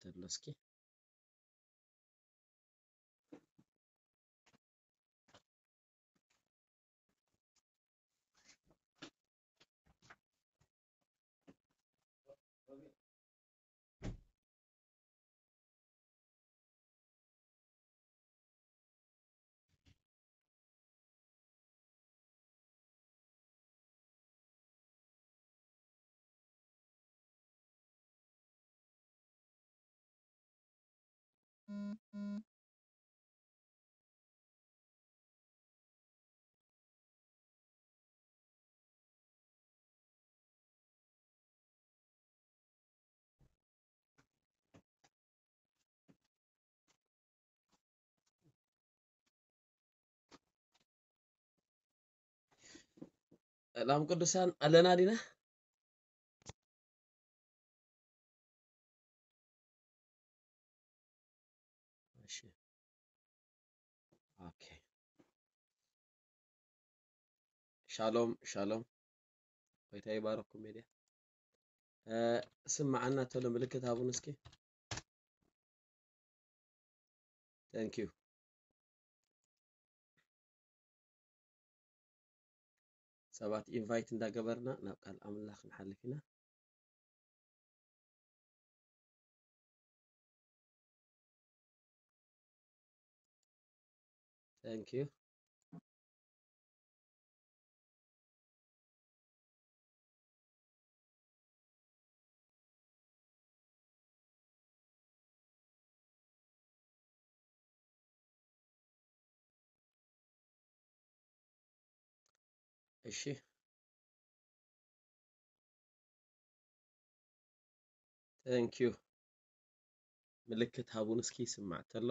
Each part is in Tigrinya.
ዘሎ እስኪ። ሰላም ቅዱሳን ኣለና ዲና? እሺ። ኦኬ። ሻሎም ሻሎም። ጎይታ ይባረኩም። ሜድያ ስምዓና ተሎ ምልክት ሃቡን እስኪ። Thank you። ሰባት ኢንቫይት እንዳገበርና ናብ ቃል ኣምላኽ ክንሓልፍ ኢና። Thank you። እሺ። Thank you። ምልክት ሃቡን እስኪ ይስማዕ ተሎ።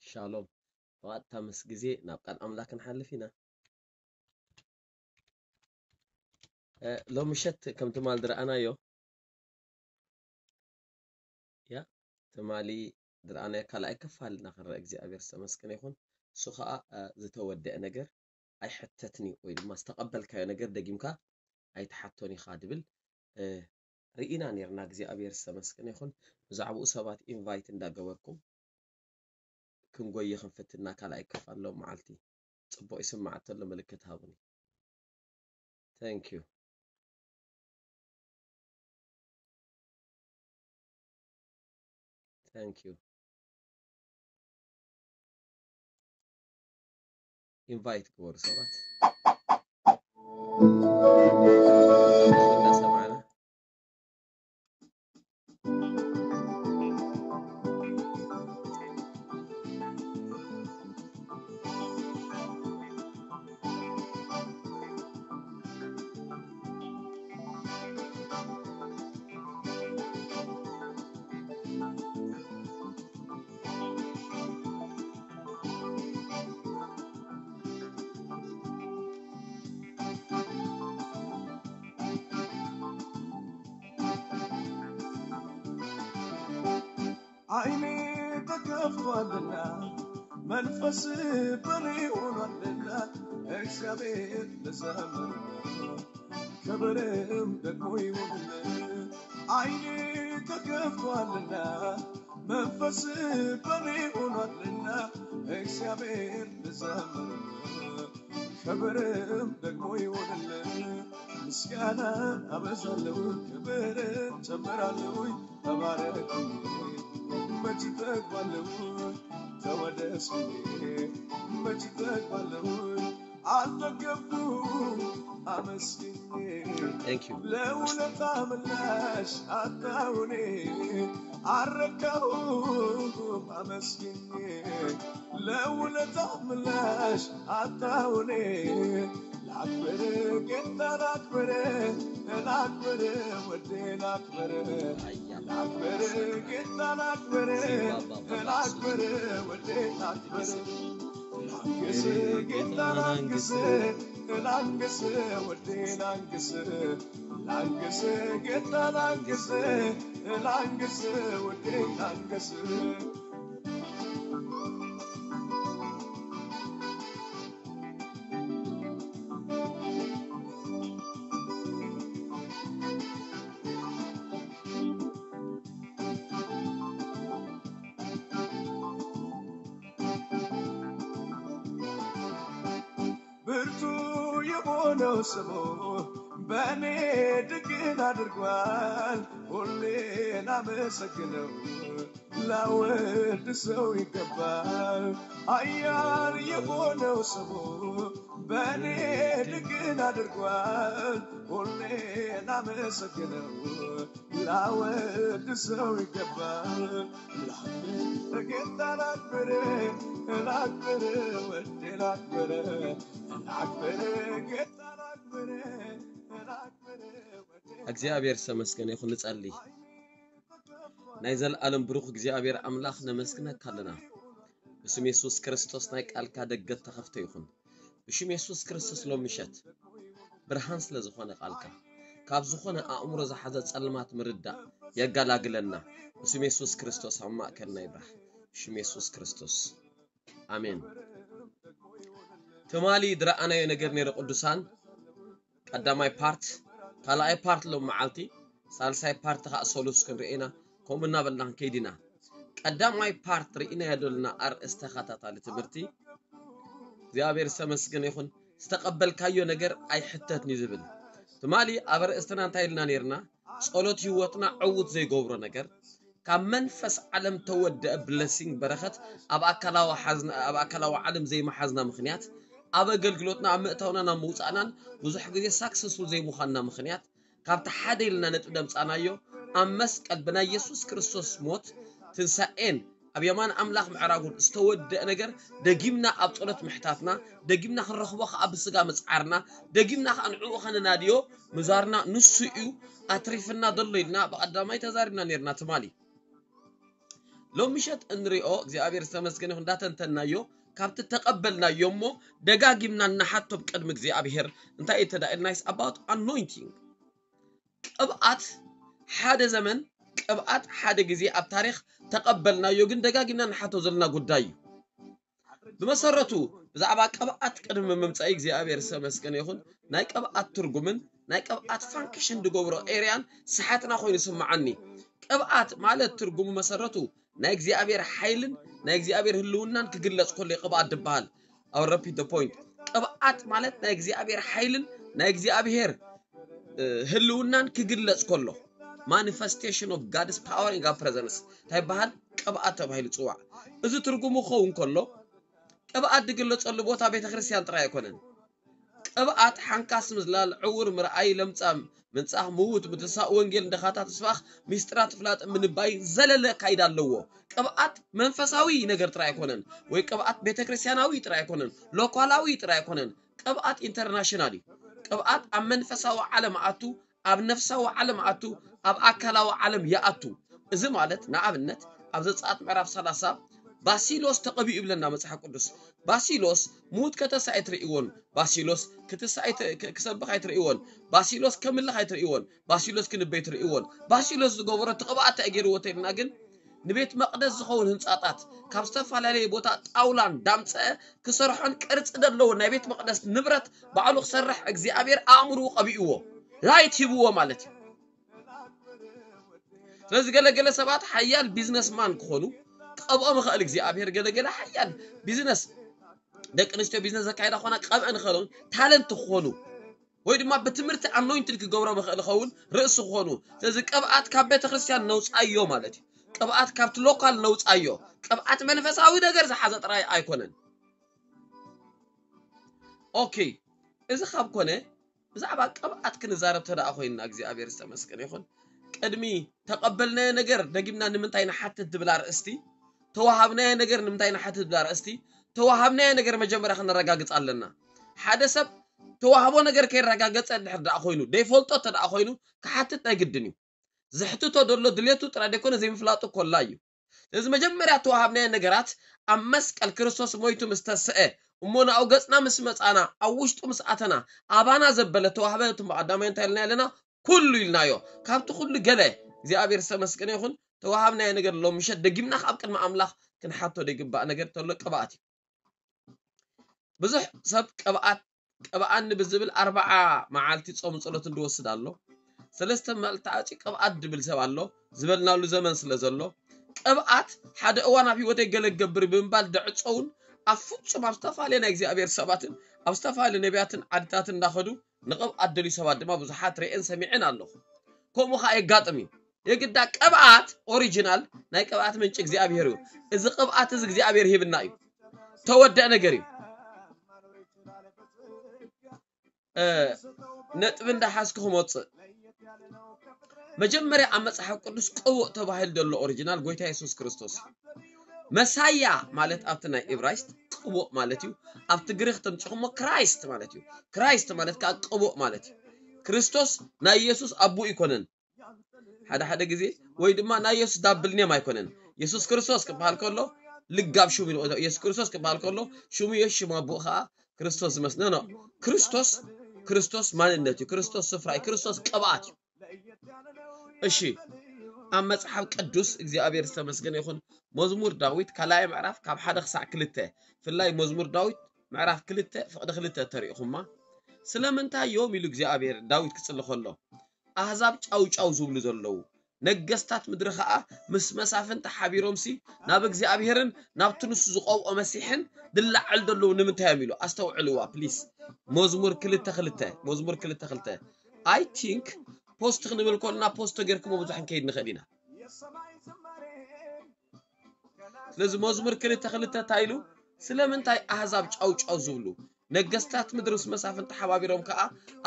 ሻሎም። ብቐጥታ ምስ ግዜ ናብ ቃል ኣምላኽ ክንሓልፍ ኢና። እ፣ ሎሚ ምሸት ከም ትማል ዝረኣናዮ፣ ያ፣ ትማሊ ዝረኣናዮ ካልኣይ ክፋል እናኽንረአ እግዚኣብሔር ዝተመስገነ ይኹን። እሱ ኸዓ፣ እ፣ ዝተወደአ ነገር ኣይሕተትን እዩ፣ ወይ ድማ ዝተቐበልካዮ ነገር ደጊምካ ኣይትሓቶን ኢኻ ድብል፣ እ፣ ርኢና ኔርና። እግዚኣብሔር ዝተመስገነ ይኹን። ብዛዕባኡ ሰባት ኢንቫይት እንዳገበርኩም ክንጎይ ክንፍትና ካልኣይ ክፋል ሎም መዓልቲ። ጽቡቕ ይስማዕ ተሎ ምልክት ሃቡኒ። Thank you። Thank you። ኢንቫይት ግበሩ ሰባት። እናሰማዕና። ዓይኒ ተከፍቷልና መንፈስ በኔ ሆኗልና፣ እግዚአብሔር ልዘምር ክብርም ደግሞ ይሁንልን። ዓይኒ ተከፍቷልና መንፈስ በኔ ሆኗልና፣ እግዚአብሔር ልዘምር ክብርም ደግሞ ይሁንልን። ምስጋና አበዛለሁ፣ ክብር ጨምራለሁ። ተባረክ መች እጠግባለሁ፣ ተወደስ መች እጠግባለሁ። አልጠገብኩም አመስግኜ፣ Thank you። ለውለታ ምላሽ አጣሁኔ፣ አረካሁም አመስግኜ፣ ለውለታ ምላሽ አጣሁኔ። ላክብር ጌታ ላክብር፣ ላክብር ወዴ ላክብር። ላክብር ጌታ ላክብር፣ ላክብር ወዴ ላክብር። ላንግስ ጌታ ላንግስ፣ ላንግስ ወዴ ላንግስ። ላንግስ ጌታ ላንግስ፣ ላንግስ ወዴ ላንግስ ብርቱ የሆነው ስሙ በእኔ ድንቅን አድርጓል። ሁሌ ላመሰግነው ላወድሰው ይገባል። ኃያል የሆነው ስሙ በእኔ ድንቅን አድርጓል። ሁሌ ላመሰግነው ላወድሰው ይገባል። ላክብር ጌታ ላክብር ላክብር ወዴ ላክብር ላክብር ጌታ ላክብር ላክብር ወዴ እግዚኣብሔር ዝተመስገነ ይኹን። ንጸሊ። ናይ ዘለኣለም ብሩኽ እግዚኣብሔር ኣምላኽ ነመስግነካ ኣለና። ብስም የሱስ ክርስቶስ ናይ ቃልካ ደገት ተኸፍተ ይኹን። ብሽም የሱስ ክርስቶስ ሎም ምሸት ብርሃን ስለ ዝኾነ ቃልካ ካብ ዝኾነ ኣእምሮ ዝሓዘ ጸልማት ምርዳእ የጋላግለና። ብስም የሱስ ክርስቶስ ኣብ ማእከልና ይብራህ። ብሽም የሱስ ክርስቶስ ኣሜን። ትማሊ ዝረኣናዮ ነገር ነይረ ቅዱሳን ቀዳማይ ፓርት፣ ካልኣይ ፓርት ሎም መዓልቲ፣ ሳልሳይ ፓርት ከዓ ሰሉስ ክንርኢ ኢና። ከምኡ እናበልና ክንከይድ ኢና። ቀዳማይ ፓርት ርኢናዮ ዘለና ኣርእስቲ ተኸታታሊ ትምህርቲ እግዚኣብሔር ዝተመስገነ ይኹን። ዝተቐበልካዮ ነገር ኣይሕተትን እዩ ዝብል። ትማሊ ኣብ ኣርእስትና እንታይ ኢልና ነይርና? ጸሎት ህይወትና ዕዉት ዘይገብሮ ነገር ካብ መንፈስ ዓለም ተወደአ ብለሲንግ በረኸት ኣብ ኣካላዊ ሓዝና ኣብ ኣካላዊ ዓለም ዘይመሓዝና ምኽንያት ኣብ ኣገልግሎትና ኣብ ምእታውናን ኣብ ምውፃእናን ብዙሕ ግዜ ሳክሰስፉል ዘይምዃንና ምኽንያት ካብቲ ሓደ ኢልና ነጥቢ ደምፃናዮ ኣብ መስቀል ብናይ የሱስ ክርስቶስ ሞት ትንሳኤን ኣብ የማን ኣምላኽ ምዕራጉን ዝተወደአ ነገር ደጊምና ኣብ ጸሎት ምሕታትና ደጊምና ክንረኽቦ ከዓ ብስጋ ምፅዓርና ደጊምና ከዓ ንዕኡ ከነናድዮ ምዛርና ንሱ እዩ ኣትሪፍና ዘሎ ኢልና ብቐዳማይ ተዛሪብና ነርና ትማሊ። ሎም ምሸት እንሪኦ እግዚኣብሔር ዝተመስገነ ይኹን እንዳተንተናዮ ካብቲ ተቐበልናዮ እሞ ደጋጊምና እናሓቶም ቅድሚ እግዚኣብሔር እንታይ እዩ ተዳኢልና is about anointing። ቅብኣት ሓደ ዘመን ቅብኣት ሓደ ግዜ ኣብ ታሪኽ ተቐበልናዮ ግን ደጋጊምና ንሓቶ ዘለና ጉዳይ እዩ። ብመሰረቱ ብዛዕባ ቅብኣት ቅድሚ ምምፃእ እግዚኣብሔር ዝተመስገነ ይኹን ናይ ቅብኣት ትርጉምን ናይ ቅብኣት ፋንክሽን ዝገብሮ ኤርያን ስሓትና ኮይኑ ይስምዓኒ። ቅብኣት ማለት ትርጉሙ መሰረቱ ናይ እግዚኣብሔር ሓይልን ናይ እግዚኣብሔር ህልውናን ክግለፅ ከሎ እዩ ቅብኣት ዝበሃል። I'll repeat the point። ቅብኣት ማለት ናይ እግዚኣብሔር ሓይልን ናይ እግዚኣብሔር ህልውናን ክግለፅ ከሎ manifestation of God's power in God presence እንታይ ይበሃል? ቅብኣት ተባሂሉ ይፅዋዕ። እዚ ትርጉሙ ክኸውን ከሎ ቅብኣት ዝግለፀሉ ቦታ ቤተክርስትያን ጥራይ ኣይኮነን። ቅብኣት ሓንካስ ምዝላል፣ ዕውር ምርኣይ፣ ለምጻም ምንጻህ፣ ምዉት ምትንሳእ፣ ወንጌል ንድኻታት ምስባኽ፣ ሚስጥራት ፍላጥ ምንባይ ዘለለ ኣካይዳ ኣለዎ። ቅብኣት መንፈሳዊ ነገር ጥራይ ኣይኮነን፣ ወይ ቅብኣት ቤተክርስትያናዊ ጥራይ ኣይኮነን፣ ሎካላዊ ጥራይ ኣይኮነን። ቅብኣት ኢንተርናሽናል እዩ። ቅብኣት ኣብ መንፈሳዊ ዓለም ኣቱ፣ ኣብ ነፍሳዊ ዓለም ኣቱ፣ ኣብ ኣካላዊ ዓለም ይኣቱ። እዚ ማለት ንኣብነት ኣብ ዘጸኣት ምዕራፍ ሰላሳ ባሲሎስ ተቐቢኡ ይብለና መጽሓፍ ቅዱስ። ባሲሎስ ምዉት ከተሳ ኣይትርእይዎን፣ ባሲሎስ ክትሳ ኣይት- ክ- ክሰብኽ ኣይትርእይዎን፣ ባሲሎስ ከምልኽ ኣይትርእይዎን፣ ባሲሎስ ክንበይ ትርእይዎን። ባሲሎስ ዝገበሮ እቲ ቅብኣት እንታይ ገይርዎ ተልና ግን ንቤት መቕደስ ዝኸውን ህንጻታት ካብ ዝተፈላለየ ቦታ ጣውላን ዳምፀአ ክሰርሖን ቅርፂ ዘለዎ ናይ ቤት መቕደስ ንብረት ባዕሉ ክሰርሕ እግዚኣብሔር ኣእምርኡ ቀቢእዎ፣ ላይት ሂብዎ ማለት እዩ። ስለዚ ገለገለ ሰባት ሓያል ቢዝነስማን ክኾኑ ቀብኦም ይኽእል እግዚኣብሔር። ገለገለ ሓያል ቢዝነስ ደቂ ኣንስትዮ ቢዝነስ ዘካየዳ ክኾና ቀብአን ይኽእልን ታለንት ክኾኑ ወይ ድማ ብትምህርቲ ኣኖይንትድ ክገብሮም ይኽእል ይኸውን ርእሲ ክኾኑ። ስለዚ ቅብኣት ካብ ቤተ ክርስቲያን ነውፃዮ ማለት እዩ። ቅብኣት ካብቲ ሎካል ነውፃዮ። ቅብኣት መንፈሳዊ ነገር ዝሓዘ ጥራይ ኣይኮነን። ኦኬ፣ እዚ ካብ ኮነ ብዛዕባ ቅብኣት ክንዛረብ ተደኣ ኮይንና እግዚኣብሔር ዝተመስገነ ይኹን። ቅድሚ ተቐበልናዮ ነገር ደጊምና ንምንታይ ንሓትት ዝብል ኣርእስቲ፣ ተዋሃብናዮ ነገር ንምንታይ ንሓትት ዝብል ኣርእስቲ፣ ተዋሃብናዮ ነገር መጀመርያ ክነረጋግፅ ኣለና። ሓደ ሰብ ተዋህቦ ነገር ከይረጋገፀ እንድሕር ደኣ ኮይኑ ዘይፈልጦ ተደኣ ኮይኑ ክሓትት ናይ ግድን እዩ። ዘሕትቶ ዘሎ ድሌቱ ጥራይ ዘይኮነ ዘይምፍላጡ ኮላ እዩ። ስለዚ መጀመርያ ተዋሃብናዮ ነገራት ኣብ መስቀል ክርስቶስ ሞይቱ ምስ ተስአ እሞ ናብኡ ገፅና ምስ መፃና ኣብ ውሽጡ ምስ ኣተና ኣባና ዘበለ ተዋህበ እቲ ቀዳማይ እንታይ ኢልና ኣለና? ኩሉ ኢልናዮ። ካብቲ ኩሉ ገለ እግዚኣብሔር ዝተመስገነ ይኹን። ተዋሃብናዮ ነገር ኣሎ። ምሸት ደጊምና ኣብ ቅድሚ ኣምላኽ ክንሓቶ ዘይግባእ ነገር ተሎ ቅብኣት እዩ። ብዙሕ ሰብ ቅብኣት ቅብኣኒ ብዝብል ኣርባዓ መዓልቲ ጾም ጸሎት እንድወስድ ኣሎ። ሰለስተ መዓልቲ ኣጺ ቅብኣት ድብል ሰብ ኣሎ ዝበልናሉ ዘመን ስለ ዘሎ ቅብኣት ሓደ እዋን ኣብ ህይወተይ ገለ ክገብር ብምባል ደዕጸውን ኣብ ፍጹም ኣብ ዝተፈላለየ ናይ እግዚኣብሔር ሰባትን ኣብ ዝተፈላለየ ነቢያትን ዓድታት እንዳኸዱ ንቅብኣት ደልዩ ሰባት ድማ ብዙሓት ርእየን ሰሚዐን ኣለኹ። ከምኡ ኸዓ የጋጥም እዩ። የግዳ ቅብኣት ኦሪጂናል ናይ ቅብኣት ምንጪ እግዚኣብሔር እዩ። እዚ ቅብኣት እዚ እግዚኣብሔር ሂብና እዩ። ተወደአ ነገር እዩ። ነጥቢ እንዳሓዝኩ ክመፅእ መጀመርያ ኣብ መፅሓፍ ቅዱስ ቅቡእ ተባሂሉ ዘሎ ኦሪጂናል ጎይታ የሱስ ክርስቶስ እዩ። መሳያ ማለት ኣብቲ ናይ ኢብራይስጥ ቅቡእ ማለት እዩ። ኣብቲ ግሪክ ተምፅኹሞ ክራይስት ማለት እዩ። ክራይስት ማለት ከዓ ቅቡእ ማለት እዩ። ክርስቶስ ናይ የሱስ ኣቦ ይኮነን። ሓደ ሓደ ግዜ ወይ ድማ ናይ የሱስ ዳብል ኔም ኣይኮነን። የሱስ ክርስቶስ ክበሃል ከሎ ልጋብ ሽሙ ኢሉ፣ የሱስ ክርስቶስ ክበሃል ከሎ ሽሙ የሱስ ሽሙ ኣቦኡ ከዓ ክርስቶስ ዝመስል ኖ ክርስቶስ ክርስቶስ ማንነት እዩ። ክርስቶስ ስፍራ እዩ። ክርስቶስ ቅብኣት እዩ። እሺ ኣብ መጽሓፍ ቅዱስ እግዚኣብሔር ዝተመስገነ ይኹን። መዝሙር ዳዊት ካልኣይ ምዕራፍ ካብ ሓደ ክሳዕ ክልተ ፍላይ መዝሙር ዳዊት ምዕራፍ ክልተ ፍቕዲ ክልተ ተሪእኹማ ስለምንታይ እዮም ኢሉ እግዚኣብሔር ዳዊት ክጽሊ ከሎ ኣህዛብ ጫው ጫው ዝብሉ ዘለዉ ነገስታት ምድሪ ኸዓ ምስ መሳፍንቲ ሓቢሮምሲ ናብ እግዚኣብሔርን ናብቲ ንሱ ዝቐብኦ መሲሕን ድላዕል ዘለዉ ንምንታይ እዮም ኢሉ ኣስተውዕልዋ ፕሊስ። መዝሙር ክልተ ክልተ መዝሙር ክልተ ክልተ I think ፖስት ክንብል ከልና ፖስት ተጌርኩሞ ብዙሕ ክንከይድ ንኽእል ኢና። ስለዚ መዝሙር ክልተ ክልተ እንታይ ኢሉ ስለምንታይ ኣህዛብ ጫው ጫው ዝብሉ ነገስታት ምድሪ ምስ መሳፍንቲ ተሓባቢሮም ከዓ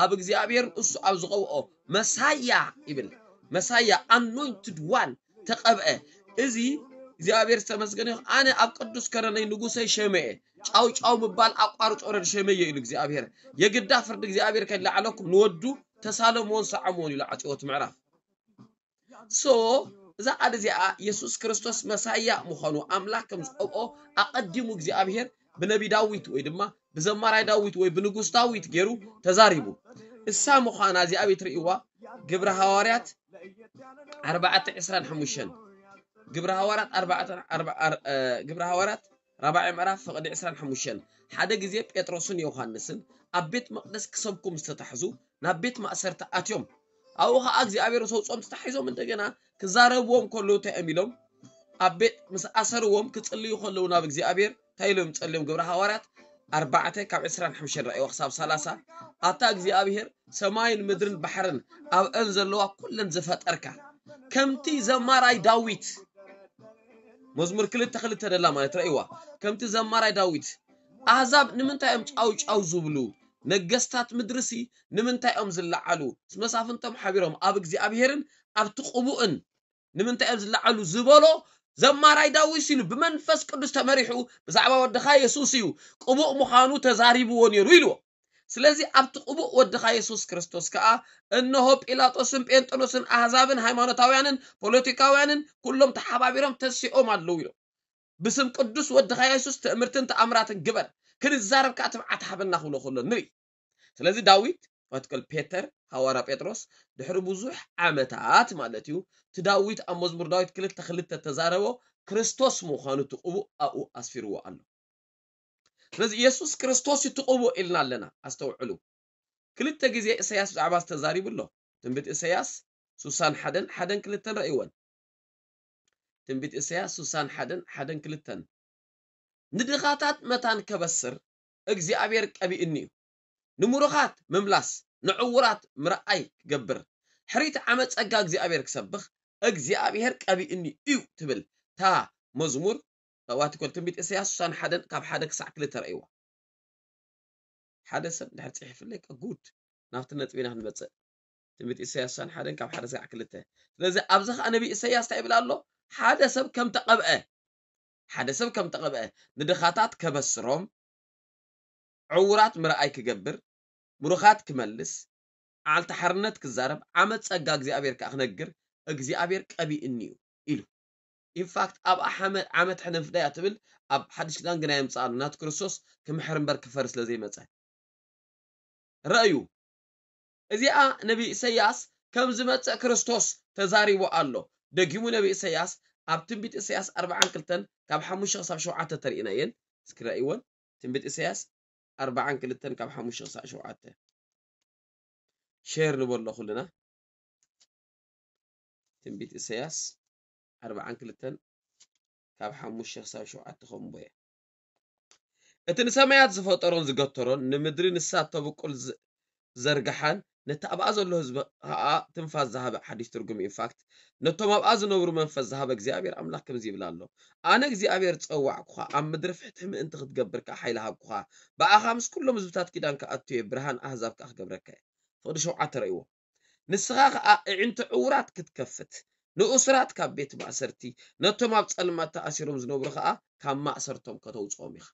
ኣብ እግዚኣብሔር እሱ ኣብ ዝቐብኦ መሳያ ይብል። መሳያ ኣኖይንትድ ዋን ተቐብአ። እዚ እግዚኣብሔር ዝተመስገነ ይኹን። ኣነ ኣብ ቅዱስ ከረነይ ንጉሰይ ሸመየ ጫው ጫው ምባል ኣቋርጾ ረድ ሸመየ ኢሉ እግዚኣብሔር። የግዳ ፍርዲ እግዚኣብሔር ከይላዕለኩም ንወዱ ተሳለምዎን ሰዓምዎን ኢሉ ዓጽዎት ምዕራፍ። So እዛ ቃል እዚኣ የሱስ ክርስቶስ መሳያ ምዃኑ ኣምላኽ ከም ዝቐብኦ ኣቐዲሙ እግዚኣብሔር ብነቢ ዳዊት ወይ ድማ ብዘማራይ ዳዊት ወይ ብንጉስ ዳዊት ገይሩ ተዛሪቡ። እሳ ምዃና እዚኣ ቤት ርእይዋ ግብረ ሃዋርያት ኣርባዕተ ዕስራን ሓሙሽተን ግብረ ሃዋርያት ኣርባዕተ ግብረ ሃዋርያት ራብዓይ ምዕራፍ ፍቕዲ ዕስራን ሓሙሽተን ሓደ ግዜ ጴጥሮስን ዮሃንስን ኣብ ቤት መቕደስ ክሰብኩ ምስ ተታሕዙ ናብ ቤት ማእሰርቲ ኣትዮም። ኣብኡ ኸዓ እግዚኣብሔር ሰውጾም ተታሒዞም እንደገና ክዛረብዎም ከለዉ እንታይ እዮም ኢሎም ኣብ ቤት ምስ ኣሰርዎም ክጽልዩ ከለዉ ናብ እግዚኣብሔር እንታይ ኢሎም ጸልዮም ግብረ ሃዋርያት ኣርባዕተ ካብ ዕስራን ሓሙሽተን ረእይዋ ክሳብ ሰላሳ ኣታ እግዚኣብሔር ሰማይን ምድርን ባሕርን ኣብአን ዘለዋ ኩለን ዝፈጠርካ ከምቲ ዘማራይ ዳዊት መዝሙር ክልተ ክልተ ደላ ማለት ረእይዋ ከምቲ ዘማራይ ዳዊት ኣህዛብ ንምንታይ እዮም ጫው ጫው ዝብሉ ነገስታት ምድርሲ ንምንታይ እዮም ዝለዓሉ ምስ መሳፍንቶም ሓቢሮም ኣብ እግዚኣብሔርን ኣብቲ ቅቡእን ንምንታይ እዮም ዝለዓሉ ዝበሎ ዘማራይ ዳዊት ኢሉ ብመንፈስ ቅዱስ ተመሪሑ ብዛዕባ ወድኻ የሱስ እዩ ቅቡእ ምዃኑ ተዛሪብዎ ነይሩ ኢልዎ ስለዚ ኣብቲ ቅቡእ ወድኻ የሱስ ክርስቶስ ከኣ እንሆ ጲላጦስን ጴንጠኖስን ኣህዛብን ሃይማኖታውያንን ፖለቲካውያንን ኩሎም ተሓባቢሮም ተሲኦም ኣለዉ ኢሎም ብስም ቅዱስ ወድኻ የሱስ ትእምርትን ተኣምራትን ግበር ክንዛረብ ከኣ ትብዓት ሃበና ክብሎ ከሎ ንርኢ ስለዚ ዳዊት ኣትክል ፔተር ሃዋርያ ጴጥሮስ ድሕሪ ብዙሕ ዓመታት ማለት እዩ እቲ ዳዊት ኣብ መዝሙር ዳዊት ክልተ ክልተ ተዛረቦ ክርስቶስ ምዃኑ እቲ ቅቡእ ኣብኡ ኣስፊርዎ ኣሎ ስለዚ የሱስ ክርስቶስ እዩ እቲ ቅቡእ ኢልና ኣለና ኣስተውዕሉ ክልተ ግዜ እሰያስ ብዛዕባ ዝተዛሪቡ ኣሎ ትንቢት እሰያስ ሱሳን ሓደን ሓደን ክልተን ረእይወን ትንቢት እሰያስ ሱሳን ሓደን ሓደን ክልተን ንድኻታት መታን ከበስር እግዚኣብሔር ቀቢእኒ እዩ ንምሩኻት ምምላስ ንዕውራት ምርኣይ ክገብር ሕሪት ዓመት ጸጋ እግዚኣብሔር ክሰብኽ እግዚኣብሔር ቀቢእኒ እዩ ትብል ታ መዝሙር ዋትኮል ትንቢት እሰያስ ሱሳን ሓደን ካብ ሓደ ክሳዕ ክልተ ረእይዋ ሓደ ሰብ ድሕር ጽሒፍለይ ጉድ ናብቲ ነጥቢና ክንመጽእ ትንቢት ኢሳያስ ሱሳን ሓደን ካብ ሓደ ክሳዕ ክልተ ስለዚ ኣብዚ ከዓ ነቢ ኢሳያስ እንታይ ይብል ኣሎ ሓደ ሰብ ከም ተቐብአ ሓደ ሰብ ከም ተቐብአ ንድኻታት ከበስሮም ዕውራት ምርኣይ ክገብር ምሩኻት ክመልስ ዓልቲ ሓርነት ክዛረብ ዓመት ጸጋ እግዚኣብሔር ከዓ ክነግር እግዚኣብሔር ቀቢእኒ እዩ ኢሉ ኢንፋክት ኣብ ዓመት ሕነፍዳያ ትብል ኣብ ሓድሽ ኪዳን ግና የምፅኣሉ ናቱ ክርስቶስ ክምሕር እምበር ክፈር ስለ ዘይመፀ ረእዩ እዚኣ ነቢ ኢሰያስ ከም ዝመፅእ ክርስቶስ ተዛሪቡ ኣሎ። ደጊሙ ነቢ ኢሳያስ ኣብ ትንቢት ኢሳያስ ኣርባዓን ክልተን ካብ ሓሙሽተ ክሳብ ሸውዓተ ተርእናየን እስክራይወን ትንቢት ኢሳያስ ኣርባዓን ክልተን ካብ ሓሙሽተ ክሳብ ሸውዓተ ሼር ንበሎ ኩልና። ትንቢት ኢሳያስ ኣርባዓን ክልተን ካብ ሓሙሽተ ክሳብ ሸውዓተ ከምቦየ። እቲ ንሰማያት ዝፈጠሮን ዝገተሮን ንምድሪ ንሳ ተብቁል ዘርግሓን ነቲ ኣብኣ ዘሎ ህዝቢ ኸኣ ትንፋስ ዝሃበ። ሓዲሽ ትርጉም ኢንፋክት ነቶም ኣብኣ ዝነብሩ መንፈስ ዝሃበ እግዚኣብሔር ኣምላኽ ከምዚ ይብል ኣሎ። ኣነ እግዚኣብሔር ጸዋዕኩኻ፣ ኣብ ምድሪ ፍትሒ ምእንቲ ክትገብር ከኣ ሓይሊ ሃብኩኻ። ብኣኻ ምስ ኩሎም ህዝብታት ኪዳን ክኣቱ እየ፣ ብርሃን ኣህዛብ ከኣ ክገብረካ እየ። ፍቕዲ ሸውዓተ ረእይዎ። ንስኻ ከኣ እዕንቲ ዕውራት ክትከፍት፣ ንእሱራት ካብ ቤት ማእሰርቲ፣ ነቶም ኣብ ጸልማት ተኣሲሮም ዝነብሩ ከኣ ካብ ማእሰርቶም ከተውጽኦም ኢኻ።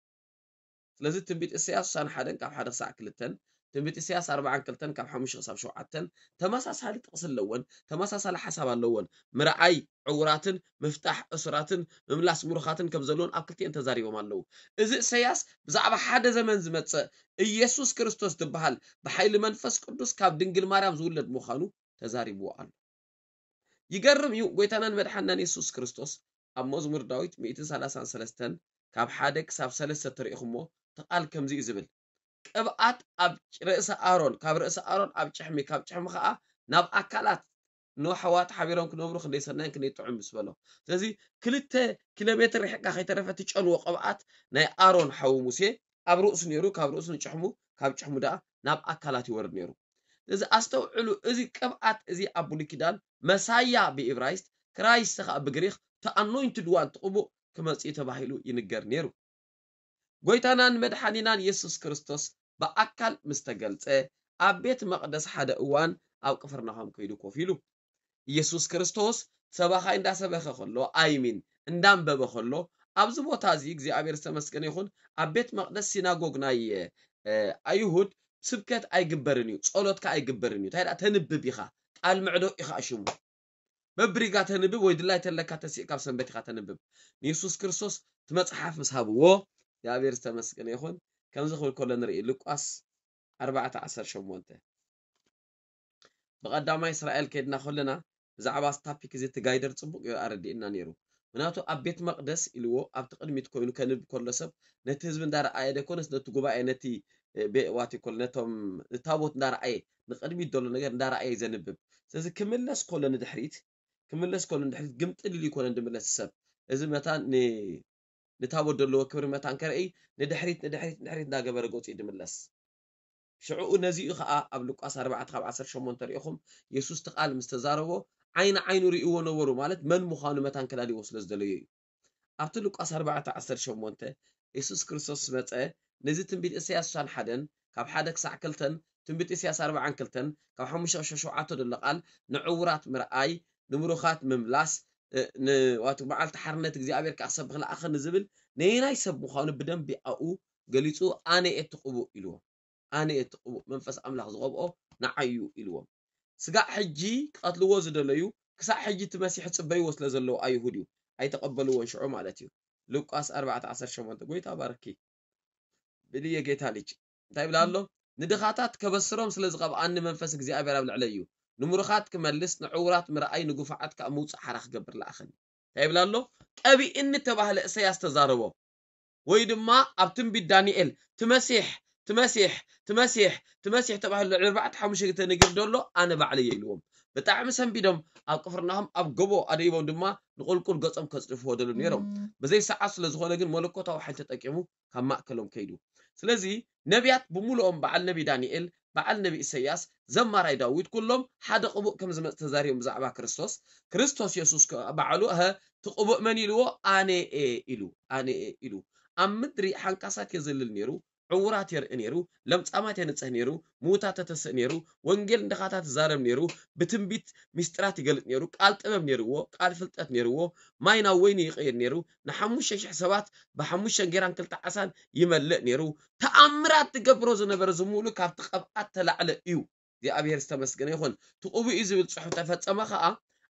ስለዚ ትንቢት ኢሳያስ ስሳን ሓደን ካብ ሓደ ክሳዕ ክልተን፣ ትንቢት ኢሳያስ ኣርባዓን ክልተን ካብ ሓሙሽተ ክሳብ ሸውዓተን ተመሳሳሊ ጥቕሲ ኣለወን፣ ተመሳሳሊ ሓሳብ ኣለወን። ምርኣይ ዕውራትን ምፍታሕ እሱራትን ምምላስ ምሩኻትን ከም ዘለውን ኣብ ክልቲኤን ተዛሪቦም ኣለዉ። እዚ ኢሳያስ ብዛዕባ ሓደ ዘመን ዝመጽእ ኢየሱስ ክርስቶስ ዝበሃል ብሓይሊ መንፈስ ቅዱስ ካብ ድንግል ማርያም ዝውለድ ምዃኑ ተዛሪብዎ ኣሎ። ይገርም እዩ። ጎይታናን መድሓናን የሱስ ክርስቶስ ኣብ መዝሙር ዳዊት ሚእትን ሰላሳን ሰለስተን ካብ ሓደ ክሳብ ሰለስተ ተሪእኹሞ፣ እቲ ቃል ከምዚ እዩ ዝብል፣ ቅብኣት ኣብ ርእሲ ኣሮን፣ ካብ ርእሲ ኣሮን ኣብ ጭሕሚ፣ ካብ ጭሕሚ ኸዓ ናብ ኣካላት ንኣሕዋት ሓቢሮም ክነብሩ ክንደይ ሰናይን ክንደይ ጥዑም ምስ በሎ። ስለዚ ክልተ ኪሎ ሜትር ርሒቕካ ከይተረፈ እቲ ጨንዎ ቅብኣት ናይ ኣሮን ሓዉ ሙሴ ኣብ ርእሱ ነይሩ፣ ካብ ርእሱ ንጭሕሙ፣ ካብ ጭሕሙ ደኣ ናብ ኣካላት ይወርድ ነይሩ። እዚ ኣስተውዕሉ፣ እዚ ቅብኣት እዚ ኣብ ብሉይ ኪዳን መሳያ ብኢብራይስጥ፣ ክራይስት ኸኣ ብግሪኽ፣ እቲ ኣኖይንትድ ዋን፣ እቲ ቅቡእ ክመጽእ እዩ ተባሂሉ ይንገር ነይሩ። ጎይታናን መድሓኒናን የሱስ ክርስቶስ ብኣካል ምስ ተገልጸ፣ ኣብ ቤት መቕደስ ሓደ እዋን ኣብ ቅፍርናሆም ከይዱ ኮፍ ኢሉ። ኢየሱስ ክርስቶስ ሰባኻይ እንዳሰበኸ ከሎ፣ ኣይሚን እንዳንበበ ከሎ፣ ኣብዚ ቦታ እዚ እግዚኣብሔር ዝተመስገነ ይኹን፣ ኣብ ቤት መቕደስ ሲናጎግ ናይ፣ እ፣ ኣይሁድ ስብከት ኣይግበርን እዩ፣ ጸሎት ከኣ ኣይግበርን እዩ። እንታይ ደኣ ተንብብ ኢኻ፣ ቃል ምዕዶ ኢኻ ሽሙ። በብሪጋ ተንብብ ወይ ድላይ ተለካ ተሲእካ ኣብ ሰንበት ኢኻ ተንብብ። ንየሱስ ክርስቶስ እቲ መጽሓፍ ምስ ሃብዎ፣ እግዚኣብሔር ዝተመስገነ ይኹን። ከምዚ ክብል ከሎ ንርኢ፣ ሉቃስ ኣርባዕተ ዓሰርተ ሸሞንተ። ብቐዳማይ እስራኤል ከድና ከለና ብዛዕባ እዚ ታፒክ እዚ እቲ ጋይደር ጽቡቕ ገይሩ ኣረዲእና ነይሩ። ምክንያቱ ኣብ ቤት መቕደስ ኢልዎ ኣብቲ ቅድሚት ኮይኑ ከንብብ ከሎ ሰብ ነቲ ህዝቢ እንዳረኣየ ደይኮነስ ነቲ ጉባኤ ነቲ፣ እ፣ ቤ-፣ ዋት ይኮል ነቶም ታቦት እንዳረኣየ ንቅድሚት ዘሎ ነገር እንዳረኣየ እዩ ዘንብብ። ስለዚ ክምለስ ከሎ ንድሕሪት፣ ክምለስ ከሎ ንድሕሪት ግምጥል ኢሉ ይኮነን ዝምለስ ሰብ። እዚ መታን ን-፣ ንታቦት ዘለዎ ክብሪ መታን ከርኢ ንድሕሪት፣ ንድሕሪት፣ ንድሕሪት እንዳገበረ ገጹ እዩ ዝምለስ። ሽዕኡ ነዚኡ ኸኣ ኣብ ሉቃስ ኣርባዕተ ካብ ዓሰርተ ሸሞንተ ሪኢኹም፣ የሱስ እቲ ቃል ምስ ተዛረቦ፣ ዓይኒ ዓይኑ ርእይዎ ነበሩ፣ ማለት መን ምዃኑ መታን ከላልይዎ ስለ ዝደለዩ እዩ። ኣብቲ ሉቃስ ኣርባዕተ ዓሰርተ ሸሞንተ፣ የሱስ ክርስቶስ መጸ፣ ነዚ ትንቢት እሰያስ ስሳን ሓደን ካብ ሓደ ክሳዕ ክልተን፣ ትንቢት እሰያስ ኣርባዓን ክልተን ካብ ሓሙሽተ ክሳዕ ሸውዓተ ዘሎ ቃል፣ ንዕዉራት ምርኣይ፣ ንምሩኻት ምምላስ፣ እ፣ ን-፣ ዋቱ መዓልቲ ሓርነት እግዚኣብሔር ከኣ ክሰብኽ ለኣኸኒ ዝብል ነየናይ ሰብ ምዃኑ ብደንቢ ኣብኡ ገሊጹ፣ ኣነ እየ እቲ ቅቡእ ኢልዎ። ኣነ እየ እቲ ቅቡእ፣ መንፈስ ኣምላኽ ዝቐብኦ ንዓይ እዩ ኢልዎም። ስጋዕ ሕጂ ክቐትልዎ ዝደለዩ፣ ክሳዕ ሕጂ እቲ መሲሕ ዝጽበይዎ ስለ ዘለዉ ኣይሁድ እዩ። ኣይተቐበልዎን ሽዑ ማለት እዩ። ሉቃስ ኣርባዕተ ዓሰርተ ሸሞንተ። ጎይታ ባርኪ። ብልየ ጌታ ልጅ። እንታይ ይብላ ኣሎ? ንድኻታት ከበስሮም ስለ ዝቐብኣኒ መንፈስ እግዚኣብሔር ኣብ ልዕለይ እዩ። ንምሩኻት ክመልስ፣ ንዕዉራት ምርኣይ፣ ንግፉዓት ከኣ ምውጻእ ሓራ ክገብር ለኣኸኒ። እንታይ ይብላ ኣሎ? ቀቢእኒ ተባህለ እሰያስ ተዛረቦ። ወይ ድማ ኣብ ትንቢት ዳንኤል፣ "ትመሲሕ፣ ትመሲሕ፣ ትመሲሕ፣ ትመሲሕ" ተባሂሉ ልዕሊ ኣርባዕተ ሓሙሽተ ግዜ ተነጊሩ ዘሎ፣ ኣነ ባዕለይ እየ ኢልዎም። ብጣዕሚ ሰንቢዶም ኣብ ቅፍርናሆም ኣብ ጎቦ ኣደይቦም ድማ ንቁልቁል ገጾም ከጽድፍዎ ደልዩ ነይሮም። በዘይ ሰዓት ስለ ዝኾነ ግን መለኮታዊ ሓይሊ ተጠቂሙ ካብ ማእከሎም ከይዱ። ስለዚ ነቢያት ብምሉኦም በዓል ነቢ ዳንኤል፣ በዓል ነቢ ኢሰያስ፣ ዘማራይ ዳዊት ኩሎም ሓደ ቅቡእ ከም ዝመጽእ ተዛሪቦም ብዛዕባ ክርስቶስ። ክርስቶስ የሱስ ከ-፣ ባዕሉ፣ "እሀ፣ እቲ ቅቡእ መን?" ኢልዎ፣ "ኣነ እየ" ኢሉ፣ "ኣነ እየ" ኢሉ። ኣብ ምድሪ ሓንካሳት የዘልል ነይሩ፣ ዕዉራት የርኢ ነይሩ፣ ለምጻማት የንጽህ ነይሩ፣ ምዉታት የተስእ ነይሩ፣ ወንጌል ንድኻታት ይዛረብ ነይሩ፣ ብትንቢት ሚስጥራት ይገልጽ ነይሩ፣ ቃል ጥበብ ነይርዎ፣ ቃል ፍልጠት ነይርዎ፣ ማይ ናብ ወይኒ ይቕይር ነይሩ፣ ንሓሙሽተ ሽሕ ሰባት ብሓሙሽተ እንጌራን ክልተ ዓሳን ይመልእ ነይሩ። ተኣምራት ዝገብሮ ዝነበረ ዝምሉ ካብቲ ቅብኣት ተላዕለ እዩ። እግዚኣብሔር ዝተመስገነ ይኹን። እቲ ቅቡእ እዩ ዝብል ጽሑፍ ተፈጸመ ኸኣ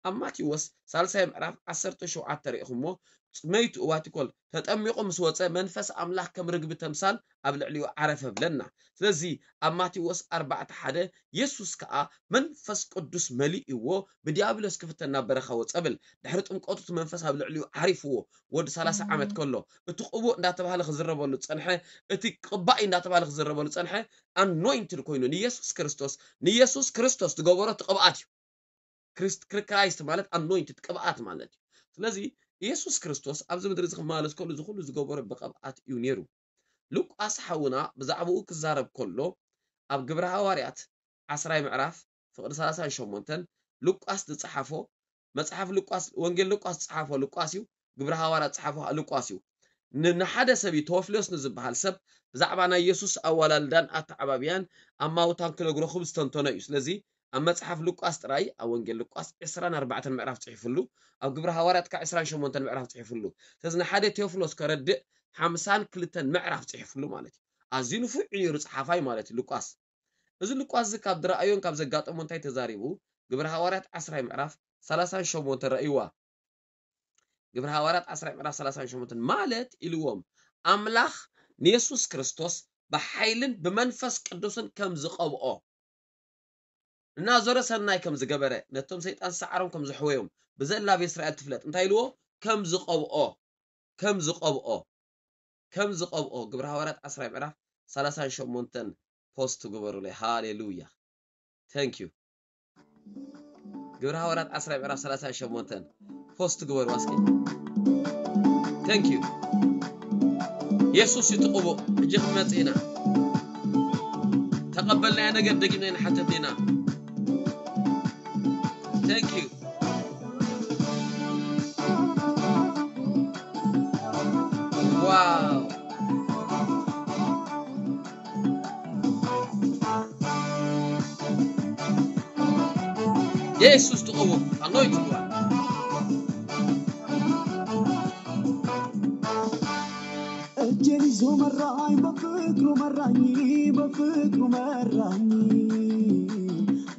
ኣብ ማቴዎስ ሳልሳይ ምዕራፍ ዓሰርተ ሸውዓተ ርኢኹሞ፣ መይቱ እዋቲኮል ተጠሚቑ ምስ ወፀ መንፈስ ኣምላኽ ከም ርግቢ ተምሳል ኣብ ልዕሊኡ ዓረፈ ብለና። ስለዚ ኣብ ማቴዎስ ኣርባዕተ ሓደ የሱስ ከኣ መንፈስ ቅዱስ መሊእዎ ብዲያብሎስ ክፍተን ናብ በረኻ ወፀ ብል። ድሕሪ ጥምቀቱ እቲ መንፈስ ኣብ ልዕሊኡ ዓሪፍዎ ወዲ ሰላሳ ዓመት ከሎ እቲ ቅቡእ እንዳተባህለ ክዝረበሉ ዝፀንሐ፣ እቲ ቅባኢ እንዳተባህለ ክዝረበሉ ዝፀንሐ ኣኖይንትድ ኮይኑ ንየሱስ ክርስቶስ ንየሱስ ክርስቶስ ዝገበሮ እቲ ቅብኣት እዩ። ክራይስት ማለት ኣኖይንትድ ቅብኣት ማለት እዩ። ስለዚ ኢየሱስ ክርስቶስ ኣብዚ ምድሪ እዚ ክመላለስ ከሎ እዚ ኩሉ ዝገበሮ ብቅብኣት እዩ ነይሩ። ሉቃስ ሓውና ብዛዕባኡ ክዛረብ ከሎ ኣብ ግብረ ሃዋርያት ዓስራይ ምዕራፍ ፍቕዲ ሰላሳን ሸሞንተን ሉቃስ ዝጸሓፎ መጽሓፍ ሉቃስ ወንጌል ሉቃስ ዝጸሓፎ ሉቃስ እዩ። ግብረ ሃዋርያት ዝጸሓፎ ሉቃስ እዩ። ንሓደ ሰብ እዩ ቴዎፍሎስ ንዝበሃል ሰብ ብዛዕባ ናይ የሱስ ኣዋላልዳን ኣተዓባብያን ኣማውታን ክነግሮ ክብል ዝተንተኖ እዩ። ስለዚ ኣብ መጽሓፍ ሉቃስ ጥራይ ኣብ ወንጌል ሉቃስ ዕስራን ኣርባዕተን ምዕራፍ ጽሒፉሉ፣ ኣብ ግብረ ሃዋርያት ከዓ ዕስራን ሸሞንተን ምዕራፍ ጽሒፉሉ። ስለዚ ንሓደ ቴዎፍሎስ ከረድእ ሓምሳን ክልተን ምዕራፍ ጽሒፉሉ ማለት እዩ። ኣዝዩ ንፉዕ እዩ ነይሩ ጸሓፋይ ማለት እዩ ሉቃስ። እዚ ሉቃስ እዚ ካብ ዝረኣዮን ካብ ዘጋጠሞ እንታይ ተዛሪቡ? ግብረ ሃዋርያት ዓስራይ ምዕራፍ ሰላሳን ሸሞንተን ረእይዋ። ግብረ ሃዋርያት ዓስራይ ምዕራፍ ሰላሳን ሸሞንተን ማለት ኢልዎም ኣምላኽ ንየሱስ ክርስቶስ ብሓይልን ብመንፈስ ቅዱስን ከም ዝቐብኦ እናዞረ ሰናይ ከም ዝገበረ ነቶም ሰይጣን ሰዓሮም ከም ዝሕወዮም ብዘላ ኣብ እስራኤል ትፍለጥ እንታይ ኢልዎ ከም ዝቐብኦ ከም ዝቐብኦ ከም ዝቐብኦ ግብረ ሃዋርያት ዓስራይ ምዕራፍ ሰላሳን ሸሞንተን ፖስት ግበሩለይ። ሃሌሉያ። Thank you። ግብረ ሃዋርያት ዓስራይ ምዕራፍ ሰላሳን ሸሞንተን ፖስት ግበሩ እስኪ። Thank you። የሱስ ይጥቕቡ። ሕጂ ክንመጽእ ኢና። ተቐበልናዮ ነገር ደጊምና ይንሓተት ኢና። Thank you። Wow። የሱስ ትቕቡ ኣኖይት እጅን ይዞ መራኝ በፍቅሩ መራኝ በፍቅሩ መራኝ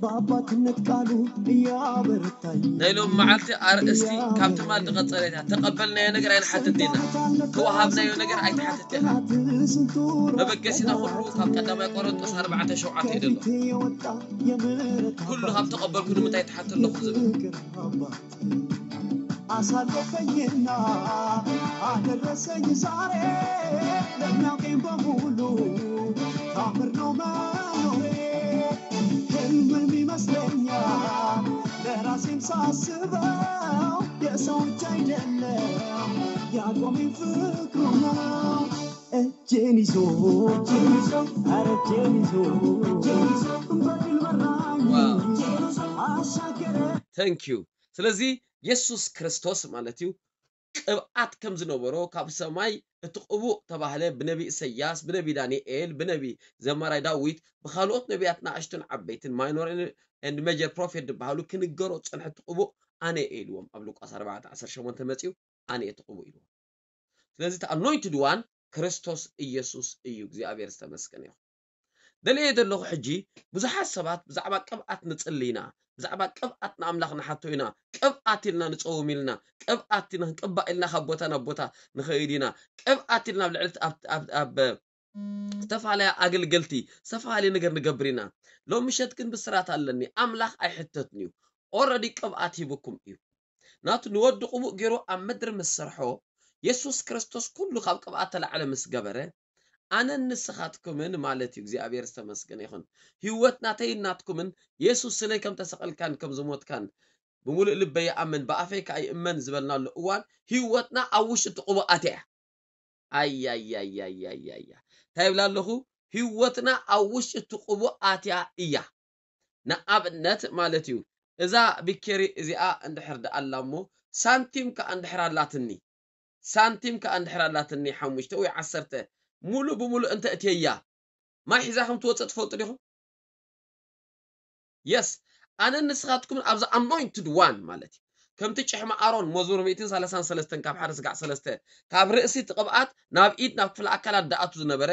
በአባትነት ቃሉ እያበረታኝ ናይ ሎም መዓልቲ ኣርእስቲ ካብ ትማል ዝቐጸለ እያ። ተቐበልናዮ ነገር ኣይንሓትት ኢና። ተዋሃብናዮ ነገር ኣይትሓትት ኢኻ። መበገሲና ኩሉ ካብ ቀዳማይ ቆሮንጦስ ኣርባዕተ ሸውዓተ እዩ ዘሎ። ኩሉ ካብ ተቐበልኩ ንምንታይ ትሓት ኣለኹ ዝብል ኣሳለፈኝና አደረሰኝ ዛሬ ለሚያውቀኝ በሙሉ ታምር ነው መኖሬ። ህልምም ይመስለኛል ለራሴም ሳስበው የሰው እጅ አይደለም ያቆመኝ ፍቅሩ ነው። እጄን ይዞ ኧረ እጄን ይዞ በድል መራኝ አሻገረ። Thank you። ስለዚ የሱስ ክርስቶስ ማለት እዩ ቅብኣት ከም ዝነበሮ ካብ ሰማይ እቲ ቅቡእ ተባህለ ብነቢ ኢሰያስ ብነቢ ዳንኤል ብነቢ ዘማራይ ዳዊት ብካልኦት ነቢያት ንኣሽቱን ዓበይትን ማይኖር and major prophet ዝበሃሉ ክንገሮ ዝጸንሐ እቲ ቅቡእ ኣነ እየ ኢልዎም ኣብ ሉቃስ ኣርባዕተ ዓሰርተ ሸሞንተ መጺኡ ኣነ እየ እቲ ቅቡእ ኢልዎም። ስለዚ እቲ ኣኖይንትድ ዋን ክርስቶስ ኢየሱስ እዩ። እግዚኣብሔር ዝተመስገነ ይኹን። ደልየ ዘለኹ ሕጂ ብዙሓት ሰባት ብዛዕባ ቅብኣት ንጽሊ ኢና፣ ብዛዕባ ቅብኣት ንኣምላኽ ንሓቶ ኢና፣ ቅብኣት ኢልና ንጸውም ኢልና፣ ቅብኣት ኢና ክንቅባእ ኢልና ካብ ቦታ ናብ ቦታ ንኸይድ ኢና፣ ቅብኣት ኢልና ኣብ ልዕሊ ኣብ ዝተፈላለያ ኣገልገልቲ ዝተፈላለየ ነገር ንገብር ኢና። ሎም ምሸት ግን ብስራት ኣለኒ፣ ኣምላኽ ኣይሕተትን እዩ። ኦረዲ ቅብኣት ሂብኩም እዩ። ናቱ ንወዲ ቅቡእ ገይሩ ኣብ ምድሪ ምስ ሰርሖ የሱስ ክርስቶስ ኩሉ ካብ ቅብኣት ተላዕለ ምስ ገበረ ኣነን ንስኻትኩምን ማለት እዩ እግዚኣብሔር ዝተመስገነ ይኹን ህይወት ናተይን ናትኩምን የሱስ ስለይ ከም ተሰቐልካን ከም ዝሞትካን ብምሉእ ልበይ ይኣምን ብኣፈይ ከዓ ይእመን ዝበልናሉ እዋን ህይወትና ኣብ ውሽጢ እቲ ቅቡእ ኣትያ እያ ኣያያያያያያ እንታይ ይብላ ኣለኹ ህይወትና ኣብ ውሽጢ እቲ ቅቡእ ኣትያ እያ ንኣብነት ማለት እዩ እዛ ቢኬሪ እዚኣ እንድሕር ደኣላ እሞ ሳንቲም ከኣ እንድሕር ኣላትኒ ሳንቲም ከኣ እንድሕር ኣላትኒ ሓሙሽተ ወይ ዓሰርተ ሙሉ ብሙሉ እንተ እትየያ ማይ ሒዛ ከም ትወፅእ ትፈልጡ ዲኹም የስ ኣነ ንስኻትኩምን ኣብዚ ኣኖይንትድ ዋን ማለት እዩ ከምቲ ጭሕሚ ኣሮን መዝሙር ሚእትን ሰላሳን ሰለስተን ካብ ሓደ ስጋዕ ሰለስተ ካብ ርእሲ እቲ ቅብኣት ናብ ኢድ ናብ ክፍለ ኣካላት ደኣቱ ዝነበረ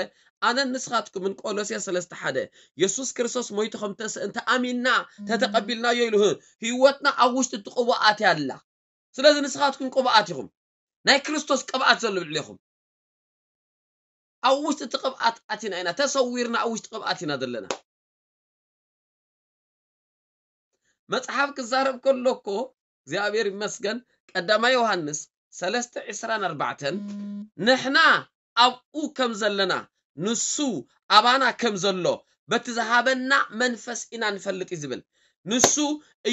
ኣነን ንስኻትኩምን ቆሎሴ ሰለስተ ሓደ የሱስ ክርስቶስ ሞይቱ ከም ተስእ እንተ ኣሚንና ተተቐቢልናዮ ኢሉ ህይወትና ኣብ ውሽጢ እቲ ቅቡኣት ያላ ስለዚ ንስኻትኩም ቅቡኣት ኢኹም ናይ ክርስቶስ ቅብኣት ዘሎ ልዕሌኹም። ኣብ ውሽጢ እቲ ቅብኣት ኣቲና ኢና፣ ተሰዊርና ኣብ ውሽጢ ቅብኣት ኢና ዘለና። መጽሓፍ ክዛረብ ከሎ እኮ እግዚኣብሔር ይመስገን፣ ቀዳማይ ዮሃንስ ሰለስተ ዕስራን ኣርባዕተን፣ ንሕና ኣብኡ ከም ዘለና ንሱ ኣባና ከም ዘሎ በቲ ዝሃበና መንፈስ ኢና ንፈልጥ እዩ ዝብል። ንሱ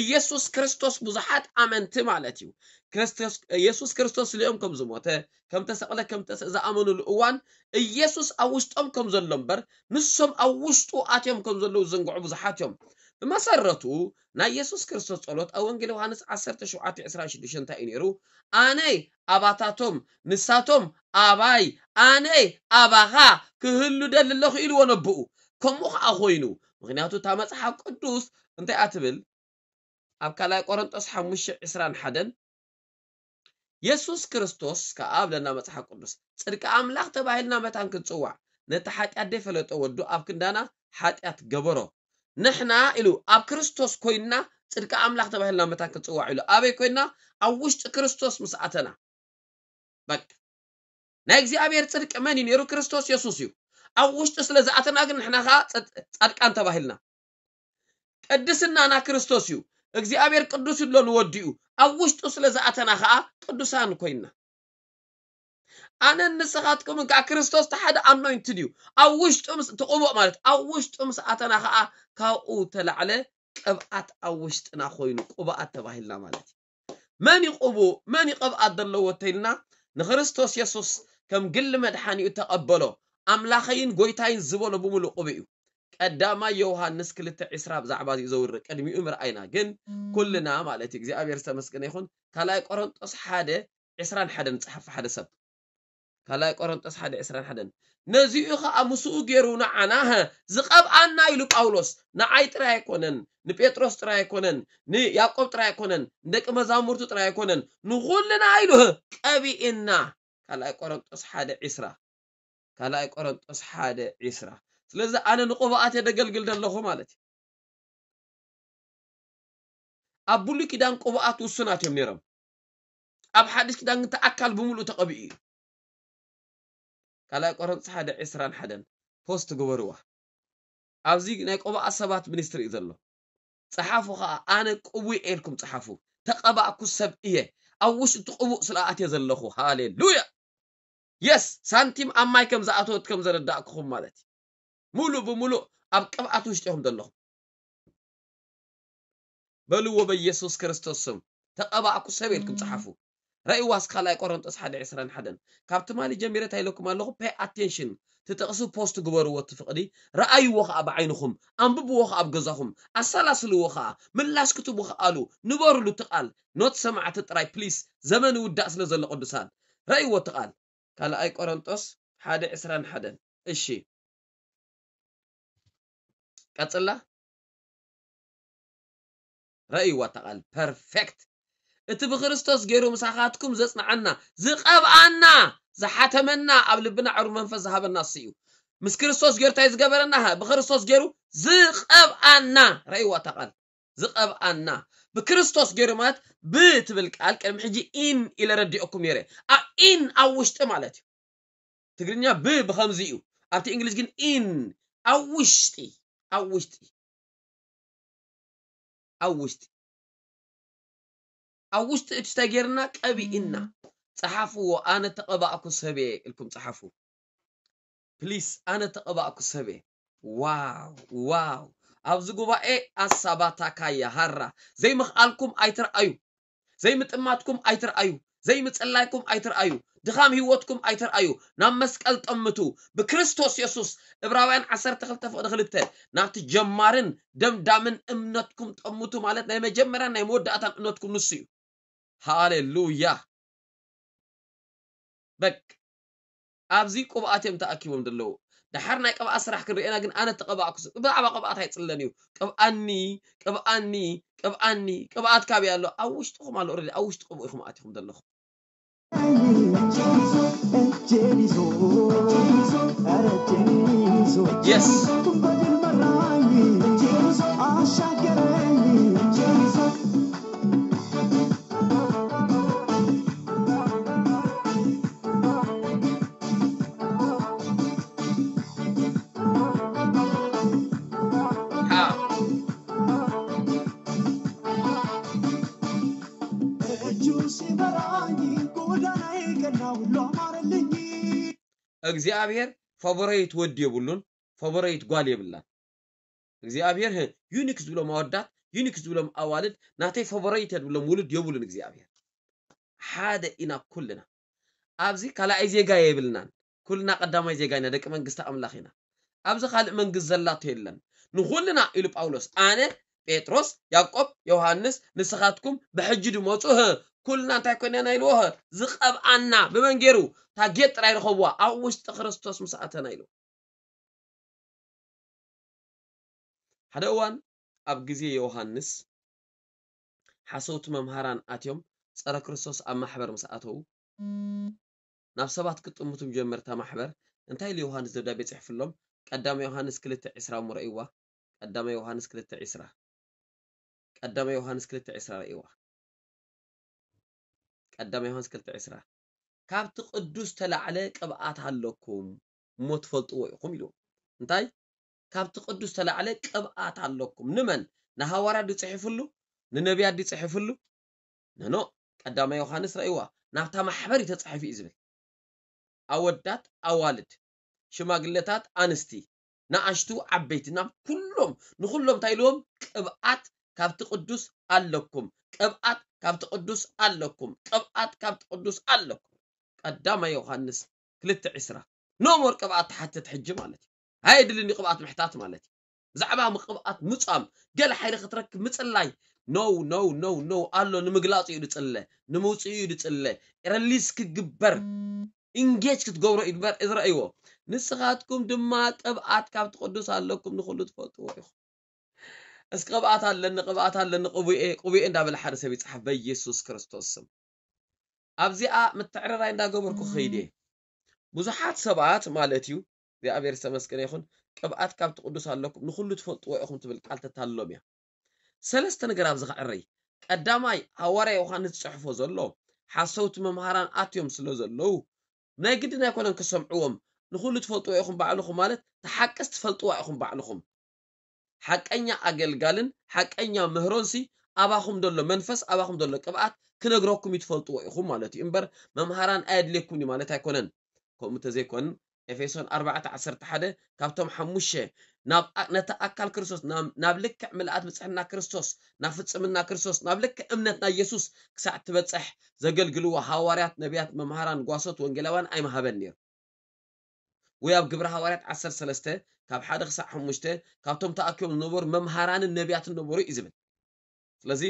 ኢየሱስ ክርስቶስ ብዙሓት ኣመንቲ ማለት እዩ። ክርስቶስ፣ ኢየሱስ ክርስቶስ ስሊኦም ከም ዝሞተ፣ ከም ተሰቕለ፣ ከም ተስ-፣ ዝኣመኑሉ እዋን ኢየሱስ ኣብ ውሽጦም ከም ዘሎ እምበር ንሶም ኣብ ውሽጡ ኣትዮም ከም ዘለዉ ዝዘንግዑ ብዙሓት እዮም። ብመሰረቱ ናይ ኢየሱስ ክርስቶስ ጸሎት ኣብ ወንጌል ዮሃንስ ዓሰርተ ሸውዓተ ዕስራን ሽዱሽተን እንታይ እዩ ነይሩ? ኣነ ኣባታቶም ንሳቶም ኣባይ ኣነ ኣባኻ ክህሉ ደሊ ኣለኹ ኢልዎ ነብኡ። ከምኡ ኸዓ ኮይኑ። ምኽንያቱ እታ መጽሓፍ ቅዱስ እንታይ እያ ትብል? ኣብ ካልኣይ ቆሮንጦስ ሓሙሽተ ዕስራን ሓደን የሱስ ክርስቶስ ከኣ ብለና መጽሓፍ ቅዱስ፣ ጽድቂ ኣምላኽ ተባሂልና መታን ክንጽዋዕ፣ ነቲ ሓጢኣት ደይፈለጦ ወዱ ኣብ ክንዳና ሓጢኣት ገበሮ። ንሕና ኢሉ ኣብ ክርስቶስ ኮይንና ጽድቂ ኣምላኽ ተባሂልና መታን ክንጽዋዕ ኢሉ። ኣበይ ኮይንና? ኣብ ውሽጢ ክርስቶስ ምስ ኣተና። በቃ ናይ እግዚኣብሔር ጽድቂ መን እዩ ነይሩ? ክርስቶስ የሱስ እዩ። ኣብ ውሽጢ ስለ ዝኣተና ግን ንሕና ኸዓ ጸድ-፣ ጻድቃን ተባሂልና። ቅድስናና ክርስቶስ እዩ። እግዚኣብሔር ቅዱስ ይብሎ ንወዲኡ። ኣብ ውሽጡ ስለ ዝኣተና ኸዓ ቅዱሳን ኮይንና። ኣነን ንስኻትኩምን ከዓ ክርስቶስ እቲ ሓደ ኣኖይንትድ እዩ። ኣብ ውሽጡ ምስ፣ እቲ ቅቡእ ማለት ኣብ ውሽጡ ምስ ኣተና ኸዓ ካብኡ ተላዕለ ቅብኣት ኣብ ውሽጥና ኮይኑ ቅቡኣት ተባሂልና ማለት እዩ። መን እዩ ቅቡእ፣ መን እዩ ቅብኣት ዘለዎ ተይልና ንክርስቶስ የሱስ ከም ግሊ መድሓኒኡ ተቐበሎ። ኣምላኸይን ጎይታይን ዝበሎ ብምሉእ ቅቡእ እዩ። ቀዳማይ ዮሃንስ ክልተ ዕስራ ብዛዕባ እዚ ዘውሪ ቅድሚኡ ምርኣይና ግን ኩልና ማለት እዩ። እግዚኣብሔር ዝተመስገነ ይኹን። ካልኣይ ቆሮንጦስ ሓደ ዕስራን ሓደን ጸሓፍ ሓደ ሰብ። ካልኣይ ቆሮንጦስ ሓደ ዕስራን ሓደን። ነዚኡ ኸዓ ምስኡ ገይሩ ንዓና፣ ሀ፣ ዝቐብኣና ኢሉ ጳውሎስ፣ ንዓይ ጥራይ ኣይኮነን፣ ንጴጥሮስ ጥራይ ኣይኮነን፣ ንያዕቆብ ጥራይ ኣይኮነን፣ ንደቂ መዛሙርቱ ጥራይ ኣይኮነን፣ ንኹልና ኢሉ፣ ሀ፣ ቀቢእና። ካልኣይ ቆሮንጦስ ሓደ ዕስራ። ካልኣይ ቆሮንጦስ ሓደ ዕስራ። ስለዚ ኣነ ንቅብኣት የደገልግል ዘለኹ ማለት እዩ። ኣብ ብሉይ ኪዳን ቅቡኣት ውሱናት እዮም ነይሮም። ኣብ ሓድሽ ኪዳን ግን እቲ ኣካል ብምሉእ ተቐቢኡ እዩ። ካልኣይ ቆሮንቶስ ሓደ ዕስራን ሓደን ፖስት ግበርዋ። ኣብዚ ናይ ቅቡኣት ሰባት ሚኒስትሪ እዩ ዘሎ። ጸሓፉ ኸኣ፣ ኣነ ቅቡእ እየ ኢልኩም ጸሓፉ። ተቐባእኩ ሰብ እየ። ኣብ ውሽጢ እቲ ቅቡእ ስለ ኣትየ ዘለኹ። ሃሌሉያ! የስ፣ ሳንቲም ኣብ ማይ ከም ዝኣተወት ከም ዘረዳእኩኹም ማለት እዩ። ሙሉእ ብሙሉእ ኣብ ቅብኣት ውሽጢ ኢኹም ዘለኹም። በልዎ በኢየሱስ ክርስቶስ ስም። ተቐባእኩ ሰብ ኢልኩም ጸሓፉ። ረእይዋ እስከ ካልኣይ ቆሮንቶስ ሓደ ዕስራን ሓደን። ካብ ትማሊ ጀሚረ እንታይ ኢለኩም ኣለኹ? Pay attention። እቲ ጥቕሲ ፖስት ግበርዎ እቲ ፍቕዲ። ረኣይዎ ኸኣ ብዓይንኹም። ኣንብብዎ ኸኣ ኣብ ገዛኹም። ኣሰላስልዎ ኸኣ። ምላሽ ክትቡ ኸኣሉ። ንበሩሉ እቲ ቃል። ኖት ሰማዕቲ ጥራይ ፕሊስ። ዘመን ይውዳእ ስለ ዘሎ ቅዱሳን። ረእይዎ እቲ ቃል። ካልኣይ ቆሮንቶስ ሓደ ዕስራን ሓደን። እሺ። ቀጽላ። ረእይዋ እታ ቃል። ፐርፌክት። እቲ ብክርስቶስ ገይሩ ምሳኻትኩም ዘጽንዓና፣ ዝቐብኣና፣ ዝሓተመና፣ ኣብ ልብና ዕሩብ መንፈስ ዝሃበና እሱ እዩ። ምስ ክርስቶስ ገይሩ እንታይ ዝገበረና? ሃ፣ ብክርስቶስ ገይሩ ዝቐብኣና። ረእይዋ እታ ቃል። ዝቐብኣና። ብክርስቶስ ገይሩ ማለት ብ ትብል ቃል ቅድሚ ሕጂ ኢን ኢለ ረዲኦኩም ነይረ። ኣብ ኢን ኣብ ውሽጢ ማለት እዩ። ትግርኛ ብ ብኸምዚ እዩ። ኣብቲ እንግሊዝ ግን ኢን ኣብ ውሽጢ፣ ኣብ ውሽጢ፣ ኣብ ውሽጢ፣ ኣብ ውሽጢ እቲ ተጌርና ቀቢእና። ጸሓፍዎ፣ ኣነ ተቐባእኩ ሰብ እየ ኢልኩም ጸሓፉ። ፕሊስ፣ ኣነ ተቐባእኩ ሰብ እየ። ዋው፣ ዋው። ኣብዚ ጉባኤ ኣሳባታካያ ሃራ ዘይምኽኣልኩም ኣይትርኣዩ። ዘይምጥማትኩም ኣይትርኣዩ። ዘይምጽላይኩም ኣይትርኣዩ። ድኻም ህይወትኩም ኣይትርኣዩ። ናብ መስቀል ጠምቱ። ብክርስቶስ የሱስ፣ ዕብራውያን ዓሰርተ ክልተ ፍቕዲ ክልተ፣ ናብቲ ጀማርን ደምዳምን እምነትኩም ጠምቱ ማለት ናይ መጀመርያን ናይ መወዳእታን እምነትኩም ንሱ እዩ። ሃሌሉያ። በቅ ኣብዚ ቅብኣት እዮም ተኣኪቦም ዘለዉ። ደሓር ናይ ቅብኣት ስራሕ ክንርእየና ግን ኣነ ተቐባእኩ ስ-፣ ብዛዕባ ቅብኣት ኣይጽለን እዩ። ቅብኣኒ፣ ቅብኣኒ፣ ቅብኣኒ፣ ቅብኣት ካበይ ኣሎ? ኣብ ውሽጥኹም ኣሎ። ኦልሬዲ ኣብ ውሽጢ ቅብኡ ኢኹም ኣቲኹም ዘለኹም። የስ። እግዚኣብሔር ፋቮራይት ወዲ የብሉን፣ ፋቮራይት ጓል የብላን። እግዚኣብሔር ዩኒክ ዝብሎም ኣወዳት፣ ዩኒክ ዝብሎም ኣዋልድ፣ ናተይ ፋቮራይት ዝብሎም ውሉድ የብሉን እግዚኣብሔር። ሓደ ኢና ኩልና። ኣብዚ ካልኣይ ዜጋ የብልናን። ኩልና ቀዳማይ ዜጋ ኢና፣ ደቂ መንግስቲ ኣምላኽ ኢና። ኣብዚ ካልእ መንግስቲ ዘላቶ የለን። ንኹልና ኢሉ ጳውሎስ፣ ኣነ፣ ጴጥሮስ፣ ያዕቆብ፣ ዮሃንስ፣ ንስኻትኩም ብሕጂ ድመጹ፣ ህ፣ ኩልና እንታይ ኮይና ኢና ኢልዎ፣ ህ፣ ዝቐብኣና ብመን ገይሩ፣ እታ ጌጥ ጥራይ ረኸብዋ፣ ኣብ ውሽጢ ክርስቶስ ምስ ኣተና ኢልዎ። ሓደ እዋን ኣብ ግዜ ዮሃንስ ሓሰውቲ መምሃራን ኣትዮም ጸረ ክርስቶስ ኣብ ማሕበር ምስ ኣተዉ ናብ ሰባት ክጥምቱ ጀመርታ ማሕበር እንታይ ኢሉ ዮሃንስ ደብዳቤ ጽሕፍሎም? ቀዳማይ ዮሃንስ ክልተ ዕስራ እሞ ረእይዋ። ቀዳማይ ዮሃንስ ክልተ ዕስራ። ቀዳማይ ዮሃንስ ክልተ ዕስራ ረእይዋ። ቀዳማይ ዮሃንስ ክልተ ዕስራ። ካብቲ ቅዱስ ተላዕለ ቅብኣት ኣለኩም እሞ ትፈልጥዎ ኢኹም ኢሉ። እንታይ? ካብቲ ቅዱስ ተላዕለ ቅብኣት ኣለኩም። ንመን? ንሃዋርያት ድጽሕፍሉ? ንነቢያት ድጽሕፍሉ? ነኖ። ቀዳማይ ዮሃንስ ረእይዋ። ናብታ ማሕበር እዩ ተጻሒፉ እዩ ዝብል። ኣወዳት ኣዋልድ፣ ሽማግለታት ኣንስቲ፣ ንኣሽቱ ዓበይቲ፣ ናብ ኩሎም ንኹሎም እንታይ ኢልዎም? ቅብኣት ካብቲ ቅዱስ ኣለኩም፣ ቅብኣት ካብቲ ቅዱስ ኣለኩም፣ ቅብኣት ካብቲ ቅዱስ ኣለኩም። ቀዳማይ ዮሃንስ ክልተ ዕስራ። ኖሞር ቅብኣት ትሓትት ሕጂ ማለት እዩ። ኣየድልን እዩ ቅብኣት ምሕታት ማለት እዩ። ብዛዕባ ምቅብኣት ምጻም ገለ ሓይሊ ክትረክብ ምጽላይ። No, no, no, no። ኣሎ ንምግላጹ እዩ ድጽለ፣ ንምውጽኡ እዩ ድጽለ። ረሊስ ክግበር ኢንጌጅ ክትገብሮ እዩ ድበር እዚ ረእይዎ። ንስኻትኩም ድማ ቅብኣት ካብ ትቅዱስ ኣለኩም፣ ንኹሉ ትፈልጥዎ ኢኹም። እስኪ ቅብኣት ኣለኒ፣ ቅብኣት ኣለኒ፣ ቅቡኤ፣ ቅቡኤ እንዳበለ ሓደ ሰብ ይጽሓፍ በኢየሱስ ክርስቶስ ስም። ኣብዚኣ ምትዕርራይ እንዳገበርኩ ክኸይድ እየ። ብዙሓት ሰባት ማለት እዩ፣ እግዚኣብሔር ዝተመስገነ ይኹን፣ ቅብኣት ካብ ትቅዱስ ኣለኩም፣ ንኹሉ ትፈልጥዎ ኢኹም ትብል ቃል ተታልሎም እያ። ሰለስተ ነገር ኣብዚ ከዕረይ። ቀዳማይ፣ ሃዋርያ ዮሃንስ ዝጽሕፎ ዘሎ፣ ሓሰውቲ መምሃራን ኣትዮም ስለ ዘለዉ፣ ናይ ግድን ኣይኮነን ክሰምዕዎም። ንኹሉ ትፈልጥዎ ኢኹም ባዕልኹም ማለት፣ ተሓቅስ ትፈልጥዋ ኢኹም ባዕልኹም። ሓቀኛ ኣገልጋልን ሓቀኛ ምህሮንሲ ኣባኹም ዘሎ መንፈስ፣ ኣባኹም ዘሎ ቅብኣት ክነግረኩም እዩ ትፈልጥዎ ኢኹም ማለት እዩ። እምበር መምሃራን ኣየድልየኩም እዩ ማለት ኣይኮነን። ከምኡ እንተዘይኮን ኤፌሶን ኣርባዕተ ዓሰርተ ሓደ ካብቶም ሓሙሽተ ናብ ኣ-፣ ነቲ ኣካል ክርስቶስ ናብ፣ ናብ ልክዕ ምልኣት ብጽሕና ክርስቶስ፣ ናብ ፍጽምና ክርስቶስ፣ ናብ ልክዕ እምነት ናይ የሱስ ክሳዕ ትበጽሕ ዘገልግልዎ ሃዋርያት፣ ነቢያት፣ መምሃራን፣ ጓሶት፣ ወንጌላውያን ኣይምሃበን ነይሩ። ወይ ኣብ ግብረ ሃዋርያት ዓሰርተ ሰለስተ ካብ ሓደ ክሳዕ ሓሙሽተ ካብቶም ተኣኪቦም ዝነበሩ መምሃራንን ነቢያትን ነበሩ እዩ ዝብል። ስለዚ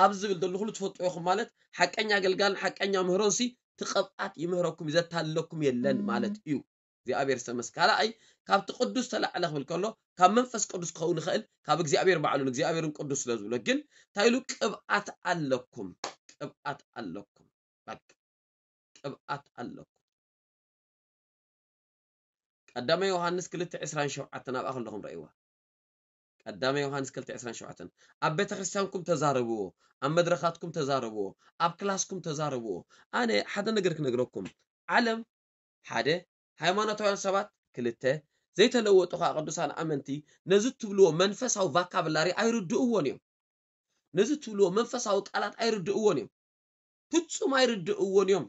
ኣብዚ ዝብል ዘሎ ኩሉ ትፈልጡ ኢኹም ማለት ሓቀኛ ኣገልጋልን ሓቀኛ ምህሮንሲ እቲ ቅብኣት ይምህረኩም እዩ፣ ዘታልለኩም የለን ማለት እዩ። እግዚኣብሔር ዝተመስ-፣ ካልኣይ ካብቲ ቅዱስ ተላዕለ ክብል ከሎ ካብ መንፈስ ቅዱስ ክኸውን ይኽእል፣ ካብ እግዚኣብሔር ባዕሉ ንእግዚኣብሔርን ቅዱስ ስለ ዝብሎ። ግን እንታይ ኢሉ? ቅብኣት ኣለኩም፣ ቅብኣት ኣለኩም፣ በቃ ቅብኣት ኣለኩም። ቀዳማይ ዮሃንስ ክልተ ዕስራን ሸውዓተን ኣብኣ ከለኹም ረእይዋ። ቀዳማይ ዮሃንስ ክልተ ዕስራን ሸውዓተን ኣብ ቤተ ክርስቲያንኩም ተዛረብዎ፣ ኣብ መድረኻትኩም ተዛረብዎ፣ ኣብ ክላስኩም ተዛረብዎ። ኣነ ሓደ ነገር ክነግረኩም። ዓለም ሓደ፣ ሃይማኖታውያን ሰባት ክልተ፣ ዘይተለወጡ ከዓ ቅዱሳን ኣመንቲ ነዚ ትብልዎ መንፈሳዊ ቫካብላሪ ኣይርድእዎን እዮም። ነዚ ትብልዎ መንፈሳዊ ቃላት ኣይርድእዎን እዮም። ፍጹም ኣይርድእዎን እዮም።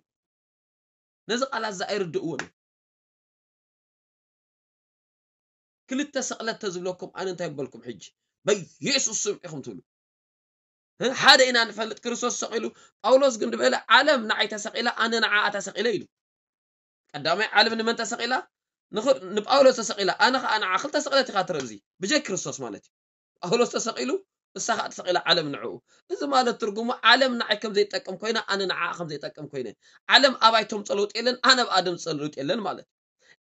ነዚ ቃላት እዚ ኣይርድእዎን እዮም። ክልተ ስቕለት ተዝብለኩም ኣነ እንታይ በልኩም ሕጂ? በኢየሱስ ስም ኢኹም ትብሉ። እ? ሓደ ኢና ንፈልጥ፣ ክርስቶስ ተሰቒሉ። ጳውሎስ ግን ዝበለ ዓለም ንዓይ ተሰቒላ፣ ኣነ ንዓኣ ተሰቒለ ኢሉ። ቀዳማይ ዓለም ንመን ተሰቒላ? ንኽ-፣ ንጳውሎስ ተሰቒላ፣ ኣነ ኸዓ ንዓ። ክልተ ስቕለት ኢኻ ትርኢ ኣብዚ፣ ብጀይ ክርስቶስ ማለት እዩ። ጳውሎስ ተሰቒሉ፣ እሳ ኸዓ ተሰቒላ ዓለም ንዕኡ። እዚ ማለት ትርጉሙ ዓለም ንዓይ ከም ዘይጠቅም ኮይና፣ ኣነ ንዓኣ ከም ዘይጠቅም ኮይነ። ዓለም ኣባይ ተምጸ ለውጢ የለን፣ ኣነ ኣብኣ ደምጸ ለውጢ የለን ማለት እዩ።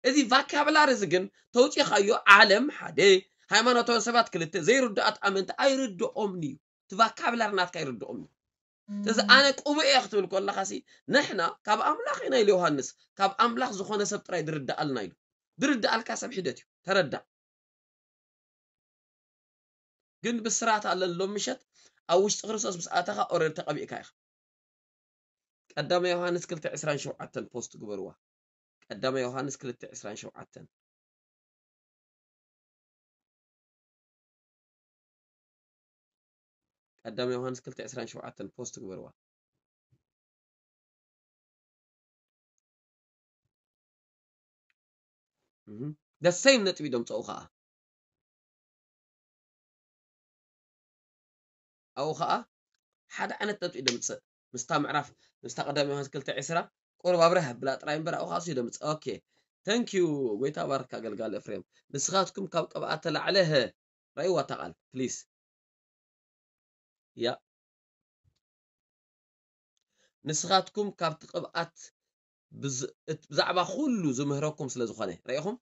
እዚ ቫካብላሪ እዚ ግን ተውጺኻዮ፣ ዓለም ሓደ፣ ሃይማኖታውያን ሰባት ክልተ፣ ዘይርድኣት ኣመንቲ ኣይርድኦምን እዩ። እቲ ቫካብላሪ ናትካ ኣይርድኦም እዩ። ስለዚ ኣነ ቅቡእ እየ ክትብል ከለኻ ሲ፣ ንሕና ካብ ኣምላኽ ኢና ኢሉ ዮሃንስ፣ ካብ ኣምላኽ ዝኾነ ሰብ ጥራይ ድርድኣልና ኢሉ። ድርድኣልካ ሰብ ሒደት እዩ። ተረዳእ። ግን ብስራት ኣለኒ ሎም ምሸት ኣብ ውሽጢ ክርስቶስ ምስ ኣተኻ ኦረድ ተቐቢእካ ኢኻ። ቀዳማይ ዮሃንስ ክልተ ዕስራን ሸውዓተን ፖስት ግበርዋ። ቀዳማይ ዮሃንስ ክልተ ዕስራን ሸውዓተን። ቀዳማይ ዮሃንስ ክልተ ዕስራን ሸውዓተን ፖስት ግበርዋ። the same ነጥቢ ደምፀኡ ከዓ ኣብኡ ከዓ ሓደ ዓይነት ነጥቢ ደምፅእ ምስታ ምዕራፍ ምስታ ቀዳማይ ዮሃንስ ክልተ ዕስራ ቁሩብ ኣብረህ ብላ ጥራይ እምበር ኣብኡ ከዓ እሱ ደምፅእ okay thank you ጎይታ ባርካ ኣገልጋሊ እፍሬም ንስኻትኩም ካብ ቅብኣት ተላዕለ ሀ ረእይዋ እታ ቃል please ያ ንስኻትኩም ካብቲ ቅብኣት ብዛዕባ ኩሉ ዝምህረኩም ስለ ዝኾነ ርኢኹም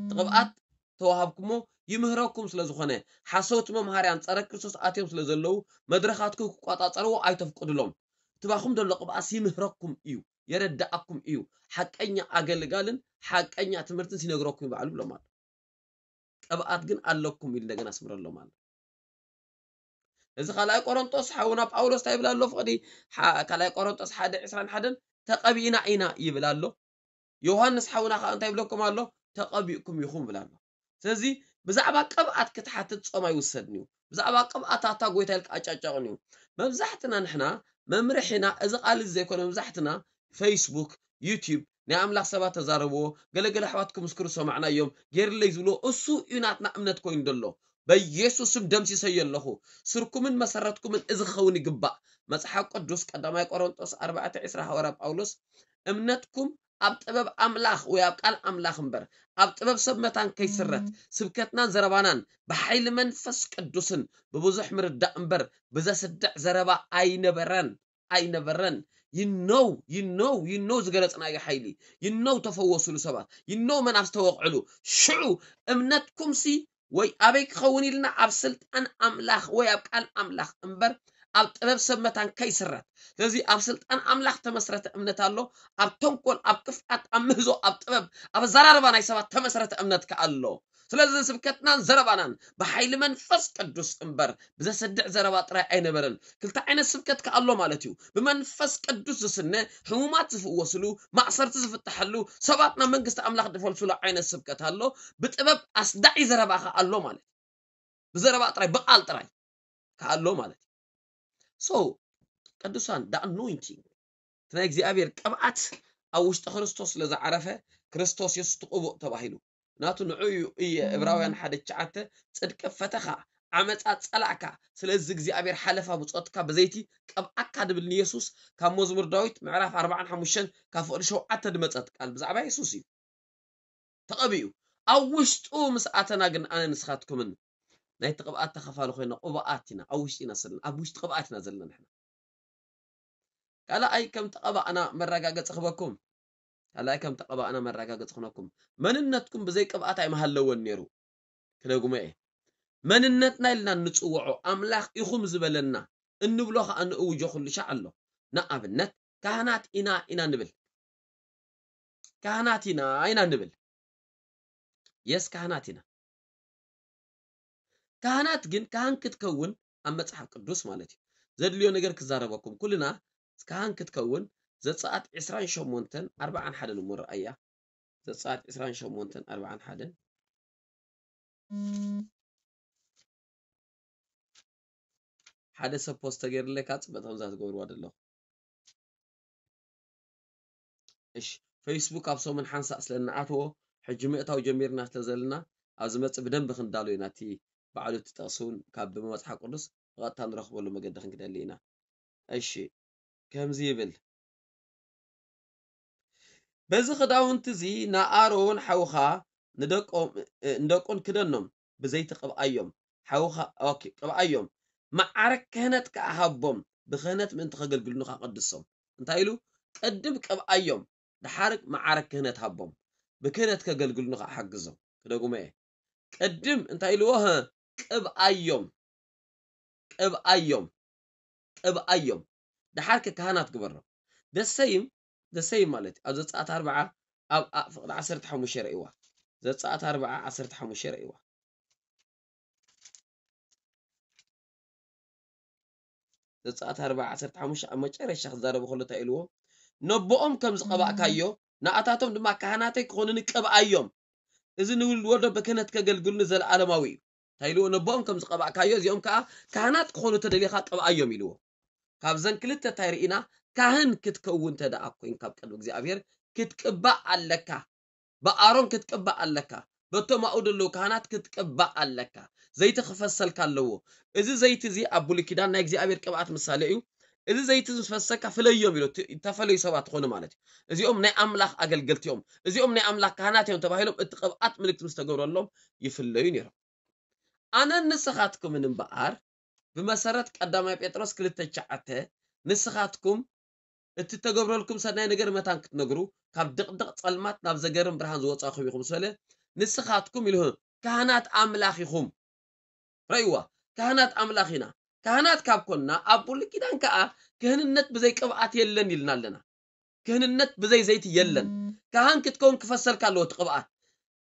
እቲ ቅብኣት ተዋሃብኩሞ ይምህረኩም ስለ ዝኾነ ሓሰውቲ መምሃርያን ጸረ ክርስቶስ ኣትዮም ስለ ዘለዉ መድረኻትኩም ክቋጻጸርዎ ኣይተፍቅዱሎም ትባኹም ዘሎ ቅብኣስ ይምህረኩም እዩ የረዳኣኩም እዩ ሓቀኛ ኣገልጋልን ሓቀኛ ትምህርትን ሲነግረኩም ይባዕሉ ብሎም ኣሎ ቅብኣት ግን ኣለኩም ኢሉ እንደገና ስምረሎም ኣሎ እዚ ካልኣይ ቆሮንጦስ ሓውና ጳውሎስ እንታይ ይብል ኣሎ ፍቕዲ ካልኣይ ቆሮንጦስ ሓደ ዕስራን ሓደን ተቐቢእና ኢና ይብል ኣሎ ዮሃንስ ሓውና ከዓ እንታይ ይብለኩም ኣሎ ተቐቢእኩም ይኹም ይብል ኣሎ ስለዚ ብዛዕባ ቅብኣት ክትሓትት ጾም ኣይውሰድን እዩ ብዛዕባ ቅብኣት ኣታ ጎይታ ኢልካ ኣጫጫቕን እዩ መብዛሕትና ንሕና መምርሒና እዚ ቃል እዚ ዘይኮነ መብዛሕትና ፌስቡክ ዩቲዩብ ናይ ኣምላኽ ሰባት ተዛረብዎ ገለገለ ኣሕዋት ክምስክሩ ሰማዕናዮም ገይርለይ ዝብልዎ እሱ እዩ ናትና እምነት ኮይኑ ዘሎ በኢየሱስ ስም ደምሲሰዮ ኣለኹ ስርኩምን መሰረትኩምን እዚ ክኸውን ይግባእ መጽሓፍ ቅዱስ ቀዳማይ ቆሮንጦስ ኣርባዕተ ዕስራ ሃዋርያ ጳውሎስ እምነትኩም ኣብ ጥበብ ኣምላኽ ወይ ኣብ ቃል ኣምላኽ እምበር ኣብ ጥበብ ሰብ መታን ከይስረት ስብከትናን ዘረባናን ብሓይሊ መንፈስ ቅዱስን ብብዙሕ ምርዳእ እምበር ብዘስድዕ ዘረባ ኣይነበረን ኣይነበረን you know you know you know ዝገለጽናዮ ሓይሊ you know ተፈወስሉ ሰባት you know መናፍስ ተወቕዕሉ ሽዑ እምነትኩምሲ ወይ ኣበይ ክኸውን ኢልና ኣብ ስልጣን ኣምላኽ ወይ ኣብ ቃል ኣምላኽ እምበር ኣብ ጥበብ ሰብ መታን ከይስረት ስለዚ ኣብ ስልጣን ኣምላኽ ተመስረተ እምነት ኣሎ ኣብ ተንኮል ኣብ ክፍኣት ኣብ ምህዞ ኣብ ጥበብ ኣብ ኣዘራርባ ናይ ሰባት ተመስረተ እምነት ከኣ ኣሎ ስለዚ ስብከትናን ዘረባናን ብሓይሊ መንፈስ ቅዱስ እምበር ብዘሰድዕ ዘረባ ጥራይ ኣይነበረን ክልተ ዓይነት ስብከት ከኣሎ ማለት እዩ ብመንፈስ ቅዱስ ዝስነ ሕሙማት ዝፍወስሉ ማእሰርቲ ዝፍትሐሉ ሰባት ናብ መንግስቲ ኣምላኽ ዝፈልሱሉ ዓይነት ስብከት ኣሎ ብጥበብ ኣስዳዒ ዘረባ ከኣሎ ማለት ብዘረባ ጥራይ ብቃል ጥራይ ከኣሎ ማለት እዩ so ቅዱሳን the anointing እቲ ናይ እግዚኣብሔር ቅብኣት ኣብ ውሽጢ ክርስቶስ ስለ ዝዓረፈ ክርስቶስ የሱስ ትቕቡእ ተባሂሉ ናቱ ንዑ እዩ እየ እብራውያን ሓደ ትሽዓተ ጽድቂ ፈተኻ ዓመፃ ጸላእካ ስለዚ እግዚኣብሔር ሓለፋ ብፆትካ ብዘይቲ ቀብኣካ ድብል ንየሱስ ካብ መዝሙር ዳዊት ምዕራፍ ኣርባዓን ሓሙሽተን ካብ ፍቕዲ ሸውዓተ ድመፀት ቃል ብዛዕባ የሱስ እዩ ተቐቢኡ ኣብ ውሽጡ ምስ ኣተና ግን ኣነ ንስኻትኩምን ናይቲ ቅብኣት ተኸፋሊ ኮይና ቅቡኣት ኢና ኣብ ውሽጢ ኢና ዘለና ኣብ ውሽጢ ቅብኣት ኢና ዘለና ንሕና ካልኣይ ከም ተቐባእና መረጋገፂ ክበኩም ካልኣይ ከም ተቐባእና መረጋገፂ ክነኩም መንነትኩም ብዘይ ቅብኣት ኣይምሃለወን ነይሩ ክደግሞ እየ መንነትና ኢልና እንፅውዖ ኣምላኽ ኢኹም ዝበለና እንብሎ ከዓ ንእውጆ ኩሉ ሻዕ ኣሎ ንኣብነት ካህናት ኢና ኢና ንብል ካህናት ኢና ኢና ንብል የስ ካህናት ኢና ካህናት ግን ካህን ክትከውን ኣብ መፅሓፍ ቅዱስ ማለት እዩ ዘድልዮ ነገር ክዛረበኩም ኩልና ካህን ክትከውን ዘፀኣት ዕስራን ሸሞንተን ኣርባዓን ሓደን እሞ ረኣያ ዘፀኣት ዕስራን ሸሞንተን ኣርባዓን ሓደን ሓደ ሰብ ፖስት ተገይርለይ ካብ ፅበጥ ከምዛ ትገብርዋ ዘለኹ እሺ ፌስቡክ ኣብ ሰሙን ሓንሳእ ስለ እንኣትዎ ሕጂ ምእታው ጀሚርና ስለ ዘለና ኣብ ዝመፅእ ብደንቢ ክንዳሎ ኢና እቲ ባዕሉ እቲ ጥቕሲ እውን ካብ ብመፅሓፍ ቅዱስ ብቐጥታ ንረኽበሉ መገዲ ክንክደሊ ኢና እሺ ከምዚ ይብል በዚ ክዳውንቲ እዚ ንኣሮን ሓውኻ ንደቆም ንደቁን ክደኖም ብዘይቲ ቅብኣዮም ሓውኻ ኦኬ ቅብኣዮም መዓረ ክህነት ከኣ ሃቦም ብክህነት ምእንቲ ከገልግሉኒ ከኣ ቀድሶም እንታይ ኢሉ ቅድም ቅብኣዮም ድሓር መዓረ ክህነት ሃቦም ብክህነት ከገልግሉኒ ከኣ ሓግዞም ክደግሞ እየ ቅድም እንታይ ኢልዎ ቅብኣዮም ቅብኣዮም ቅብኣዮም ድሓር ከ ካህናት ግበሮም ደሰይም ደሰይም ማለት ኣብ ዘፀኣት ኣርባዓ ኣብ ፍቕዲ ዓሰርተ ሓሙሽተ ረእይዋ ዘፀኣት ኣርባዓ ዓሰርተ ሓሙሽተ ረእይዋ ዘፀኣት ኣርባዓ ዓሰርተ ሓሙሽተ ኣብ መጨረሻ ክዛረቡ ከሎ እንታይ ኢልዎ ነቦኦም ከም ዝቐባእካዮ ንኣታቶም ድማ ካህናተይ ክኾኑኒ ቅብኣዮም እዚ ንውልድ ወልዶ ብክህነት ከገልግሉኒ ዘለኣለማዊ እዩ እንታይ ኢልዎ ነቦኦም ከም ዝቐባእካዮ እዚኦም ከዓ ካህናት ክኾኑ ተደሊኻ ቅብኣዮም ኢልዎ ካብዘን ክልተ እንታይ ርኢና ካህን ክትከውን ተደኣ ኮይን ካብ ቅድሚ እግዚኣብሔር ክትቅባእ ኣለካ ብኣሮን ክትቅባእ ኣለካ። በቶም ኣብኡ ዘለዉ ካህናት ክትቅባእ ኣለካ። ዘይቲ ክፈሰልካ ኣለዎ። እዚ ዘይቲ እዚ ኣብ ብሉይ ኪዳን ናይ እግዚኣብሔር ቅብኣት ምሳሌ እዩ። እዚ ዘይቲ ዝፈሰካ ፍለዮም ኢሉ፣ እቲ እተፈለዩ ሰባት ትኾኑ ማለት እዩ። እዚኦም ናይ ኣምላኽ ኣገልገልቲ እዮም። እዚኦም ናይ ኣምላኽ ካህናት እዮም ተባሂሎም እቲ ቅብኣት ምልክት ምስ ተገብረሎም ይፍለዩ ነይሮም። ኣነን ንስኻትኩምን እምበኣር ብመሰረት ቀዳማይ ጴጥሮስ ክልተ ትሽዓተ ንስኻትኩም እቲ ተገብረልኩም ሰናይ ነገር መታን ክትነግሩ ካብ ድቕድቕ ጸልማት ናብ ዘገርም ብርሃን ዝወጻኹም ኢኹም ስለ ንስኻትኩም ኢልሁ ካህናት ኣምላኽ ኢኹም። ረእይዋ፣ ካህናት ኣምላኽ ኢና። ካህናት ካብ ኮንና ኣብ ብሉይ ኪዳን ከኣ ክህንነት ብዘይ ቅብኣት የለን ኢልና ኣለና። ክህንነት ብዘይ ዘይቲ የለን። ካህን ክትከውን ክፈሰልካ ኣለዎ እቲ ቅብኣት።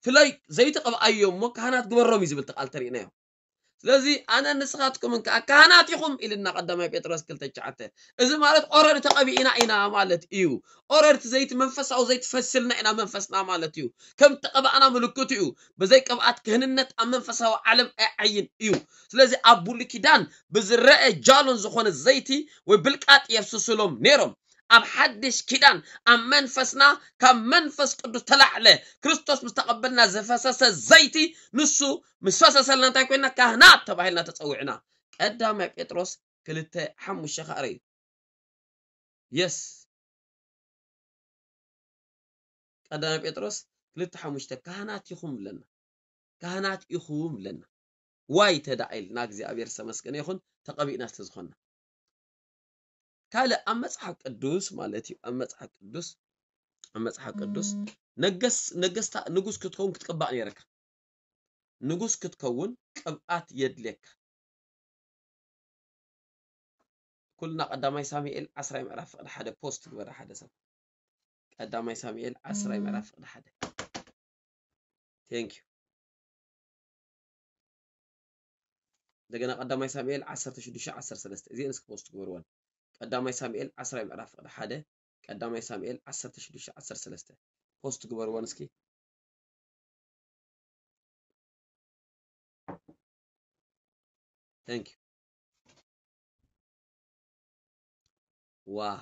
ፍለይ ዘይቲ ቅብኣዮ እሞ ካህናት ግበሮም እዩ ዝብል እቲ ቃል ተሪእናዮ። ስለዚ ኣነ ንስኻትኩምን ከኣ ካህናት ኢኹም ኢልና ቀዳማይ ጴጥሮስ ክልተ ትሽዓተ። እዚ ማለት ኦረዲ ተቐቢእና ኢና ማለት እዩ። ኦረዲ ዘይቲ መንፈሳዊ ዘይቲ ፈስልና ኢና መንፈስና ማለት እዩ። ከም ተቐባእና ምልክቱ እዩ። ብዘይ ቅብኣት ክህንነት ኣብ መንፈሳዊ ዓለም ኣይዓይን እዩ። ስለዚ ኣብ ብሉይ ኪዳን ብዝረአ ጃሎን ዝኾነ ዘይቲ ወይ ብልቃጥ የፍስስሎም ነይሮም። ኣብ ሓድሽ ኪዳን ኣብ መንፈስና ካብ መንፈስ ቅዱስ ተላዕለ ክርስቶስ ምስ ተቐበልና ዝፈሰሰ ዘይቲ ንሱ ምስ ፈሰሰልና እንታይ ኮይና ካህናት ተባሂልና ተጸዊዕና። ቀዳማይ ጴጥሮስ ክልተ ሓሙሽተ ከኣ ርእዩ። የስ ቀዳማይ ጴጥሮስ ክልተ ሓሙሽተ ካህናት ኢኹም ብለና። ካህናት ኢኹም ብለና። ዋይ ተዳኣ ኢልና እግዚኣብሔር ዝተመስገነ ይኹን ተቐቢእና ስለ ዝኾንና። ካልእ ኣብ መጽሓፍ ቅዱስ ማለት እዩ ኣብ መጽሓፍ ቅዱስ ኣብ መጽሓፍ ቅዱስ ነገስ ነገስታ ንጉስ ክትከውን ክትቅባእ ነይረካ። ንጉስ ክትከውን ቅብኣት የድልየካ። ኩልና ቀዳማይ ሳሙኤል ዓስራይ ምዕራፍ ፍቕዲ ሓደ ፖስት ግበረ ሓደ ሰብ ቀዳማይ ሳሙኤል ዓስራይ ምዕራፍ ፍቕዲ ሓደ thank you እንደገና ቀዳማይ ሳሙኤል ዓሰርተ ሽዱሽተ ዓሰርተ ሰለስተ እዚኤን እስኪ ፖስት ግበርወን ቀዳማይ ሳሙኤል ዓስራይ ምዕራፍ ፍቕዲ ሓደ ቀዳማይ ሳሙኤል ዓሰርተ ሽዱሽተ ዓሰርተ ሰለስተ ፖስት ግበርወን እስኪ thank you wow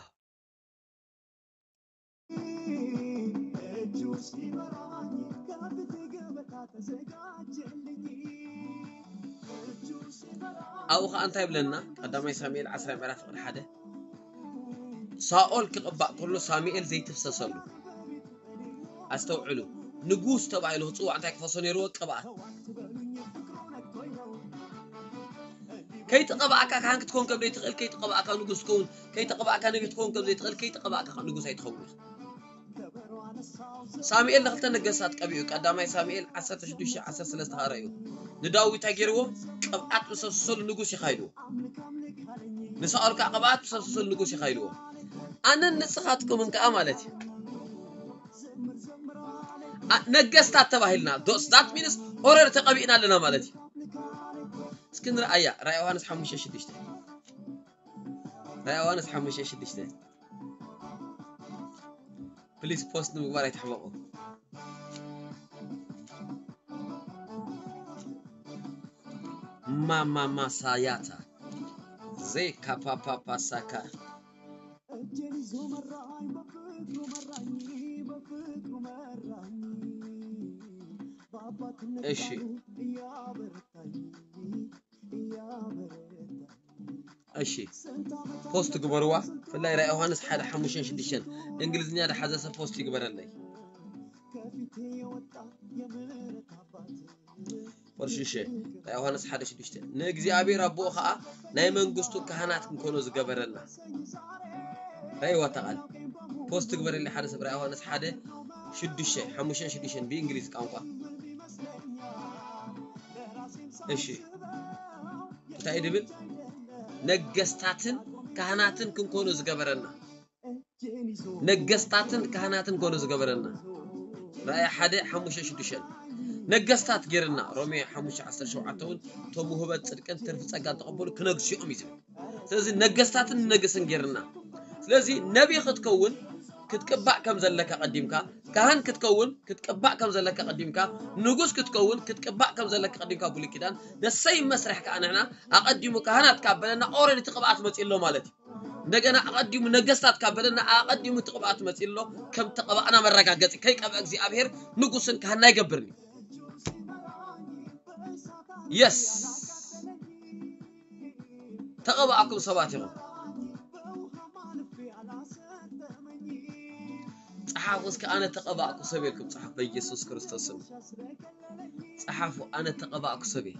ኣብኡ ከዓ እንታይ ይብለና ቀዳማይ ሳሙኤል ዓስራ ምዕራፍ ፍቕዲ ሓደ ሳኦል ክቕባእ ከሎ ሳሙኤል ዘይትፍሰሰሉ ኣስተውዕሉ ንጉስ ተባሂሉ ክፅዋዕ እንታይ ክፈሶ ነይርዎ ቅብኣት ከይተቐባእካ ካህን ክትከውን ከም ዘይትኽእል ከይተቐባእካ ንጉስ ትኸውን ከይተቐባእካ ነቢ ክትከውን ከም ዘይትኽእል ከይተቐባእካ ንጉስ ኣይትኸውን ኢኻ ሳሙኤል ንክልተ ነገስታት ቀቢኡ ቀዳማይ ሳሙኤል ዓሰርተ ሽዱሽተ ዓሰርተ ሰለስተ ከኣ ረእዩ ንዳዊት ኣገይርዎ ቅብኣት ብሰሰሉ ንጉስ ይኻይድዎ ንሳኦል ከዓ ቅብኣት ብሰሰሉ ንጉስ ይኻይድዎ ኣነን ንስኻትኩምን ከዓ ማለት እዩ ነገስታት ተባሂልና ዶስ ዳት ሚንስ ኦረር ተቐቢእና ኣለና ማለት እዩ እስኪ ንርኣያ ራእይ ዮሃንስ ሓሙሽተ ሽዱሽተ ራእይ ዮሃንስ ሓሙሽተ ሽዱሽተ ፕሊስ ፖስት ንምግባር ኣይትሕመቑ ማማማሳያታ ዜካፓፓፓሳካ እሺ እሺ ፖስት ግበርዋ ፍላይ ራይ ዮሃንስ ሓደ ሓሙሽተን ሽዱሽተን እንግሊዝኛ ደሓዘ ሰብ ፖስት ይግበረለይ ወርሽሸ ራይ ዮሃንስ ሓደ ሽዱሽተ ንእግዚኣብሔር ኣቦኡ ከዓ ናይ መንግስቱ ካህናት ክንኮኖ ዝገበረና ራይ ወተቓል ፖስት ግበረለይ ሓደ ሰብ ራይ ዮሃንስ ሓደ ሽዱሽተ ሓሙሽተን ሽዱሽተን ብእንግሊዝ ቋንቋ እሺ እንታይ ድብል ነገስታትን ካህናትን ክንኮኑ ዝገበረና ነገስታትን ካህናትን ኮኑ ዝገበረና ራእይ ሓደ ሓሙሽተ ሽዱሽተ ነገስታት ጌርና ሮሜ ሓሙሽተ ዓሰርተ ሸውዓተ እውን እቶም ውህበት ፅድቅን ትርፊ ፀጋ ተቐበሉ ክነግስኦም እዩ ዝብል ስለዚ ነገስታትን ንነግስን ጌርና ስለዚ ነቢ ክትከውን ክትቅባእ ከም ዘለካ ቀዲምካ ካህን ክትከውን ክትቅባእ ከም ዘለካ ቀዲምካ ንጉስ ክትከውን ክትቅባእ ከም ዘለካ ቀዲምካ ብሉይ ኪዳን ደሰይ መስርሕ ከዓ ንሕና ኣቐዲሙ ካህናት ካብ በለና ኦረዲ እቲ ቅብኣት መፂ ኣሎ ማለት እዩ እንደገና ኣቐዲሙ ነገስታት ካብ በለና ኣቐዲሙ እቲ ቅብኣት መጺኡ ኣሎ። ከም ተቐባእና መረጋገጺ ከይቀብአ እግዚኣብሔር ንጉስን ካህና ይገብርኒ። የስ ተቐባእኩም ሰባት ኢኹም። ጸሓፉ እስከ ኣነ ተቐባእኩ ሰብ ኢልኩም ጸሓፉ በኢየሱስ ክርስቶስ ስም። ጸሓፉ ኣነ ተቐባእኩ ሰብ እየ።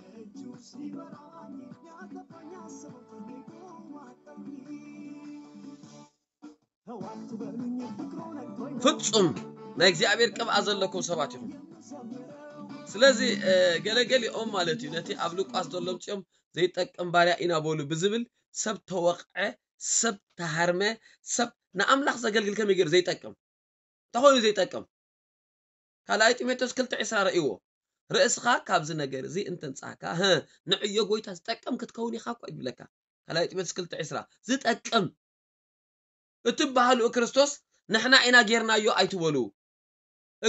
ፍጹም ናይ እግዚኣብሔር ቅብኣ ዘለኩም ሰባት ኢኹም። ስለዚ ገለገሊኦም ማለት እዩ ነቲ ኣብ ሉቃስ ዘሎ ምጽኦም ዘይጠቅም ባርያ ኢና በሉ ብዝብል ሰብ ተወቕዐ፣ ሰብ ተሃርመ፣ ሰብ ንኣምላኽ ዘገልግል ከመይ ገይሩ ዘይጠቅም እንታይ ኮይኑ ዘይጠቅም? ካልኣይ ጢሞቴዎስ ክልተ ዕስራ ረእይዎ። ርእስኻ ካብዚ ነገር እዚ እንተንጻህካ፣ ህእ፣ ንዕዮ ጎይታ ዝጠቅም ክትከውን ኢኻ እኳ እዩ ዝብለካ። ካልኣይ ጢሞቴዎስ ክልተ ዕስራ ዝጠቅም እትበሃሉ ክርስቶስ ንሕና ኢና ጌርናዮ ኣይትበሉ።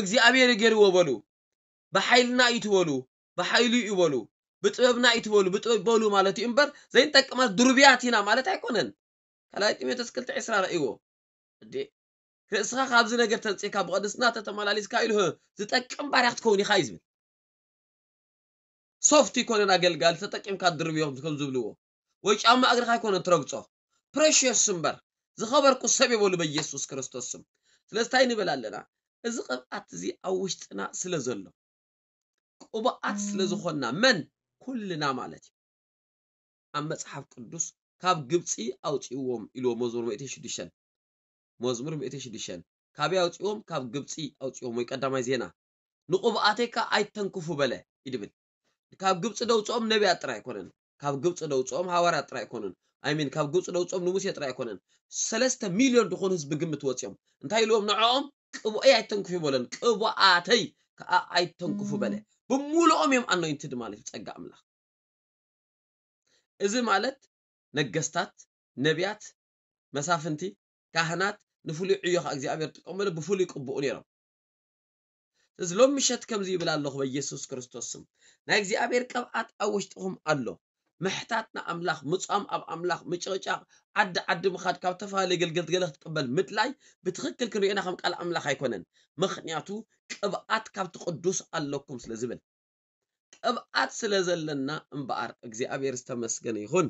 እግዚኣብሔር ገይርዎ በሉ። ብሓይልና እዩ ትበሉ፣ ብሓይሉ እዩ በሉ፣ ብጥበብና እዩ ትበሉ፣ ብጥበብ በሉ ማለት እዩ እምበር ዘይንጠቅማት ድሩብያት ኢና ማለት ኣይኮነን። ካልኣይ ጢሞቴዎስ ክልተ ዕስራ ረእይዎ። እዴ ርእስኻ ካብዚ ነገር ተንጺካ ብቕድስና ተተመላሊስካ ኢሉ ዝጠቅም ባርያ ክትከውን ኢኻ እዩ ዝብል። ሶፍት ይኮነን ኣገልጋሊ ተጠቂምካ ድርብዮ ከም ዝብልዎ ወይ ጫማ እግርኻ ኣይኮነን ትረግጾ። ፕሬሽስ እምበር ዝኸበርኩ ሰብ የበሉ በኢየሱስ ክርስቶስ ስም። ስለዚ እንታይ ንብል ኣለና? እዚ ቅብኣት እዚ ኣብ ውሽጥና ስለ ዘሎ ቅቡኣት ስለ ዝኾንና መን ኩልና ማለት እዩ። ኣብ መጽሓፍ ቅዱስ ካብ ግብፂ ኣውፅእዎም ኢልዎ መዝሙር ሚእቲ ሽዱሽተ መዝሙር ሚእቲ ሽዱሽተ ካበይ ኣውፅእዎም ካብ ግብፂ ኣውፅእዎም ወይ ቀዳማይ ዜና ንቕቡኣተይ ከዓ ኣይተንክፉ በለ ይድብል ካብ ግብፂ ደውፅኦም ነቢያት ጥራይ ኣይኮነን ካብ ግብፂ ደውፅኦም ሃዋርያት ጥራይ ኣይኮነን ኣይሚን ካብ ግብፂ ደውፅኦም ንሙሴ ጥራይ ኣይኮነን ሰለስተ ሚልዮን ዝኾኑ ህዝቢ ግምት ወፂኦም እንታይ ኢልዎም ንዕኦም ቅቡኣይ ኣይተንክፉ በለን ቅቡኣተይ ከዓ ኣይተንክፉ በለ ብሙሉኦም እዮም ኣኖይንትድ ማለት እዩ ፀጋ ኣምላኽ እዚ ማለት ነገስታት ነቢያት መሳፍንቲ ካህናት ንፍሉይ ዕዮ ከዓ እግዚኣብሔር ጥቀመሉ ብፍሉይ ቅቡኡ ነይሮም እዚ ሎም ምሸት ከምዚ ይብል ኣለኹ በኢየሱስ ክርስቶስ ስም ናይ እግዚኣብሔር ቅብኣት ኣብ ውሽጥኹም ኣሎ ምሕታት ንኣምላኽ ምፃም ኣብ ኣምላኽ ምጭቕጫቕ ዓዲ ዓዲ ምኻድ ካብ ተፈላለየ ገልገልት ገለ ክትቅበል ምድላይ ብትኽክል ክንሪኦና ከም ቃል ኣምላኽ ኣይኮነን ምኽንያቱ ቅብኣት ካብቲ ቅዱስ ኣለኩም ስለ ዝብል ቅብኣት ስለ ዘለና እምበኣር እግዚኣብሔር ዝተመስገነ ይኹን።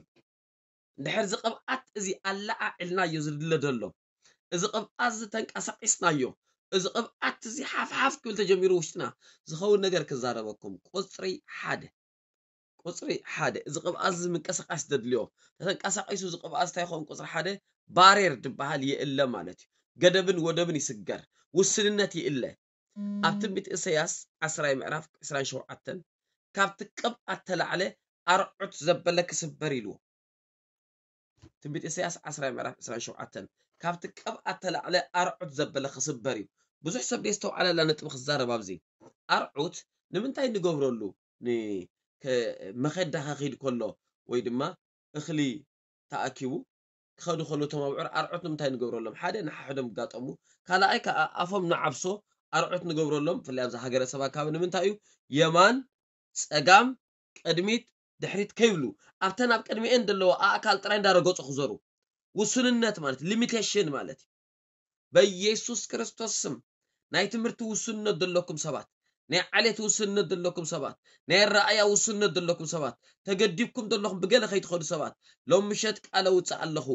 እንድሕር እዚ ቅብኣት እዚ ኣለዓዒልናዮ ዝድለ ዘሎ እዚ ቅብኣት እዚ ተንቀሳቒስናዮ እዚ ቅብኣት እዚ ሓፍሓፍ ክብል ተጀሚሩ ውሽጥና ዝኸውን ነገር ክዛረበኩም ቁፅሪ ሓደ ቁፅሪ ሓደ እዚ ቅብኣት እዚ ምንቅስቃስ ዘድልዮ ተተንቀሳቒሱ እዚ ቅብኣት እንታይ ይኸውን ቁፅሪ ሓደ ባሬር ዝበሃል ይእለ ማለት እዩ ገደብን ወደብን ይስገር ውስንነት ይእለ ኣብ ትንቢት እሰያስ ዓስራይ ምዕራፍ ዕስራን ሸውዓተን ካብቲ ቅብኣት ተላዕለ ኣርዑት ዘበለ ክስበር ኢልዎ። ትንቢት እሰያስ ዓስራይ ምዕራፍ ዕስራን ሸውዓተን ካብቲ ቅብኣት ተላዕለ ኣርዑት ዘበለ ክስበር እዩ። ብዙሕ ሰብ ደስተውዓለላ ነጥቢ ክዛረብ ኣብዚ ኣርዑት ንምንታይ ንገብረሉ መኸዳ ከኺድ ከሎ ወይ ድማ እኽሊ ተኣኪቡ ክኸዱ ከለዉ እቶም ኣብዑር ኣርዑት ንምንታይ ንገብረሎም ሓደ ንሓሕዶም ይጋጠሙ ካልኣይ ከዓ ኣፎም ንዓብሶ ኣርዑት ንገብረሎም ብፍላይ ኣብዚ ሃገረ ሰብ ኣካባቢ ንምንታይ እዩ የማን ፀጋም ቅድሚት ድሕሪት ከይብሉ ኣብተን ኣብ ቅድሚኤን ዘለዋ ኣእካል ጥራይ እንዳረገፁ ክዘሩ ውሱንነት ማለት ሊሚቴሽን ማለት እዩ በኢየሱስ ክርስቶስ ስም ናይ ትምህርቲ ውስንነት ዘለኩም ሰባት ናይ ዓሌት ውስንነት ዘለኩም ሰባት ናይ ኣረኣያ ውስንነት ዘለኩም ሰባት ተገዲብኩም ዘለኹም ብገለ ከይትኸዱ ሰባት ሎም ምሸት ቃለ ውፅእ ኣለኹ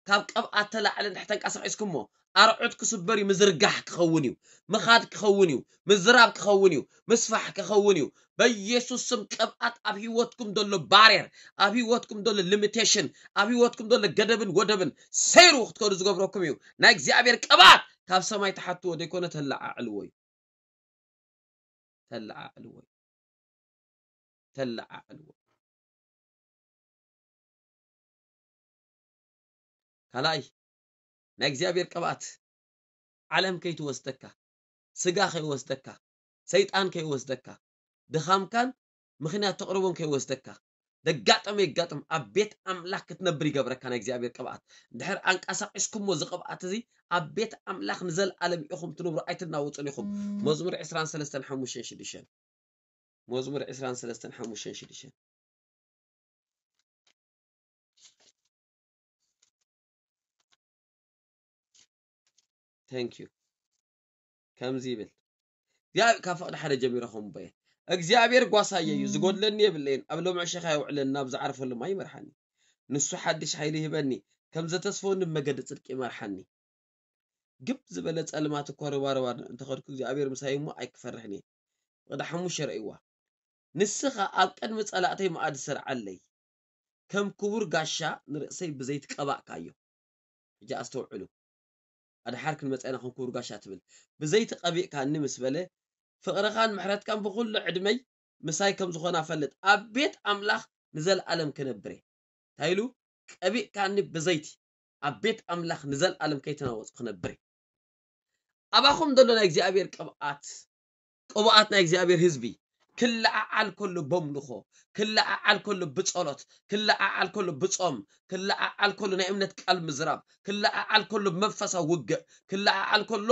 ካብ ቅብኣት ተላዕለ እንድሕር ተንቀሳቒስኩሞ ኣርዑት ክስበር እዩ ምዝርጋሕ ክኸውን እዩ ምኻድ ክኸውን እዩ ምዝራብ ክኸውን እዩ ምስፋሕ ክኸውን እዩ በኢየሱስ ስም ቅብኣት ኣብ ህይወትኩም ዘሎ ባሬር ኣብ ህይወትኩም ዘሎ ሊሚቴሽን ኣብ ህይወትኩም ዘሎ ገደብን ወደብን ሰይሩ ክትከዱ ዝገብረኩም እዩ ናይ እግዚኣብሔር ቅብኣት ካብ ሰማይ ተሓትዎ ዘይኮነ ተለዓዕልዎ እዩ ተለዓዕልዎ እዩ ተለዓዕልዎ ካልኣይ ናይ እግዚኣብሔር ቅብኣት ዓለም ከይትወስደካ ስጋ ከይወስደካ ሰይጣን ከይወስደካ ድኻምካን ምኽንያት ተቕርቦን ከይወስደካ ደጋጠመ ይጋጥም ኣብ ቤት ኣምላኽ ክትነብር ይገብረካ ናይ እግዚኣብሔር ቅብኣት እንድሕር ኣንቀሳቂስኩሞ እዚ ቅብኣት እዚ ኣብ ቤት ኣምላኽ ንዘለኣለም ኢኹም ትነብሩ ኣይትናወፁን ኢኹም መዝሙር ዕስራን ሰለስተን ሓሙሽተን ሽዱሽተን መዝሙር ዕስራን ሰለስተን ሓሙሽተን ሽዱሽተን Thank you። ከምዚ ይብል እግዚኣብሔር ካብ ፍቕዲ ሓደ ጀሚረ ከም ቦየ እግዚኣብሔር ጓሳየ እዩ ዝጎድለኒ የብለይን ኣብ ሎምዕ ሸኻ የውዕለኒ ናብ ዝዓርፈሉ ማይ ይመርሓኒ ንሱ ሓድሽ ሓይሊ ይህበኒ ከም ዘተስፈወኒ ብመገዲ ጽድቂ ይመርሓኒ ግብ ዝበለ ጸልማት እኳ ርባርባ እንተኸድኩ እግዚኣብሔር ምሳይ እሞ ኣይክፈርሕን እየ ፍቕዲ ሓሙሽተ ረእይዋ ንስኻ ኣብ ቅድሚ ጸላእተይ መኣዲ ስርዓለይ ከም ክቡር ጋሻ ንርእሰይ ብዘይቲ ቀባእካዮ ሕጂ ኣስተውዕሉ ኣድሓር ክንመፀና ከም ክቡር ጋሻ ትብል ብዘይቲ ቀቢእካኒ ምስ በለ ፍቕርኻን ምሕረትካን ብኩሉ ዕድመይ ምሳይ ከም ዝኾና ፈልጥ ኣብ ቤት ኣምላኽ ንዘለኣለም ክነብር እየ እንታይ ኢሉ ቀቢእካኒ ብዘይቲ ኣብ ቤት ኣምላኽ ንዘለኣለም ከይተናወፅ ክነብር እየ ኣባኹም ዘሎ ናይ እግዚኣብሔር ቅብኣት ቅቡኣት ናይ እግዚኣብሔር ህዝቢ ክለዓዓል ከሎ በምልኾ ክለዓዓል ከሎ ብጸሎት ክለዓዓል ከሎ ብጾም ክለዓዓል ከሎ ናይ እምነት ቃል ምዝራብ ክለዓዓል ከሎ መንፈሳዊ ውግእ ክለዓዓል ከሎ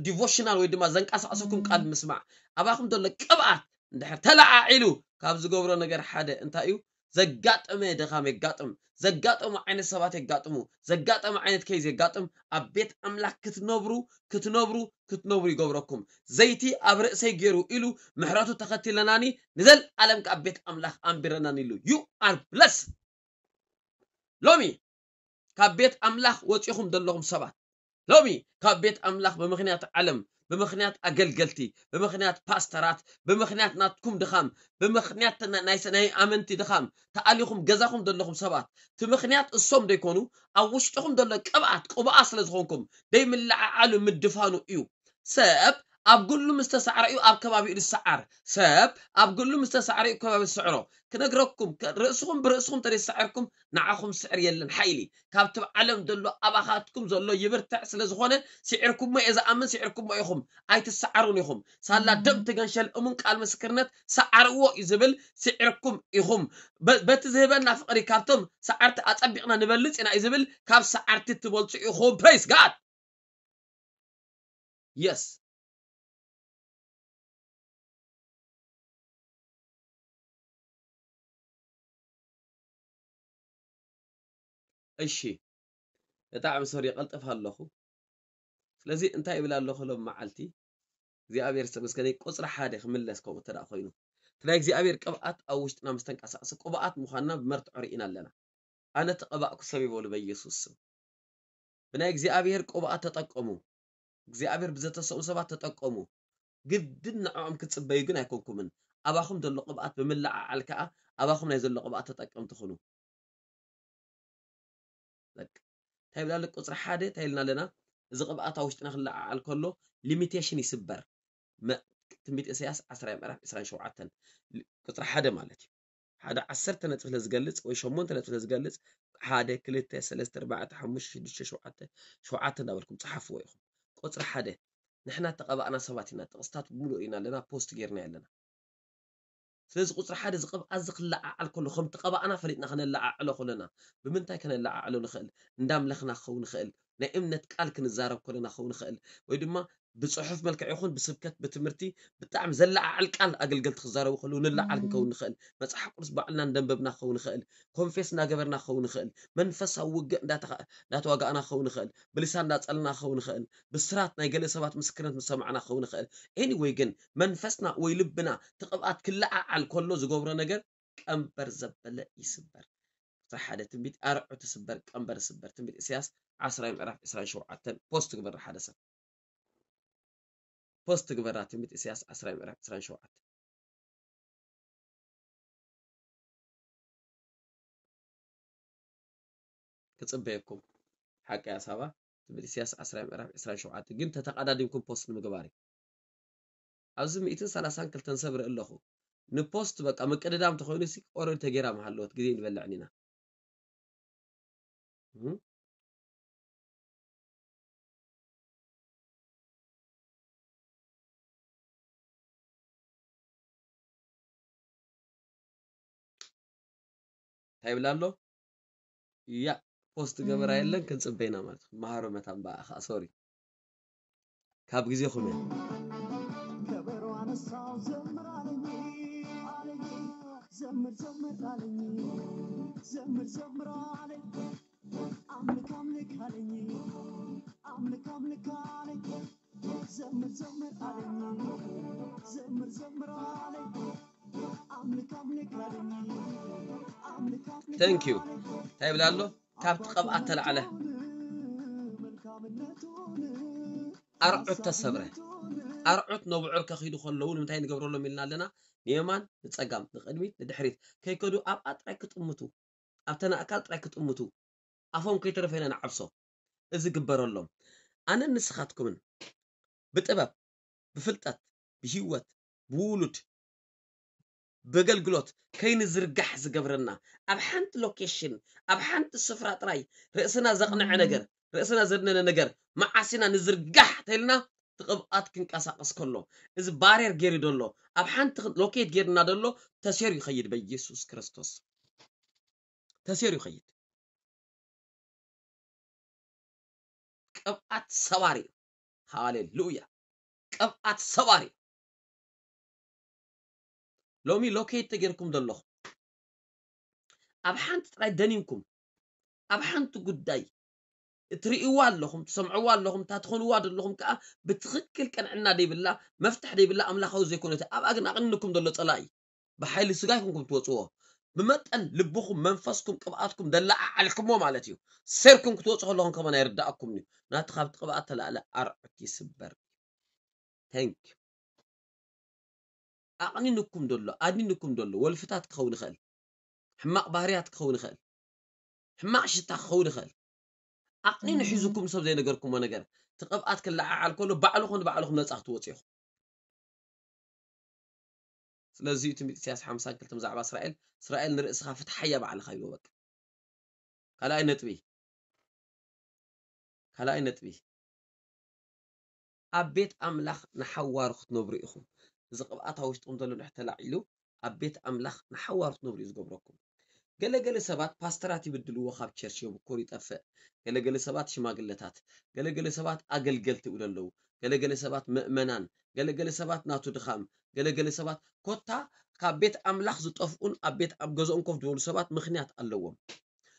ዲቮሽናል ወይ ድማ ዘንቀሳቕሰኩም ቃል ምስማዕ ኣባኹም ዘሎ ቅብኣት እንድሕር ተለዓዒሉ ካብ ዝገብሮ ነገር ሓደ እንታይ እዩ ዘጋጠመ ድኻም የጋጥም ዘጋጠሙ ዓይነት ሰባት የጋጥሙ ዘጋጠመ ዓይነት ኬዝ የጋጥም ኣብ ቤት ኣምላኽ ክትነብሩ ክትነብሩ ክትነብሩ ይገብረኩም ዘይቲ ኣብ ርእሰይ ገይሩ ኢሉ ምሕረቱ ተኸቲለናኒ ንዘለኣለም ካብ ቤት ኣምላኽ ኣንቢረናኒ ኢሉ you are blessed ሎሚ ካብ ቤት ኣምላኽ ወፂኹም ዘለኹም ሰባት ሎሚ ካብ ቤት ኣምላኽ ብምኽንያት ዓለም ብምኽንያት ኣገልገልቲ ብምኽንያት ፓስተራት ብምኽንያት ናትኩም ድኻም ብምኽንያት ናይ ኣመንቲ ድኻም ተኣሊኹም ገዛኹም ዘለኹም ሰባት እቲ ምኽንያት እሶም ዘይኮኑ ኣብ ውሽጥኹም ዘሎ ቅብኣት ቅብኣ ስለ ዝኾንኩም ደይምልዓዓሉ ምድፋኑ እዩ ሰብ ኣብ ግሉ ምስ ተሳዕረ እዩ ኣብ ከባቢኡ ዝሰዓር ሰብ ኣብ ግሉ ምስ ተሳዕረ እዩ ከባቢ ዝስዕሮ ክነግረኩም ርእስኹም ብርእስኹም ተደይሰዓርኩም ንዓኹም ስዕር የለን ሓይሊ ካብቲ ዓለም ዘሎ ኣባኻትኩም ዘሎ ይብርትዕ ስለ ዝኾነ ስዒርኩሞ እየ ዝኣምን ስዒርኩሞ ኢኹም ኣይትሰዓሩን ኢኹም ሳላ ደም ትገንሸል እሙን ቃል ምስክርነት ሰዓርዎ እዩ ዝብል ስዒርኩም ኢኹም በቲ ዝህበና ፍቕሪ ካብቶም ሰዓርቲ ኣጸቢቕና ንበልጽ ኢና እዩ ዝብል ካብ ሰዓርቲ ትበልጹ ኢኹም praise God yes እሺ ብጣዕሚ ሶሪ ይቐልጥፍ ኣለኹ ስለዚ እንታይ ይብል ኣለኹ ሎም መዓልቲ እግዚኣብሔር ዝተመስገነ ቁፅሪ ሓደ ክምለስ ከምኡ እንተ ኮይኑ እቲ ናይ እግዚኣብሔር ቅብኣት ኣብ ውሽጥና ምስ ተንቀሳቀሰ ቅብኣት ምዃንና ብመርትዖ ርኢና ኣለና ኣነ ተቐባእኩ ሰብ ይበሉ በኢየሱስ ስም ብናይ እግዚኣብሔር ቅብኣት ተጠቀሙ እግዚኣብሔር ብዘተሰኡ ሰባት ተጠቀሙ ግድን ንዕኦም ክትፅበዩ ግን ኣይኮንኩምን ኣባኹም ዘሎ ቅብኣት ብምልዓዓል ከዓ ኣባኹም ናይ ዘሎ ቅብኣት ተጠቀምቲ ኩኑ እንታይ ይብላለ ቁፅሪ ሓደ እንታይ ኢልና ኣለና እዚ ቅብኣት ኣብ ውሽጥና ክለዓዓል ከሎ ሊሚቴሽን ይስበር ትንቢት ኢሳያስ ዓስራይ ምዕራፍ ዕስራን ሸውዓተን ቁፅሪ ሓደ ማለት እዩ ሓደ ዓሰርተ ነጥቢ ስለ ዝገልፅ ወይ ሸሞንተ ነጥቢ ስለ ዝገልፅ ሓደ ክልተ ሰለስተ ኣርባዕተ ሓሙሽተ ሽዱሽተ ሸውዓተ ሸውዓተ እንዳበልኩም ፀሓፍዎ ኢኹም ቁፅሪ ሓደ ንሕና ተቐባእና ሰባት ኢና ጥቕስታት ብምሉእ ኢና ኣለና ፖስት ጌርና ኣለና ስለዚ ቁፅሪ ሓደ እዚ ቅብኣት እዚ ክለዓዓል ከሎ ከም ተቐባእና ፈሊጥና ከነለዓዕሎ ከለና ብምንታይ ከነለዓዕሎ ንኽእል እንዳምለኽና ክኸውን ንኽእል ናይ እምነት ቃል ክንዛረብ ከለና ክኸውን ንኽእል ወይ ድማ ብፅሑፍ መልክዕ ይኹን ብስብከት ብትምህርቲ ብጣዕሚ ዘለዓዕል ቃል ኣገልገልቲ ክዛረቡ ከለዉ ንለዓል ክንከውን ንኽእል መፅሓፍ ቅዱስ ባዕልና እንደንበብና ክኸውን ንኽእል ኮንፌስ እናገበርና ክኸውን ንኽእል መንፈሳዊ ውግእ እንዳተዋጋእና ክኸውን ንኽእል ብልሳን እንዳፀልና ክኸውን ንኽእል ብስራት ናይ ገለ ሰባት ምስክርነት ምስ ሰማዕና ክኸውን ንኽእል anyway ግን መንፈስና ወይ ልብና እቲ ቅብኣት ክለዓዓል ከሎ ዝገብሮ ነገር ቀንበር ዘበለ ይስበር ቁፅሪ ሓደ ትንቢት ኣርዑ ትስበር ቀንበር ስበር ትንቢት ኢሳያስ ዓስራይ ምዕራፍ ዕስራን ሸውዓተን ፖስት ግበር ሓደ ሰብ ፖስት ግበራ ትንቢት ኢሳያስ ዓስራይ ምዕራፍ ዕስራን ሸውዓተን ክጽበየኩም ሓቂ ኣሳባ ትብል ኢሳያስ ዓስራ ምዕራፍ ዕስራን ሸውዓተን ግን ተተቓዳዲምኩም ፖስት ንምግባር እዩ ኣብዚ ሚእትን ሰላሳን ክልተን ሰብ ርኢ ኣለኹ ንፖስት በቃ ምቅድዳም ተኾይኑ ሲ ኦረድ ተጌራ መሃለወት ግዜ ንበልዕን ኢና እንታይ ይብል ኣሎ ያ ፖስት ገበራ የለን ክንፅበይና ማለት መሃሮ መታን በኣ ከዓ ሶሪ ካብ ግዜኹም እያ ከበሮ ኣነሳው ዘምር ኣለኝ ኣለኝ ዘምር ዘምር ኣለኝ ዘምር ዘምር ኣለኝ ኣምልክ ኣምልክ ኣለኝ ኣምልክ ኣምልክ ኣለኝ Thank you። እንታይ ይብል ኣሎ? ካብቲ ቅብኣት ተላዕለ ኣርዑት ተሰብረ። ኣርዑት ነብዑር ከኺዱ ከለዉ ንምንታይ ንገብረሎም ኢልና ኣለና? ንየማን ንጸጋም፣ ንቕድሚት ንድሕሪት ከይከዱ ኣብኣ ጥራይ ክጥምቱ፣ ኣብተን ኣእካል ጥራይ ክጥምቱ፣ ኣፎም ከይተረፈ ኢና ንዓብሶ። እዚ ግበረሎም። ኣነን ንስኻትኩምን ብጥበብ፣ ብፍልጠት፣ ብህይወት፣ ብውሉድ፣ ብገልግሎት ከይንዝርጋሕ ዝገብረና፣ ኣብ ሓንቲ ሎኬሽን፣ ኣብ ሓንቲ ስፍራ ጥራይ ርእስና ዘቕንዐ ነገር፣ ርእስና ዘድነነ ነገር መዓስ ኢና ንዝርጋሕ ተልና፣ እቲ ቅብኣት ክንቀሳቐስ ከሎ፣ እዚ ባርየር ገይሩ ደሎ፣ ኣብ ሓንቲ ሎኬት ገይርና ደሎ ተሰይሩ ይኸይድ በኢየሱስ ክርስቶስ። ተሰይሩ ይኸይድ። ቅብኣት ሰባሪ እዩ። ሃሌሉያ። ቅብኣት ሰባሪ እዩ። ሎሚ ሎኬት ተጌርኩም ዘለኹም፣ ኣብ ሓንቲ ጥራይ ደኒንኩም፣ ኣብ ሓንቲ ጉዳይ እትርእይዋ ኣለኹም፣ ትሰምዕዋ ኣለኹም፣ እታ ትኾንዋ ዘለኹም ከኣ ብትኽክል ቅንዕና ደይብላ፣ መፍትሕ ደይብላ፣ ኣምላኻዊ ዘይኮነት፣ ኣብኣ ግን ኣቕኒንኩም ዘሎ ጸላኢ። ብሓይሊ ስጋ ኣይኮንኩም ትወጽዎ፣ ብመጠን ልብኹም፣ መንፈስኩም፣ ቅብኣትኩም ደለዓዓልኩሞ ማለት እዩ። ሴርኩም ክትወጹ ከለኹም ከማን ኣይርዳእኩምን እዩ። ናቲ ካብቲ ቅብኣት ተላዕለ ኣርዑት ይስበር። Thank you። ኣቕኒንኩም ደሎ፣ ኣድኒንኩም ደሎ፣ ወልፍታት ክኸውን ይኽእል፣ ሕማቕ ባህርያት ክኸውን ይኽእል፣ ሕማቕ ሽታ ክኸውን ይኽእል። ኣቕኒኑ ሒዙኩም ሰብ ዘይነገርኩሞ ነገር፣ እቲ ቅብኣት ክለዓዓል ከሎ ባዕልኹም ንባዕልኹም ነጻ ክትወጹ ኢኹም። ስለዚ እዩ ትንቢት ኢሳያስ ሓምሳ ክልተ ብዛዕባ እስራኤል፣ እስራኤል ንርእስኻ ፍትሓያ ባዕልኻ ይብሎ። በቃ ካልኣይ ነጥቢ፣ ካልኣይ ነጥቢ፣ ኣብ ቤት ኣምላኽ ንሓዋሩ ክትነብሩ ኢኹም። እዚ ቅብኣት ኣብ ውሽጥኹም ዘሎ እንድሕር ተላዒሉ፣ ኣብ ቤት ኣምላኽ ንሓዋሩ ክትነብሩ እዩ ዝገብረኩም። ገለገለ ሰባት ፓስተራት ይብድልዎ፣ ካብ ቸርች የብኩር ይጠፍእ። ገለገለ ሰባት ሽማግለታት፣ ገለገለ ሰባት ኣገልገልቲ ይብሉ ኣለዉ። ገለገለ ሰባት ምእመናን፣ ገለገለ ሰባት ናቱ ድኻም፣ ገለገለ ሰባት ኮታ ካብ ቤት ኣምላኽ ዝጠፍኡን ኣብ ቤት ኣብ ገዝኦም ኮፍ ዝበሉ ሰባት ምኽንያት ኣለዎም።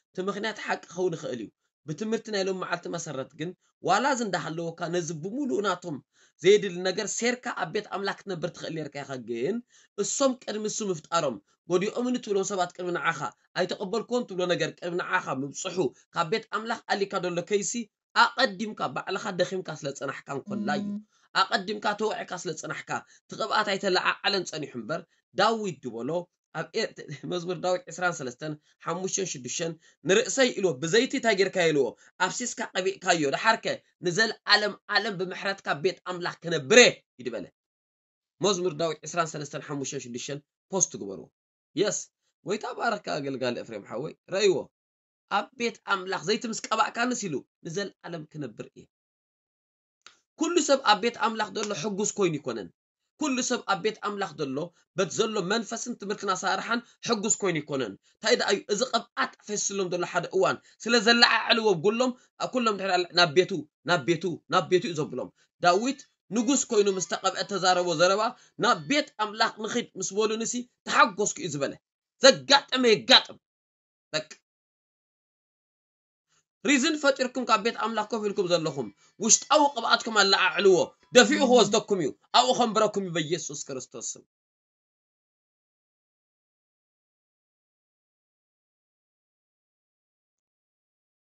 እቲ ምኽንያት ሓቂ ክኸውን ይኽእል እዩ። ብትምህርቲ ናይ ሎም መዓልቲ መሰረት ግን ዋላ እዚ እንዳሃለወካ ነዚ ብምሉኡ ናቶም ዘየድሊ ነገር ሴርካ ኣብ ቤት ኣምላኽ ክትነብር ትኽእል ኔርካ ኢኻ። ግን እሶም ቅድሚ እሱ ምፍጣሮም ጎዲኦምኒ ትብሎም ሰባት ቅድሚ ንዓኻ ኣይተቐበልክዎን ትብሎ ነገር ቅድሚ ንዓኻ ምብጽሑ ካብ ቤት ኣምላኽ ኣሊካ ደሎ ከይሲ ኣቐዲምካ ባዕልኻ ደኺምካ ስለ ጸናሕካ እንኮላ እዩ። ኣቐዲምካ ተወዒካ ስለ ጸናሕካ እቲ ቅብኣት ኣይተለዓዓለን ጸኒሑ እምበር ዳዊት ዝበሎ ኣብ ኤ- መዝሙር ዳዊት ዕስራን ሰለስተን ሓሙሽተን ሽዱሽተን ንርእሰይ ኢልዎ ብዘይቲ እንታይ ጌርካዮ ኢልዎ ኣፍሲስካ ቀቢእካዮ ደሓርከ ንዘለኣለም ዓለም ብምሕረትካ ቤት ኣምላኽ ክነብረ ይድበለ። መዝሙር ዳዊት ዕስራን ሰለስተን ሓሙሽተን ሽዱሽተን ፖስት ግበርዎ። የስ ጎይታ ባረካ ኣገልጋሊ ኤፍሬም ሓወይ ረእይዎ ኣብ ቤት ኣምላኽ ዘይቲ ምስ ቀባእካንስ ኢሉ ንዘለኣለም ክነብር እየ። ኩሉ ሰብ ኣብ ቤት ኣምላኽ ዘሎ ሕጉስ ኮይኑ ይኮነን። ኩሉ ሰብ ኣብ ቤት ኣምላኽ ዘሎ በት ዘሎ መንፈስን ትምህርትን ኣሰራርሓን ሕጉስ ኮይኑ ይኮነን። እንታይ ደኣ እዩ እዚ ቅብኣት ፈስሎም ዘሎ ሓደ እዋን ስለ ዘለዓዕልዎም ኩሎም ኩሎም ድሕሪ ናብ ቤቱ ናብ ቤቱ ናብ ቤቱ እዩ ዘብሎም። ዳዊት ንጉስ ኮይኑ ምስ ተቐብአ ተዛረቦ ዘረባ ናብ ቤት ኣምላኽ ንኺድ ምስ በሉንሲ ተሓጎስኩ እዩ ዝበለ። ዘጋጠመ የጋጥም። በቃ ሪዝን ፈጢርኩም ካብ ቤት ኣምላኽ ኮፍ ኢልኩም ዘለኹም ውሽጣዊ ቅብኣትኩም ኣለዓዕልዎ። ደፊኡ ክወስደኩም እዩ። ኣብኡ ከንብረኩም እዩ በኢየሱስ ክርስቶስ ስም።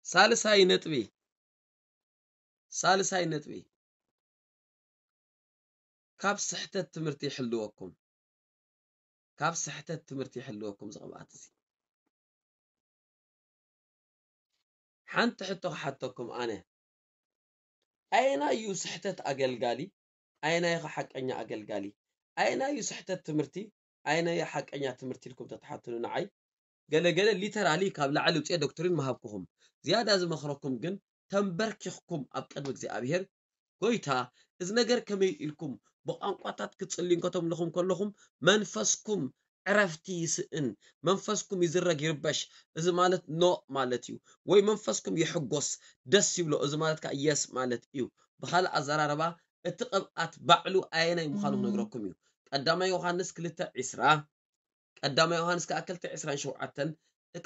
ሳልሳይ ነጥቢ ሳልሳይ ነጥቢ ካብ ስሕተት ትምህርቲ ይሕልወኩም። ካብ ስሕተት ትምህርቲ ይሕልወኩም እዚ ቅብኣት እዚ። ሓንቲ ሕቶ ክሓተኩም ኣነ ኣየናይ እዩ ስሕተት ኣገልጋሊ? ኣየናይ ኸ ሓቀኛ ኣገልጋሊ? ኣየናይ እዩ ስሕተት ትምህርቲ? ኣየናይ እዩ ሓቀኛ ትምህርቲ ኢልኩም ተትሓትኑ ንዓይ ገለገለ ሊተራሊ ካብ ላዕሊ ውፅኤ ዶክትሪን ምሃብኩኹም። ዝያዳ ዝመኽረኩም ግን ተንበርኪኽኩም ኣብ ቅድሚ እግዚኣብሔር ጎይታ እዚ ነገር ከመይ ኢልኩም ብቋንቋታት ክትፅልዩ እንከተምልኹም ከለኹም መንፈስኩም ዕረፍቲ ይስእን መንፈስኩም ይዝረግ ይርበሽ። እዚ ማለት ኖ ማለት እዩ። ወይ መንፈስኩም ይሕጎስ ደስ ይብሎ። እዚ ማለት ከዓ የስ ማለት እዩ። ብካልእ ኣዘራረባ እቲ ቅብኣት ባዕሉ ኣየናይ ምዃኑ ክነግረኩም እዩ። ቀዳማይ ዮሃንስ ክልተ ዕስራ ቀዳማይ ዮሃንስ ከዓ ክልተ ዕስራን ሸውዓተን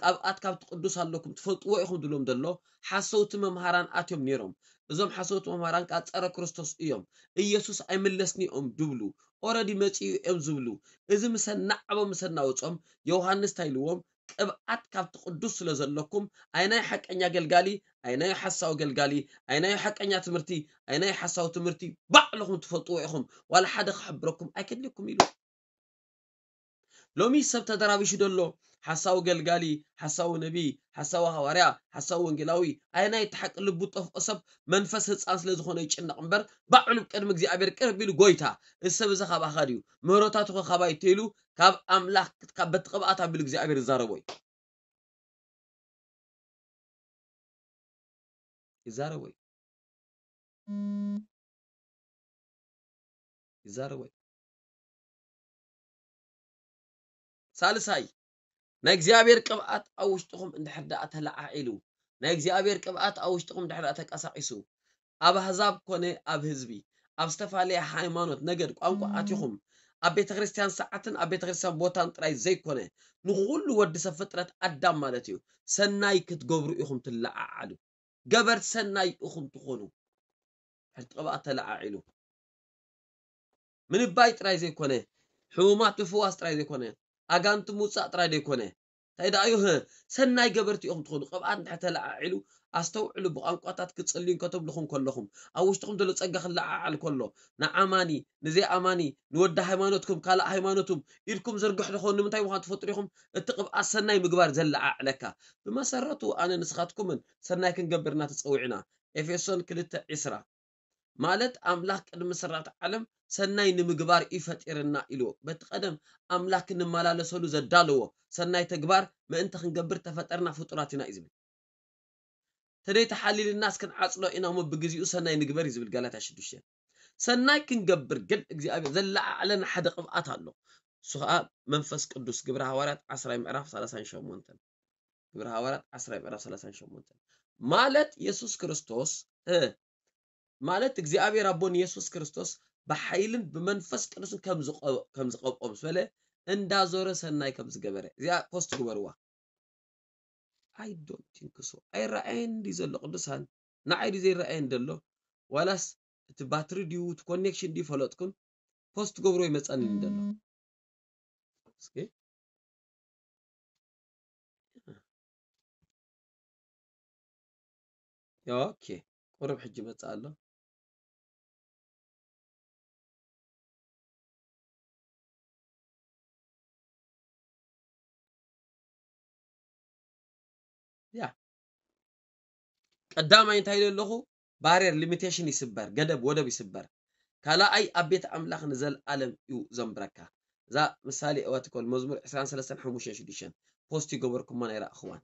ቅብኣት ካብቲ ቅዱስ ኣለኩም ትፈልጥዎ ኢኹም ድብሎም ዘሎ ሓሰውቲ መምሃራን ኣትዮም ነይሮም። እዞም ሓሰውቲ መምሃራን ከዓ ጸረ ክርስቶስ እዮም። ኢየሱስ ኣይምለስን እዮም ድብሉ። ኦረዲ መጺኡ እዮም ዝብሉ። እዚ ምሰ ናዕቦ ምሰ እናወጾም ዮሃንስ እንታይ ኢልዎም? ቅብኣት ካብቲ ቅዱስ ስለ ዘለኩም ኣይናይ ሓቀኛ ገልጋሊ ኣይናይ ሓሳዊ ገልጋሊ ኣይናይ ሓቀኛ ትምህርቲ ኣይናይ ሓሳዊ ትምህርቲ ባዕልኹም ትፈልጥዎ ኢኹም። ዋላ ሓደ ክሕብረኩም ኣይከድልኩም ኢሉ። ሎሚ ሰብ ተደራቢሹ ደሎ ሓሳዊ ገልጋሊ፣ ሓሳዊ ነቢ፣ ሓሳዊ ሃዋርያ፣ ሓሳዊ ወንጌላዊ፣ ኣየናይ እቲ ሓቂ ልቡ ጠፍኦ ሰብ መንፈስ ህፃን ስለ ዝኾነ ይጭነቕ እምበር ባዕሉ ቅድሚ እግዚኣብሔር ቅርብ ኢሉ ጎይታ እዚ ሰብ እዚ ካባኻ ድዩ ምህረታቱ ካባይ ተይሉ ካብ ኣምላኽ ካብ በቲ ቅብኣት ኣቢሉ እግዚኣብሔር ይዛረቦ እዩ። ይዛረቦ እዩ። ይዛረቦ እዩ። ሳልሳይ ናይ እግዚኣብሔር ቅብኣት ኣብ ውሽጥኹም እንድሕር ደኣ ተለዓዒሉ ናይ እግዚኣብሔር ቅብኣት ኣብ ውሽጥኹም እንድሕር ደኣ ተቀሳቂሱ ኣብ ኣህዛብ ኮነ ኣብ ህዝቢ ኣብ ዝተፈላለየ ሃይማኖት ነገድ ቋንቋ ኣቲኹም ኣብ ቤተ ክርስቲያን ሰዓትን ኣብ ቤተ ክርስቲያን ቦታን ጥራይ ዘይኮነ ንኩሉ ወዲ ሰብ ፍጥረት ኣዳም ማለት እዩ ሰናይ ክትገብሩ ኢኹም ትለዓዓሉ ገበርቲ ሰናይ ኢኹም ትኾኑ። ሕልቲ ቅብኣት ተለዓዒሉ ምንባይ ጥራይ ዘይኮነ ሕሙማት ምፍዋስ ጥራይ ዘይኮነ ኣጋንንቲ ምውፃእ ጥራይ ዘይኮነ እንታይ ደኣ እዩ ሰናይ ገበርቲ ኢኹም ትኾኑ። ቅብኣት እንድሕር ተለዓዒሉ ኣስተውዕሉ። ብቋንቋታት ክፅልዩ እንከተብልኹም ከለኹም ኣብ ውሽጥኹም ዘሎ ፀጋ ክለዓዓል ከሎ ንኣማኒ ንዘይኣማኒ ንወዲ ሃይማኖትኩም ካልእ ሃይማኖቱም ኢድኩም ዝርግሕ ዝኾኑ ንምንታይ ምዃን ትፈጥሩ ኢኹም። እቲ ቅብኣት ሰናይ ምግባር ዘለዓዕለካ ብመሰረቱ ኣነ ንስኻትኩምን ሰናይ ክንገብር ኢና ተፀዊዕና። ኤፌሶን ክልተ ዕስራ ማለት ኣምላኽ ቅድሚ ስራት ዓለም ሰናይ ንምግባር እዩ ፈጢርና ኢልዎ። በቲ ቀደም ኣምላኽ ክንመላለሰሉ ዘዳለዎ ሰናይ ተግባር ምእንቲ ክንገብር ተፈጠርና ፍጡራት ኢና እዩ ዝብል። ተደይ ተሓሊልናስ ክንዓፅሎ ኢና እሞ ብግዚኡ ሰናይ ንግበር እዩ ዝብል ጋላትያ ሽዱሽተ። ሰናይ ክንገብር ግን እግዚኣብሔር ዘለዓዕለና ሓደ ቅብኣት ኣሎ። እሱ ከዓ መንፈስ ቅዱስ ግብረ ሃዋርያት ዓስራይ ምዕራፍ ሰላሳን ሸሞንተን ግብረ ሃዋርያት ዓስራይ ምዕራፍ ሰላሳን ሸሞንተን ማለት የሱስ ክርስቶስ እ ማለት እግዚኣብሔር ኣቦ ንየሱስ ክርስቶስ ብሓይልን ብመንፈስ ቅዱስን ከም ዝቐ- ከም ዝቐብኦ ምስ በለ እንዳዞረ ሰናይ ከም ዝገበረ እዚኣ ፖስት ግበርዋ። I don't think so ኣይረኣየን ድዩ ዘሎ ቅዱሳን ንዓይ ድዩ ዘይረኣየን ዘሎ ዋላስ እቲ ባትሪ ድዩ እቲ ኮኔክሽን ድዩ ፈለጥኩን ፖስት ገብሮ ይመፀኒ ዘሎ እስኪ ኦኬ ቁሩብ ሕጂ መፅእ ኣሎ ያ ቀዳማይ እንታይ ኢለ ኣለኹ ባርየር ሊሚቴሽን ይስበር ገደብ ወደብ ይስበር ካልኣይ ኣብ ቤት ኣምላኽ ንዘለኣለም እዩ ዘንብረካ እዛ ምሳሌ እዋትኮል መዝሙር ዕስራን ሰለስተን ሓሙሽተን ሽዱሽተን ፖስት ይገበርኩማ ናይ ረእኽዋን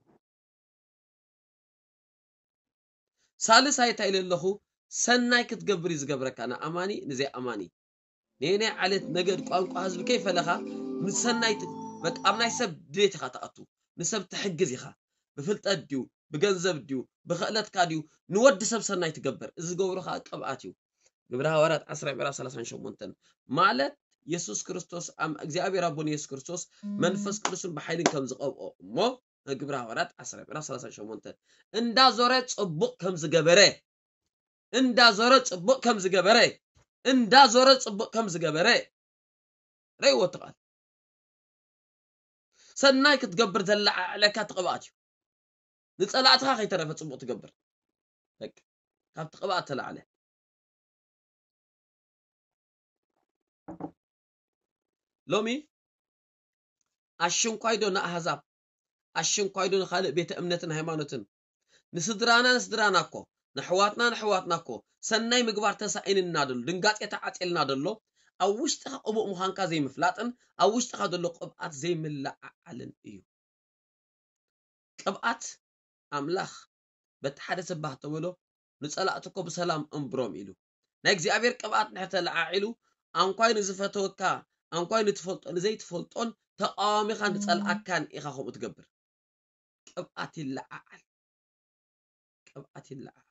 ሳልሳይ እንታይ ኢለ ኣለኹ ሰናይ ክትገብር እዩ ዝገብረካ ንኣማኒ ንዘይኣማኒ ነየናይ ዓሌት ነገድ ቋንቋ ህዝቢ ከይፈለኻ ንሰናይ በቃ ኣብ ናይ ሰብ ድሌት ኢኻ ትኣቱ ንሰብ ትሕግዝ ኢኻ ብፍልጠት ድዩ ብገንዘብ ድዩ ብኽእለትካ ድዩ ንወዲ ሰብ ሰናይ ትገብር እዚ ዝገብሮ ከዓ ቅብኣት እዩ ግብረ ሃዋርያት ዓስራ ምዕራፍ ሰላሳን ሸሞንተን ማለት የሱስ ክርስቶስ እግዚኣብሔር ኣቦን የሱስ ክርስቶስ መንፈስ ቅዱስን ብሓይልን ከም ዝቐብኦ እሞ ግብረ ሃዋርያት ዓስራ ምዕራፍ ሰላሳን ሸሞንተን እንዳዞረ ጽቡቕ ከም ዝገበረ እንዳዞረ ጽቡቕ ከም ዝገበረ እንዳዞረ ጽቡቕ ከም ዝገበረ ረእይዎ እቲ ቃል ሰናይ ክትገብር ዘለዓዕለካ እቲ ቅብኣት እዩ ንጸላእትኻ ከይተረፈ ጽቡቕ ትገብር በቃ ካብቲ ቅብኣት ተላዕለ ሎሚ ኣሽንኳይዶ ንኣህዛብ ኣሽንኳይዶ ንኻልእ ቤተ እምነትን ሃይማኖትን ንስድራና ንስድራና እኮ ንሕዋትና ንሕዋትና እኮ ሰናይ ምግባር ተሳኢንና ደሎ ድንጋጤ ተዓጼልና ደሎ ኣብ ውሽጥኻ ቅቡእ ምዃንካ ዘይምፍላጥን ኣብ ውሽጥኻ ዘሎ ቅብኣት ዘይምለዓዓልን እዩ ቅብኣት ኣምላኽ በቲ ሓደ ሰባህ ተበሎ ንጸላእትኮ ብሰላም እንብሮም ኢሉ ናይ እግዚኣብሔር ቅብኣት ንሕተለዓዒሉ ኣንኳይ ንዝፈተወካ ኣንኳይ ንትፈልጦ ንዘይትፈልጦን ተቃዋሚኻ ንጸልኣካን ኢኻ ከምኡ ትገብር ቅብኣት ይለዓዓል ቅብኣት ይለዓዓል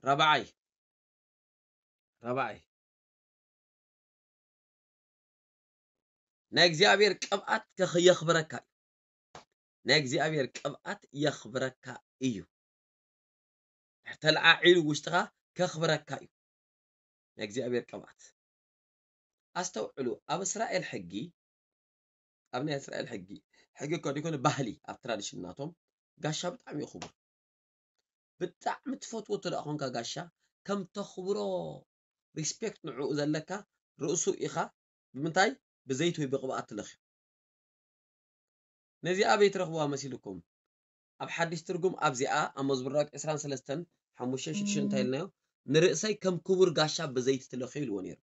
ራብዓይ ራብዓይ፣ ናይ እግዚኣብሔር ቅብኣት ከኽ-፣ የኽብረካ እዩ። ናይ እግዚኣብሔር ቅብኣት የኽብረካ እዩ። ድሕር ተለዓዒሉ ውሽጥኻ ከኽብረካ እዩ ናይ እግዚኣብሔር ቅብኣት። ኣስተውዕሉ፣ ኣብ እስራኤል ሕጊ፣ ኣብ ናይ እስራኤል ሕጊ፣ ሕጊ እኮ ደይኮነ ባህሊ፣ ኣብ ትራዲሽን ናቶም ጋሻ ብጣዕሚ እዩ ክቡር። ብጣዕሚ ትፈትዎ እንተ ደኣ ኾንካ ጋሻ፣ ከም ተኽብሮ ሪስፔክት ንዕኡ ዘለካ ርእሱ ኢኻ ብምንታይ? ብዘይቲ ወይ ብቕብኣት ትለኽዮ። ነዚ ኣበይ ትረኽብዋ መሲልኩም? ኣብ ሓድሽ ትርጉም ኣብዚኣ ኣብ መዝሙር ዳዊት ዕስራን ሰለስተን ሓሙሽተን ሽዱሽተን እንታይ ኢልናዮ? "ንርእሰይ ከም ክቡር ጋሻ ብዘይቲ ትለኽዮ" ኢልዎ ነይሩ።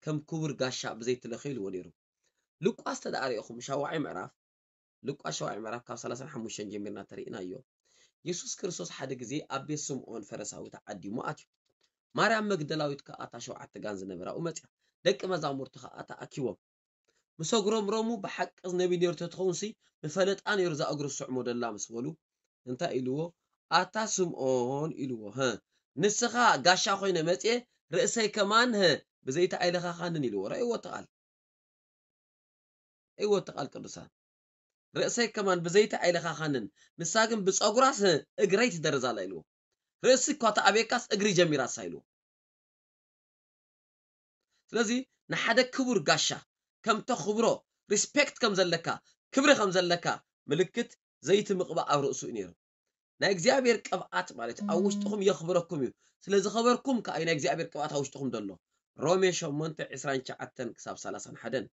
"ከም ክቡር ጋሻ ብዘይቲ ትለኽዮ" ኢልዎ ነይሩ። ሉቃስ ተደኣ ሪእኹም ሻውዓይ ምዕራፍ፣ ሉቃስ ሻውዓይ ምዕራፍ ካብ ሰላሳን ሓሙሽተን ጀሚርና ተሪእናዮ። የሱስ ክርስቶስ ሓደ ግዜ ኣብ ቤት ስምዖን ፈረሳዊ ተዓዲሙ ኣትዩ። ማርያም መግደላዊት ከኣ እታ ሸውዓተ ጋን ዝነበራኡ መጽያ። ደቂ መዛሙርቲ ከኣ ተኣኪቦም ምስ ኣጉረምረሙ፣ "ብሓቂ እዚ ነቢይ ነይሩ ተትኸውንሲ፣ ምፈለጣ ነይሩ እዛ እግሩ ዝስዕሞ ደላ" ምስ በሉ፣ እንታይ ኢልዎ? "ኣታ ስምዖን" ኢልዎ፣ "ሀ፣ ንስኻ ጋሻ ኮይነ መጽየ፣ ርእሰይ ከማን፣ ሀ፣ ብዘይቲ ኣይለኻኻንን" ኢልዎ። ረእይዎ እቲ ቃል። ረእይዎ እቲ ቃል ቅዱሳን። "ርእሰይ ከማን ብዘይቲ ኣይለኻኻንን፣ ንሳ ግን ብጸጉራስ፣ ሀ፣ እግረይ ትደርዝ ኣላ" ኢልዎ። ርእሲ እኳ ተኣብየካስ እግሪ ጀሚራሳ ኢልዎ። ስለዚ ንሓደ ክቡር ጋሻ ከም ተኽብሮ፣ ሪስፔክት ከም ዘለካ፣ ክብሪ ከም ዘለካ ምልክት ዘይቲ ምቕባእ ኣብ ርእሱ እዩ ነይሩ። ናይ እግዚኣብሔር ቅብኣት ማለት ኣብ ውሽጥኹም የኽብረኩም እዩ። ስለ ዝኸበርኩም ከኣ እዩ ናይ እግዚኣብሔር ቅብኣት ኣብ ውሽጥኹም ዘሎ። ሮሜ ሸሞንተ ዕስራን ትሽዓተን ክሳብ ሰላሳን ሓደን።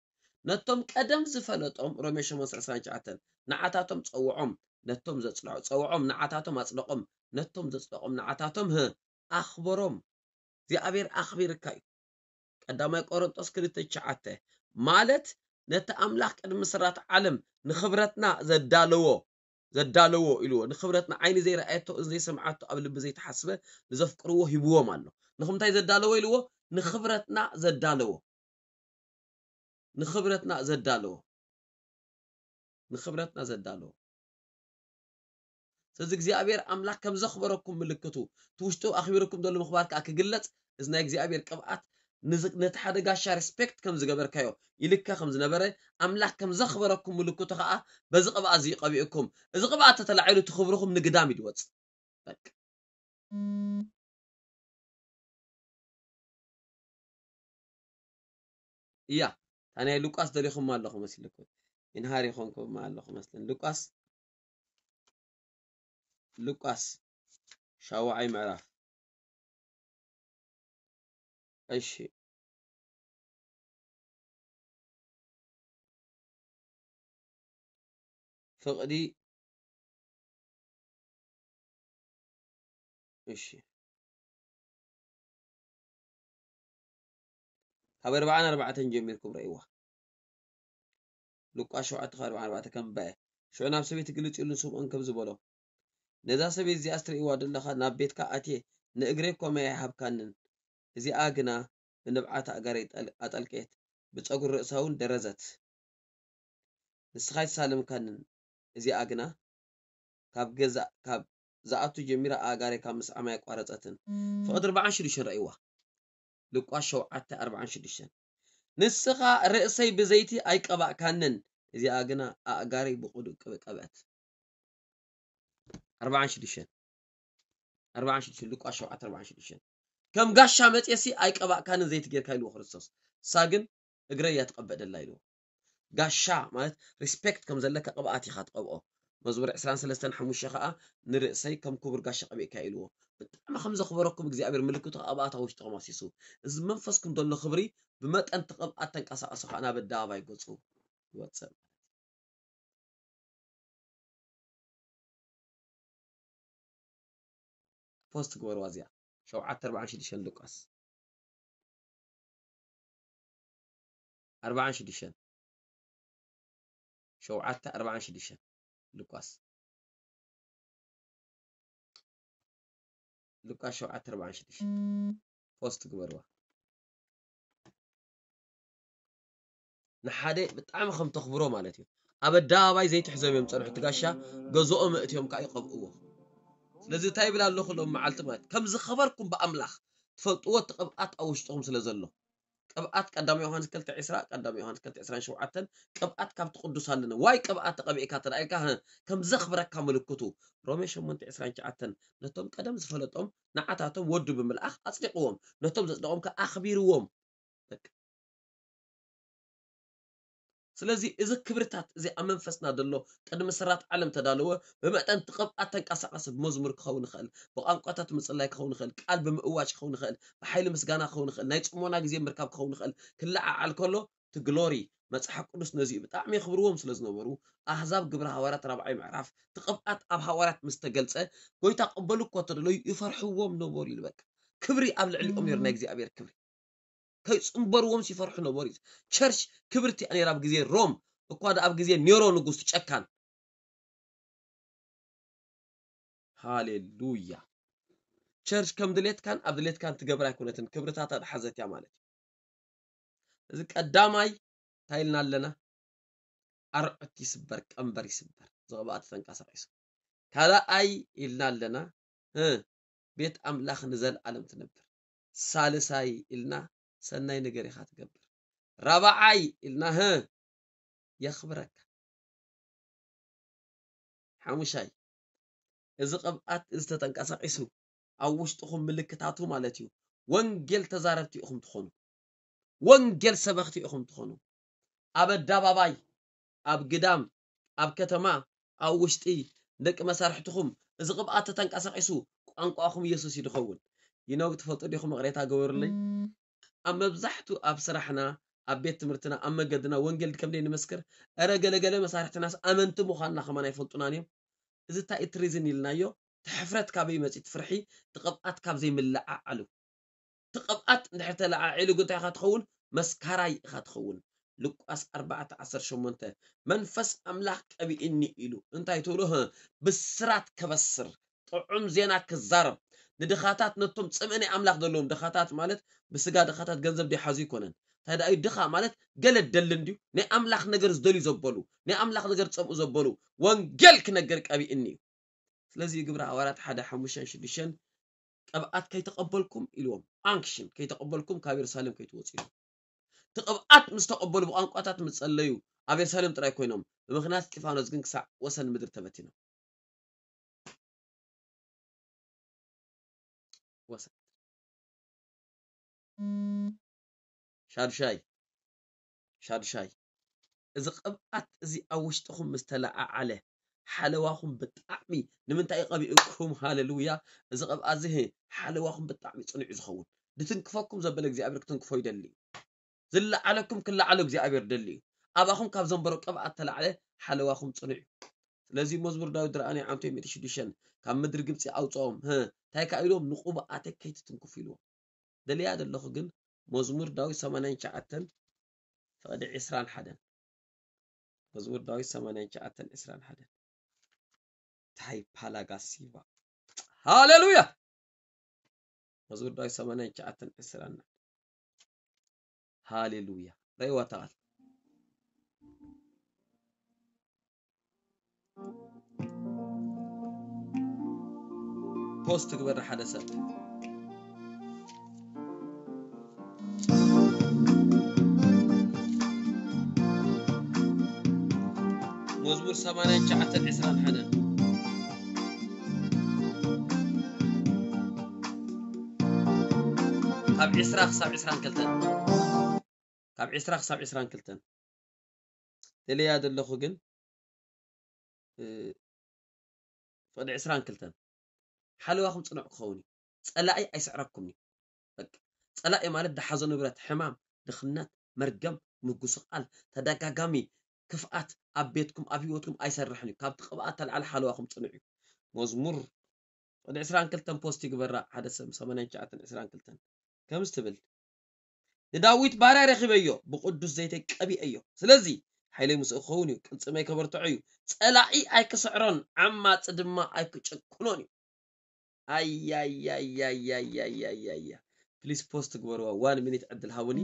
ነቶም ቀደም ዝፈለጦም፣ ሮሜ ሸሞንተ ዕስራን ትሽዓተን፣ ንዓታቶም ጸውዖም፣ ነቶም ዘጽልዖ ጸውዖም፣ ንዓታቶም ኣጽደቖም፣ ነቶም ዘጽደቖም ንዓታቶም፣ ህ፣ ኣኽበሮም። እግዚኣብሔር ኣኽቢርካ እዩ። ቀዳማይ ቆሮንጦስ ክልተ ትሽዓተ ማለት ነቲ ኣምላኽ ቅድሚ ስራት ዓለም ንኽብረትና ዘዳለዎ፣ ዘዳለዎ ኢልዎ። ንኽብረትና ዓይኒ ዘይረኣየቶ፣ እዝኒ ዘይሰምዓቶ፣ ኣብ ልቢ ዘይተሓስበ ንዘፍቅርዎ ሂብዎም ኣሎ። ንኽምንታይ ዘዳለዎ ኢልዎ? ንኽብረትና ዘዳለዎ። ንኽብረትና ዘዳለዎ። ንኽብረትና ዘዳለዎ። ስለዚ እግዚኣብሔር ኣምላኽ ከም ዘኽበረኩም ምልክቱ፣ እቲ ውሽጡ ኣኽቢርኩም ዘሎ ምኽባር ከኣ ክግለጽ፣ እዚ ናይ እግዚኣብሔር ቅብኣት ንዝ-፣ ነቲ ሓደ ጋሻ ሪስፔክት ከም ዝገበርካዮ፣ ኢልካ ከም ዝነበረ፣ ኣምላኽ ከም ዘኽበረኩም ምልክቱ ከኣ በዚ ቅብኣት እዚ እዩ ቀቢኡኩም። እዚ ቅብኣት ተተላዒሉ እቲ ክብርኹም ንግዳም እዩ ዝወጽእ። በቃ። እያ፣ እታ ናይ ሉቃስ ደሊኹማ ኣለኹ መስለኩም። ይንሃር ይኾንኩም ኣለኹ መስለን። ሉቃስ፣ ሉቃስ ሻውዓይ ምዕራፍ። እሺ። ፍቕዲ፣ እሺ። ካብ ኣርባዓን ኣርባዕተን ጀሚርኩም ረእይዋ። ሉቃስ ሸውዓተ ካብ ኣርባዓን ኣርባዕተን ከም በ-፣ ሽዑ ናብ ሰበይቲ ግልጽ ኢሉ ንስምዖን ከምዚ በሎ፣ "ነዛ ሰበይቲ እዚኣስ ትርእይዋ ዘለኻ ናብ ቤትካ ኣትየ ንእግረይ እኳ ማይ ኣይሃብካንን፣ እዚኣ ግና ብንብዓት ኣእጋረይ ጠል-፣ ኣጠልቀየት፣ ብጸጉሪ ርእሳ እውን ደረዘት። ንስኻ ኣይተሳለምካንን፣ እዚኣ ግና ካብ ገዛ፣ ካብ ዝኣቱ ጀሚራ ኣእጋረይ ካብ ምስዓም ኣየቋረጸትን." ፍቕዲ ኣርባዓን ሽዱሽተን ረእይዋ። ሉቃስ ሸውዓተ ኣርባዓን ሽዱሽተን። "ንስኻ ርእሰይ ብዘይቲ ኣይቀባእካንን፣ እዚኣ ግና ኣእጋረይ ብቕዱእ ቅብ-፣ ቀብአት።" ኣርባዓን ሽዱሽተን። ኣርባዓን ሽዱሽተን፣ ሉቃስ ሸውዓተ ኣርባዓን ሽዱሽተን። "ከም ጋሻ መጽየሲ ኣይቀባእካንን ዘይቲ ጌርካ" ኢልዎ ክርስቶስ። "እሳ ግን እግረይ እያ ትቐብእ ደላ" ኢልዎ። ጋሻ ማለት ሪስፔክት ከም ዘለካ ቅብኣት ኢኻ ትቐብኦ። መዝሙር ዕስራን ሰለስተን ሓሙሽተ ከኣ፣ "ንርእሰይ ከም ክቡር ጋሻ ቀቢእካ" ኢልዎ። ብጣዕሚ ከም ዘኽበረኩም እግዚኣብሔር ምልክቱ ከኣ ኣብኣታ ውሽጥኹም ኣፍሲሱ። እዚ መንፈስኩም ዘሎ ክብሪ ብመጠን እቲ ቅብኣት ተንቀሳቐሱ ከኣ ናብ ኣደባባይ ገጹ ይወጽእ። ፖስት ግበርዋ እዚኣ። ሸውዓተ ኣርባዓን ሽዱሽተን ሉቃስ። ኣርባዓን ሽዱሽተን። ሸውዓተ ኣርባዓን ሽዱሽተን ሉቃስ። ሉቃስ ሸውዓተ ኣርባዓን ሽዱሽተን። ፖስት ግበርዋ። ንሓደ ብጣዕሚ ከም ተኽብሮ ማለት እዩ። ኣብ ኣደባባይ ዘይትሕዞም እዮም ዝጸንሑ፣ እቲ ጋሻ ገዝኦም ኣእትዮም ከኣ ይቐብእዎ። ስለዚ እንታይ ይብል ኣለኹ ሎም መዓልቲ ማለት፣ ከም ዝኸበርኩም ብኣምላኽ፣ ትፈልጥዎ፣ እቲ ቅብኣት ኣብ ውሽጥኹም ስለ ዘሎ። ቅብኣት ቀዳማይ ዮሃንስ ክልተ ዕስራ፣ ቀዳማይ ዮሃንስ ክልተ ዕስራን ሸውዓተን፣ ቅብኣት ካብቲ ቅዱስ ኣለና። ዋይ ቅብኣት ተቐቢእካ ተራእይካ፣ ህ፣ ከም ዘኽብረካ ምልክቱ። ሮሜ ሸሞንተ ዕስራን ትሽዓተን፣ ነቶም ቀደም ዝፈለጦም ንዓታቶም ወዱ ብምልኣኽ ኣጽዲቕዎም፣ ነቶም ዘጽደቖም ከኣ ኣኽቢርዎም። በቃ። ስለዚ እዚ ክብርታት እዚ ኣብ መንፈስና ዘሎ ቅድሚ ስራት ዓለም ተዳለወ። ብመጠን እቲ ቅብኣት ተንቀሳቐሲ ብመዝሙር ክኸውን ይኽእል፣ ብቋንቋታት ምጽላይ ክኸውን ይኽእል፣ ቃል ብምእዋጅ ክኸውን ይኽእል፣ ብሓይሊ ምስጋና ክኸውን ይኽእል፣ ናይ ጽሞና ግዜ ምርካብ ክኸውን ይኽእል። ክለዓዓል ከሎ እቲ ግሎሪ መጽሓፍ ቅዱስ ነዚ እዩ። ብጣዕሚ የኽብርዎም ስለ ዝነበሩ ኣህዛብ ግብረ ሃዋርያት ራብዓይ ምዕራፍ እቲ ቅብኣት ኣብ ሃዋርያት ምስ ተገልጸ ጎይታ ቅበሉ እኮ ተደለዩ ይፈርሕዎም ነበሩ ይብል። በቃ ክብሪ ኣብ ልዕሊኦም ነይሩ፣ ናይ እግዚኣብሔር ክብሪ። ከይጽንበርዎም ይፈርሑ ነበሩ። ቸርች ክብርቲ እያ ነይራ ኣብ ግዜ ሮም፣ እኳ ደኣ ኣብ ግዜ ኔሮ ንጉስ ጨካን። ሃሌሉያ። ቸርች ከም ድሌትካን ኣብ ድሌትካን ትገብር ኣይኮነትን፣ ክብርታታ ዝሓዘት እያ ማለት እዩ። እዚ ቀዳማይ እንታይ ኢልና ኣለና? ኣርዑት ይስበር፣ ቀንበር ይስበር፣ ዝቕብኣት ተንቀሳቒሱ። ካልኣይ ኢልና ኣለና፣ እ፣ ቤት ኣምላኽ ንዘለኣለም ትነብር። ሳልሳይ ኢልና ሰናይ ነገር ኢኻ ትገብር። ራብዓይ ኢልና፣ ህ፣ የኽብረካ። ሓሙሻይ፣ እዚ ቅብኣት እዚ ተተንቀሳቒሱ ኣብ ውሽጥኹም ምልክታቱ ማለት እዩ፣ ወንጌል ተዛረብቲ ኢኹም ትኾኑ። ወንጌል ሰበኽቲ ኢኹም ትኾኑ። ኣብ ኣደባባይ፣ ኣብ ግዳም፣ ኣብ ከተማ፣ ኣብ ውሽጢ ደቂ መሳርሕትኹም እዚ ቅብኣት ተተንቀሳቒሱ ቋንቋኹም ኢየሱስ እዩ ዝኸውን። ይነው ትፈልጡ ዲኹም? ይቕሬታ ገበሩለይ። ኣብ መብዛሕቱ ኣብ ስራሕና፣ ኣብ ቤት ትምህርትና፣ ኣብ መገድና ወንጌል ከም ዘይንመስክር፣ እረ ገለገለ መሳርሕትናስ ኣመንቲ ምዃንና ከማን ኣይፈልጡናን እዮም። እዚ እንታይ እቲ ሪዝን ኢልናዮ? እቲ ሕፍረት ካበይ መፂእ? እቲ ፍርሒ፣ እቲ ቅብኣት ካብ ዘይምልዓዓሉ። እቲ ቅብኣት እንድሕር ተለዓዒሉ ግን እንታይ ኢኻ ትኸውን? መስካራይ ኢኻ ትኸውን። ሉቃስ ኣርባዕተ ዓሰርተ ሸሞንተ፣ መንፈስ ኣምላኽ ቀቢእኒ ኢሉ እንታይ ትብሎ? ህ፣ ብስራት ከበስር፣ ጥዑም ዜና ክዛረብ፣ ንድኻታት፣ ነቶም ጽምኢ ናይ ኣምላኽ ዘለዎም ድኻታት ማለት ብስጋ ድኻታት ገንዘብ ዘይሓዙ ኣይኮነን። እንታይ ደኣ እዩ ድኻ ማለት? ገለ ደልን ድዩ? ናይ ኣምላኽ ነገር ዝደልዩ ዘበሉ፣ ናይ ኣምላኽ ነገር ዝጸምኡ ዘበሉ ወንጌል ክነገር ቀቢእኒ እዩ። ስለዚ ግብረ ሃዋርያት ሓደ ሓሙሽተን ሽዱሽተን ቅብኣት ከይተቐበልኩም ኢልዎም፣ ኣንክሽን ከይተቐበልኩም ካብ የሩሳሌም ከይትወፁ ኢልዎም። እቲ ቅብኣት ምስ ተቐበሉ ብቋንቋታት ምስ ጸለዩ ኣብ የሩሳሌም ጥራይ ኮይኖም፣ ብምኽንያት እስጢፋኖስ ግን ክሳዕ ወሰን ምድሪ ተበቲኖም። ወሰን። ሻድሻይ፣ ሻድሻይ፣ እዚ ቅብኣት እዚ ኣብ ውሽጥኹም ምስ ተለዓዓለ፣ ሓለዋኹም ብጣዕሚ፣ ንምንታይ እዩ ቀቢእኩም? ሃሌሉያ። እዚ ቅብኣት እዚ፣ ህ፣ ሓለዋኹም ብጣዕሚ ጽኑዕ እዩ ዝኸውን። ዝትንክፈኩም ዘበለ እግዚኣብሔር ክትንክፎ ይደሊ እዩ። ዝለዓለኩም ክለዓሎ እግዚኣብሔር ደሊ እዩ። ኣባኹም ካብ ዘንበሮ ቅብኣት ተላዕለ ሓለዋኹም ጽኑዕ እዩ። ስለዚ መዝሙር ዳዊት ድርኣኒ ዓምቶ ሚእቲ ሽዱሽተ፣ ካብ ምድሪ ግብጺ ኣውጽኦም፣ ህ፣ እንታይ ከኣ ኢሎም? ንቅቡኣተይ ከይትትንክፉ ኢልዎም። ደልያ ዘለኹ ግን መዝሙር ዳዊት ሰማንያን ትሽዓተን ፍቕዲ ዕስራን ሓደን። መዝሙር ዳዊት ሰማንያን ትሽዓተን ዕስራን ሓደን። ታይ ፓላጋሲባ። ሃሌሉያ። መዝሙር ዳዊት ሰማንያን ትሽዓተን ዕስራን። ሃሌሉያ። ረእይዋ እታ ቃል። ፖስት ግበር ሓደ ሰብ። መዝሙር ሰማንያን ትሽዓተን ዕስራን ሓደን። ካብ ዕስራ ክሳብ ዕስራን ክልተን። ካብ ዕስራ ክሳብ ዕስራን ክልተን። ደልያ ዘለኹ ግን፣ እ፣ ፍቕዲ ዕስራን ክልተን። ሓለዋኹም ጽኑዕ ክኸውን እዩ። ጸላኢ ኣይስዕረኩምን እዩ። በቃ፣ ጸላኢ ማለት ዝሓዞ ንብረት፣ ሕማም፣ ድኽነት፣ መርገም፣ ምጉስቓል፣ ተደጋጋሚ ክፍኣት ኣብ ቤትኩም፣ ኣብ ህይወትኩም ኣይሰርሕን እዩ። ካብቲ ቅብኣት ተልዓለ ሓለዋኹም ጽኑዕ እዩ። መዝሙር ፍቕዲ ዕስራን ክልተን ፖስት ይግበራ፣ ሓደ ሰብ ሰማንያን ትሽዓተን ዕስራን ክልተን። ከምዚ ትብል፣ ንዳዊት ባርያ ረኺበዮ፣ ብቅዱስ ዘይተይ ቀቢአዮ። ስለዚ ሓይለይ ምስኡ ክኸውን እዩ፣ ቅልጽመይ ከበርትዖ እዩ። ጸላኢ ኣይክስዕሮን፣ ዓማጺ ድማ ኣይክጭቁኖን እዩ። ኣያያያያያያያያ። ፕሊስ ፖስት ግበርዋ፣ ዋን ሚኒት ዕድል ሃቡኒ።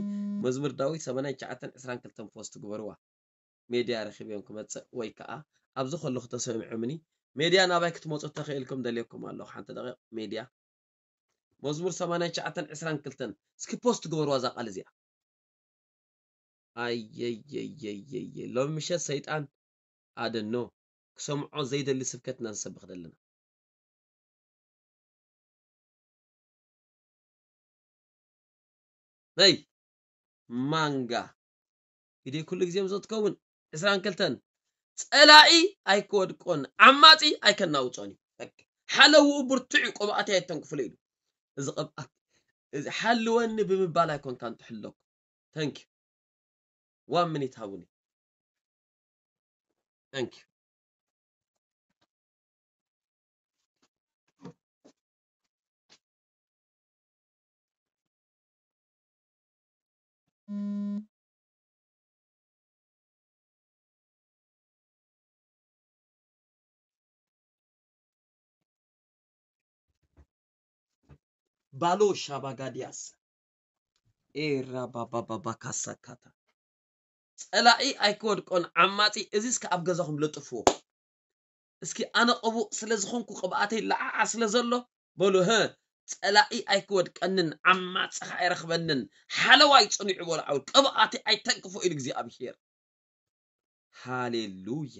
መዝሙር ዳዊት ሰማንያን ትሽዓተን ዕስራን ክልተን ፖስት ግበርዋ። ሜድያ ረኺበዮም ክመጽእ ወይ ከኣ ኣብዚ ከለኹ ተሰሚዖምኒ። ሜድያ ናባይ ክትመጹ ተኽኢልኩም ደልየኩም ኣለኹ። ሓንቲ ደቂቕ ሜድያ። መዝሙር ሰማንያን ትሽዓተን ዕስራን ክልተን። እስኪ ፖስት ግበርዋ እዛ ቃል እዚኣ። ኣየየየየየ፣ ሎሚ ምሸት ሰይጣን ኣደኖ ክሰምዖ ዘይደሊ ስብከትና ንሰብኽ ዘለና። ነይ ማንጋ ግዲ ኩሉ ግዜ ምስ ትከውን ዕስራን ክልተን፣ ጸላኢ ኣይክወድቆን ዓማጺ ኣይከናውጾን እዩ። በቃ፣ ሓለውኡ ብርቱዕ እዩ፣ ቅብኣተይ ኣይተንክፍሉ ኢሉ። እዚ ቅብኣት እዚ ሓልወኒ ብምባል ኣይኮንካን ትሕለኩ። Thank you። One minute ሃቡኒ። Thank you። ባሎ ሻባጋዲያስ ኤራ ባባባባ ካሳካታ። ጸላኢ ኣይክወድቆን ዓማጺ፣ እዚ እስከ ኣብ ገዛኹም ለጥፍዎ። እስኪ ኣነ ቅቡእ ስለ ዝኾንኩ ቅብኣተይ ለዓዓ ስለ ዘሎ በሉ፣ ህ፣ ጸላኢ ኣይክወድቀንን ዓማጺ ከኣ ኣይረኽበንን፣ ሓለዋይ ጽኒዑ በሉ፣ ዓው ቅብኣተይ ኣይተንክፎ ኢሉ እግዚኣብሄር። ሃሌሉያ።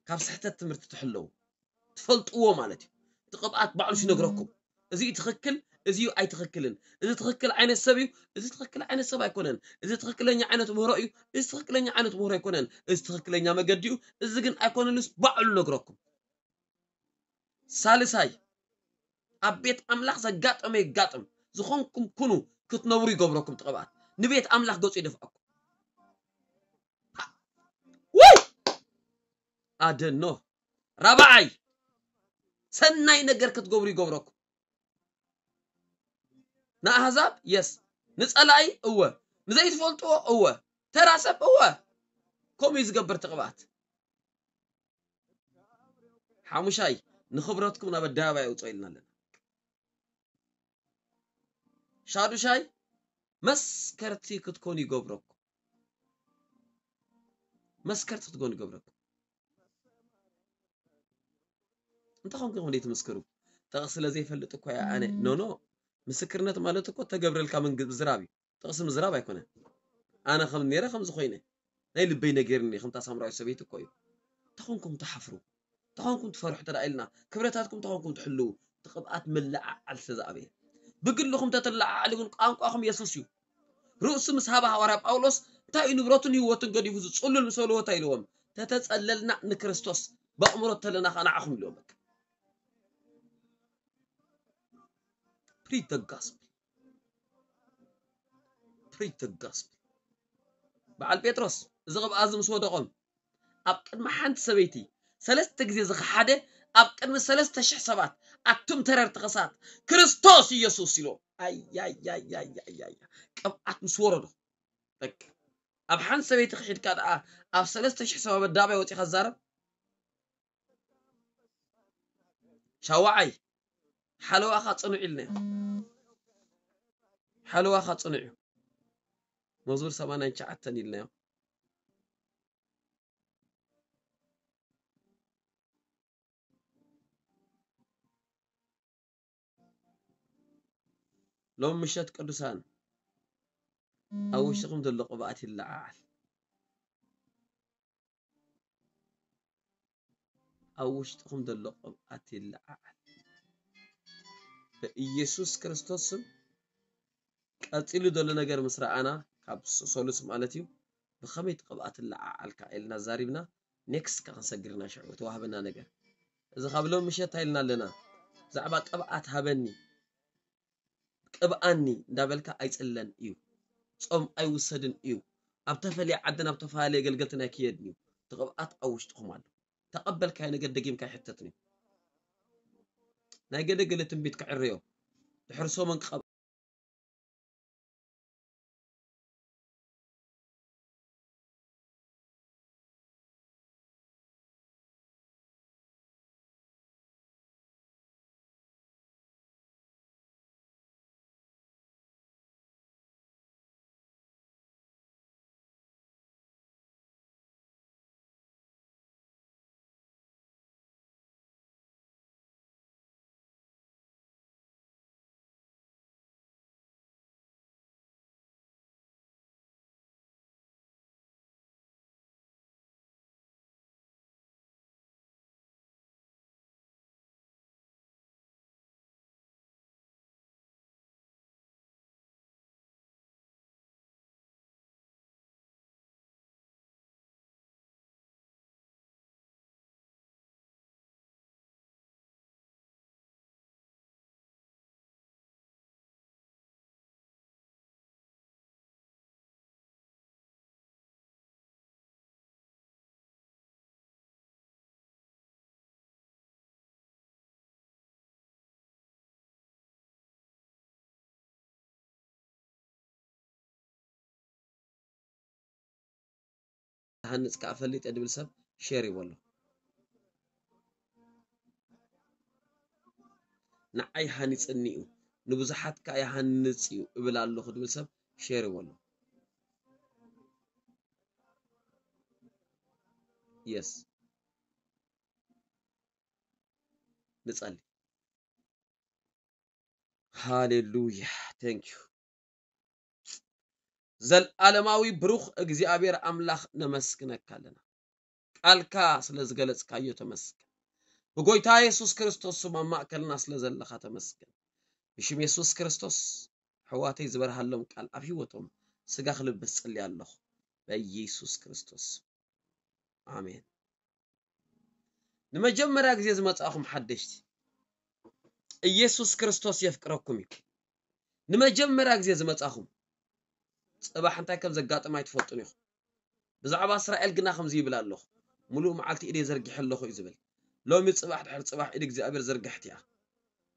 ካብ ስሕተት ትምህርቲ ትሕለዉ፣ ትፈልጥዎ ማለት እዩ። እቲ ቅብኣት ባዕሉ ይነግረኩም፣ እዚ እዩ ትኽክል፣ እዚ እዩ ኣይትኽክልን፣ እዚ ትኽክል ዓይነት ሰብ እዩ፣ እዚ ትኽክል ዓይነት ሰብ ኣይኮነን፣ እዚ ትኽክለኛ ዓይነት ምህሮ እዩ፣ እዚ ትኽክለኛ ዓይነት ምህሮ ኣይኮነን፣ እዚ ትኽክለኛ መገዲ እዩ፣ እዚ ግን ኣይኮነንስ ባዕሉ ይነግረኩም። ሳልሳይ፣ ኣብ ቤት ኣምላኽ ዘጋጠመ የጋጥም፣ ዝኾንኩም ኩኑ ክትነብሩ ይገብረኩም። እቲ ቅብኣት ንቤት ኣምላኽ ገጹ ይደፍኣኩም። ወይ ኣደኖ ራብዓይ፣ ሰናይ ነገር ክትገብሩ ይገብረኩም። ንኣህዛብ የስ፣ ንጸላኢ እወ፣ ንዘይትፈልጥዎ እወ፣ ተራ ሰብ እወ። ከምኡ እዩ ዝገብር እቲ ቅብኣት። ሓሙሻይ፣ ንኽብረትኩም ናብ ኣደባባይ ኣውፅኦ ኢልና ኣለና። ሻዱሻይ፣ መስከርቲ ክትኮኑ ይገብረኩም። መስከርቲ ክትኮኑ ይገብረኩም። እንተኾንኩም ከመይ ትምስክሩ? ጥቕሲ ስለ ዘይፈልጥ እኮ እያ ኣነ። ኖ፣ ኖ። ምስክርነት ማለት እኮ ተገብረልካ ምንግ-፣ ምዝራብ እዩ። ጥቕሲ ምዝራብ ኣይኮነን። ኣነ ከም ነይረ ከምዚ ኮይነ። ናይ ልበይ ነጊርኒ ከምታ ሳምራዊት ሰበይቲ እኮ እዩ። እንተኾንኩም ትሓፍሩ፣ እንተኾንኩም ትፈርሑ እንተ ደኣ ኢልና፣ ክብረታትኩም እንተኾንኩም ትሕልዉ፣ እቲ ቅብኣት ምልዕዓል ስለ ዝኣበየ። ብግልኹም ተትለዓዓሉ ግን ቋንቋኹም የሱስ እዩ። ርእሱ ምስ ሃበ ሃዋርያ ጳውሎስ እንታይ እዩ ንብረቱን ህይወቱን ገዲፉ ዝጽሉል ምስ በልዎ እንታይ ኢልዎም? ተተጸለልና ንክርስቶስ፣ በእምሮ ተለና ከኣ ንዓኹም ኢልዎም። በቃ። Preach the gospel. Preach the gospel. በዓል ጴጥሮስ እዚ ቅብኣት እዚ ምስ ወደቖም ኣብ ቅድሚ ሓንቲ ሰበይቲ ሰለስተ ግዜ ዝኸሓደ ኣብ ቅድሚ ሰለስተ ሽሕ ሰባት ኣቱም ተረርቲ ከሳት ክርስቶስ ኢየሱስ ኢልዎም። ኣያያያያያያ ቅብኣት ምስ ወረዶ በቃ ኣብ ሓንቲ ሰበይቲ ክሒድካ ደኣ ኣብ ሰለስተ ሽሕ ሰባት ኣደባባይ ወጺኻ ትዛረብ። ሻዋዓይ ሓለዋኻ ጽኑዕ ኢልናዮ። ሓለዋኻ ጽኑዕ እዩ። መዝሙር ሰማንያን ትሽዓተን ኢልናዮ። ሎም ምሸት ቅዱሳን ኣብ ውሽጥኹም ዘሎ ቅብኣት ይለዓዓል። ኣብ ውሽጥኹም ዘሎ ቅብኣት ይለዓዓል። በኢየሱስ ክርስቶስ ስም ቀጺሉ ዘሎ ነገር ምስ ረኣና፣ ካብ ስ-፣ ሶሉስ ማለት እዩ፣ ብኸመይ እቲ ቅብኣት ይለዓዓልካ ኢልና ዛሪብና፣ ኔክስት ከ ክንሰግር ኢና ሽዑ፣ ተዋህበና ነገር። እዚ ካብ ሎም ምሸት እንታይ ኢልና ኣለና? ብዛዕባ ቅብኣት ሃበኒ፣ ቅብኣኒ እንዳበልካ ኣይጽለን እዩ። ጾም ኣይውሰድን እዩ። ኣብ ተፈልየ ዓድን ኣብ ተፈላለየ ገልገልትን ኣይክየድን እዩ። እቲ ቅብኣት ኣብ ውሽጥኹም ኣሎ። ተቐበልካዮ ነገር ደጊምካ ኣይሕተትን እዩ። ናይ ገለ ገለ ትንቢት ክዕረዮ። ድሕሪ ሰሙን ክቐብ-፣ ሃንጽ ከኣ ፈሊጠ ድብል ሰብ ሼር ይበሎ። ንዓይ ሃኒጽኒ እዩ፣ ንብዙሓት ከኣ ይሃንጽ እዩ እብል ኣለኹ ድብል ሰብ ሼር ይበሎ። የስ። ንጸሊ። ሃሌሉያ። Thank you። ዘልዓለማዊ ብሩኽ እግዚኣብሔር ኣምላኽ ነመስግነካ ኣለና። ቃልካ ስለ ዝገለጽካዮ ተመስገን። ብጎይታ የሱስ ክርስቶስ ስም ኣብ ማእከልና ስለ ዘለኻ ተመስገን። ብሽም የሱስ ክርስቶስ ኣሕዋተይ ዝበርሃሎም ቃል ኣብ ህይወቶም ስጋ ክልብስ ጸልየ ኣለኹ። በኢየሱስ ክርስቶስ። ኣሜን። ንመጀመርያ ግዜ ዝመጻእኹም ሓደሽቲ፣ ኢየሱስ ክርስቶስ የፍቅረኩም እዩ። ንመጀመርያ ግዜ ዝመጻእኹም፣ ጽባሕ እንታይ ከም ዘጋጥም ኣይትፈልጡን ኢኹም። ብዛዕባ እስራኤል ግና ከምዚ ይብል ኣለኹ፣ "ምሉእ መዓልቲ ኢደይ ዘርጊሐ ኣለኹ" እዩ ዝብል። ሎሚ ጽባሕ ድሕሪ ጽባሕ ኢድ እግዚኣብሔር ዘርግሕት እያ።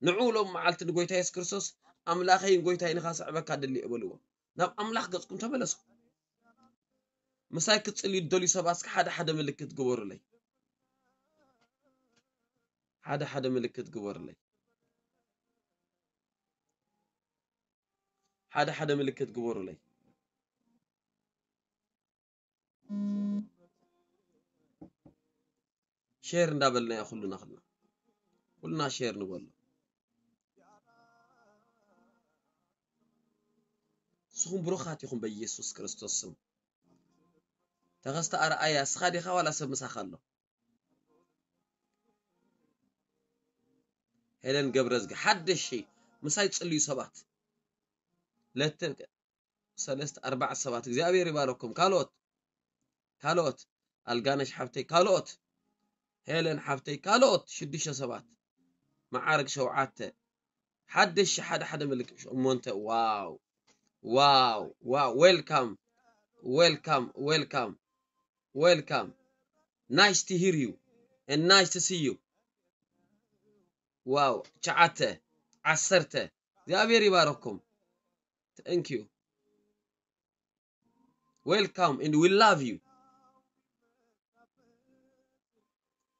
ንዑ ሎም መዓልቲ ንጎይታ የሱስ ክርስቶስ፣ "ኣምላኸይን ጎይታይን ኢኻ፣ ሰዕበካ ደሊ" እየ በልዎ። ናብ ኣምላኽ ገጽኩም ተመለሱ። ምሳይ ክትጽልዩ ትደልዩ ሰባት እስከ ሓደ ሓደ ምልክት ግበሩለይ። ሓደ ሓደ ምልክት ግበሩለይ። ሓደ ሓደ ምልክት ግበሩለይ። ሼር እንዳበልናዮ ኩልና፣ ኩልና፣ ኩልና ሼር ንበሎ። ንስኹም ብሩኻት ኢኹም በኢየሱስ ክርስቶስ ስም። ተኸስተ ኣርኣያ፣ እስኻ ዲኻ ዋላ ሰብ ምሳኻ ኣሎ? ሄለን ገብረዝጊ፣ ሓደሽ ምሳይ ጽልዩ ሰባት። ለተ-፣ ሰለስተ፣ ኣርባዕተ ሰባት። እግዚኣብሔር ይባረኩም። ካልኦት፣ ካልኦት፣ ኣልጋነሽ ሓብተይ፣ ካልኦት፣ ሄለን ሓብተይ፣ ካልኦት፣ ሽዱሽተ ሰባት። መዓርግ ሸውዓተ። ሓደሽ ሓደ ሓደ ምልክት ሸሞንተ። ዋው፣ ዋው፣ ዋው። Welcome፣ welcome፣ welcome፣ welcome። Nice to hear you and nice to see you። ዋው፣ ትሽዓተ፣ ዓሰርተ። እግዚኣብሔር ይባረኩም። Thank you። Welcome and we love you።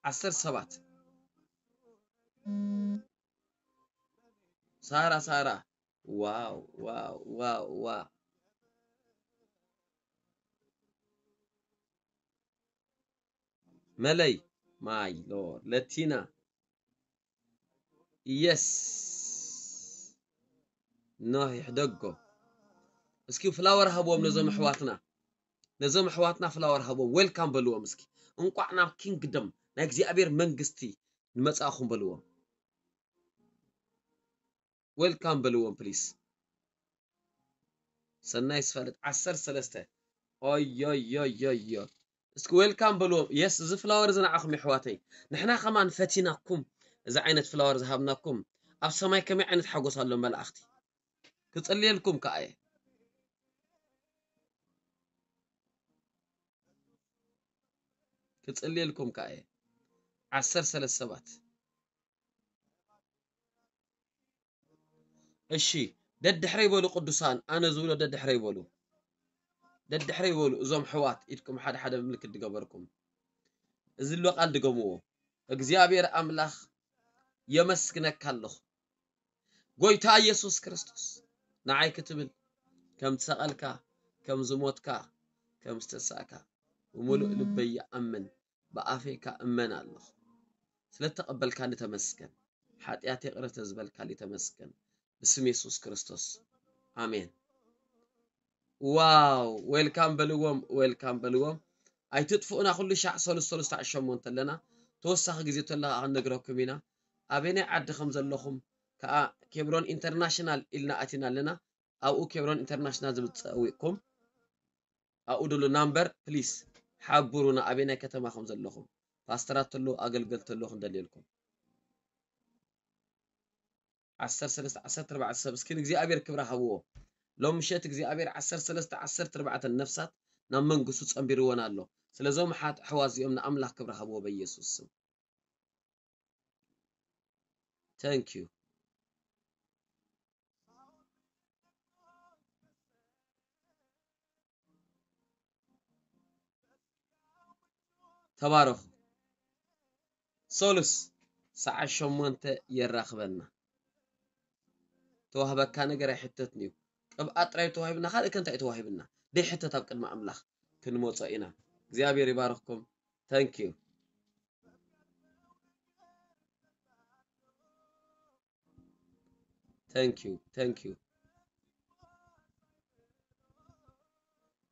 ዓሰርተ ሰባት። ሳራ፣ ሳራ። ዋው፣ ዋው፣ ዋው፣ ዋው። መለይ፣ my Lord። ለቲና። የስ። ኖህ ይሕደጎ። እስኪ ፍላወር ሃብዎም ነዞም ኣሕዋትና፣ ነዞም ኣሕዋትና ፍላወር ሃብዎም። ዌልካም በልዎም እስኪ። እንቋዕ ናብ ኪንግደም ናይ እግዚኣብሔር መንግስቲ ንመጻእኹም በልዎም። ዌልካም በልዎም ፕሊስ። ሰናይ ስፈልጥ ዓሰርተ ሰለስተ። ኦዮዮዮዮ። እስኪ ዌልካም በልዎም። የስ፣ እዚ ፍላወር እዚ ንዓኹም የሕዋተይ። ንሕና ከማን ፈቲናኩም፣ እዚ ዓይነት ፍላወር ዝሃብናኩም። ኣብ ሰማይ ከመይ ዓይነት ሓጎስ ኣሎ መላእኽቲ። ክጽልየልኩም ከኣ እየ። ክጽልየልኩም ከኣ እየ። ዓሰርተ ሰለስተ ሰባት። እሺ፣ ደድሕረይ በሉ ቅዱሳን፣ ኣነ ዝብሎ ደድሕረይ በሉ። ደድሕረይ በሉ እዞም ኣሕዋት፣ ኢድኩም ሓደ ሓደ ምልክት ድገበርኩም። እዚ ዝብሎ ቃል ድገምዎ። እግዚኣብሔር ኣምላኽ የመስግነካ ኣለኹ። ጎይታ ኢየሱስ ክርስቶስ ንዓይ ክትብል ከም ዝሰቐልካ፣ ከም ዝሞትካ፣ ከም ዝተሳእካ ብምሉእ ልበይ ይኣምን፣ ብኣፈይ ከኣ እመን ኣለኹ። ስለ እተቐበልካኒ ተመስገን። ሓጢኣተይ ይቕረ ስለ ዝበልካለይ ተመስገን። ብስም የሱስ ክርስቶስ ኣሜን። ዋው! ዌልካም በልዎም፣ ዌልካም በልዎም። ኣይትጥፍኡና፣ ኩሉ ሻዕ ሰሉስ ሰሉስ ሰዓት ሸሞንተ ኣለና። ተወሳኺ ግዜ ተሎ ከኣ ክንነግረኩም ኢና። ኣበየናይ ዓዲ ከም ዘለኹም ከኣ ኬብሮን ኢንተርናሽናል ኢልና ኣቲና ኣለና። ኣብኡ ኬብሮን ኢንተርናሽናል ዝብል ጸዊቕኩም ኣብኡ ደሎ ናምበር ፕሊስ ሓብሩና፣ ኣበየናይ ከተማ ከም ዘለኹም። ፓስተራት ተሎ፣ ኣገልገልቲ ተሎ ክንደልየልኩም። ዓሰርተ ሰለስተ ዓሰርተ ኣርባዕተ ሰብ እስኪ ንእግዚኣብሔር ክብሪ ሃብዎ። ሎም ምሸት እግዚኣብሔር ዓሰርተ ሰለስተ ዓሰርተ ኣርባዕተ ነፍሳት ናብ መንግስቱ ጸንቢርወን ኣሎ። ስለዞም ሓት-፣ ኣሕዋት እዚኦም ንኣምላኽ ክብሪ ሃብዎ በኢየሱስ ስም። Thank you። ተባረኹ። ሰሉስ ሰዓት ሸሞንተ የራኽበና። ተዋህበካ ነገር ኣይሕተትን እዩ። ቅብኣት ጥራይ ተዋሂብና፣ ካልእ ከ እንታይ እዩ ተዋሂብና? ደይሕተት ኣብ ቅድሚ ኣምላኽ ክንመጾ ኢና። እግዚኣብሔር ይባርኽኩም። Thank you። Thank you፣ thank you።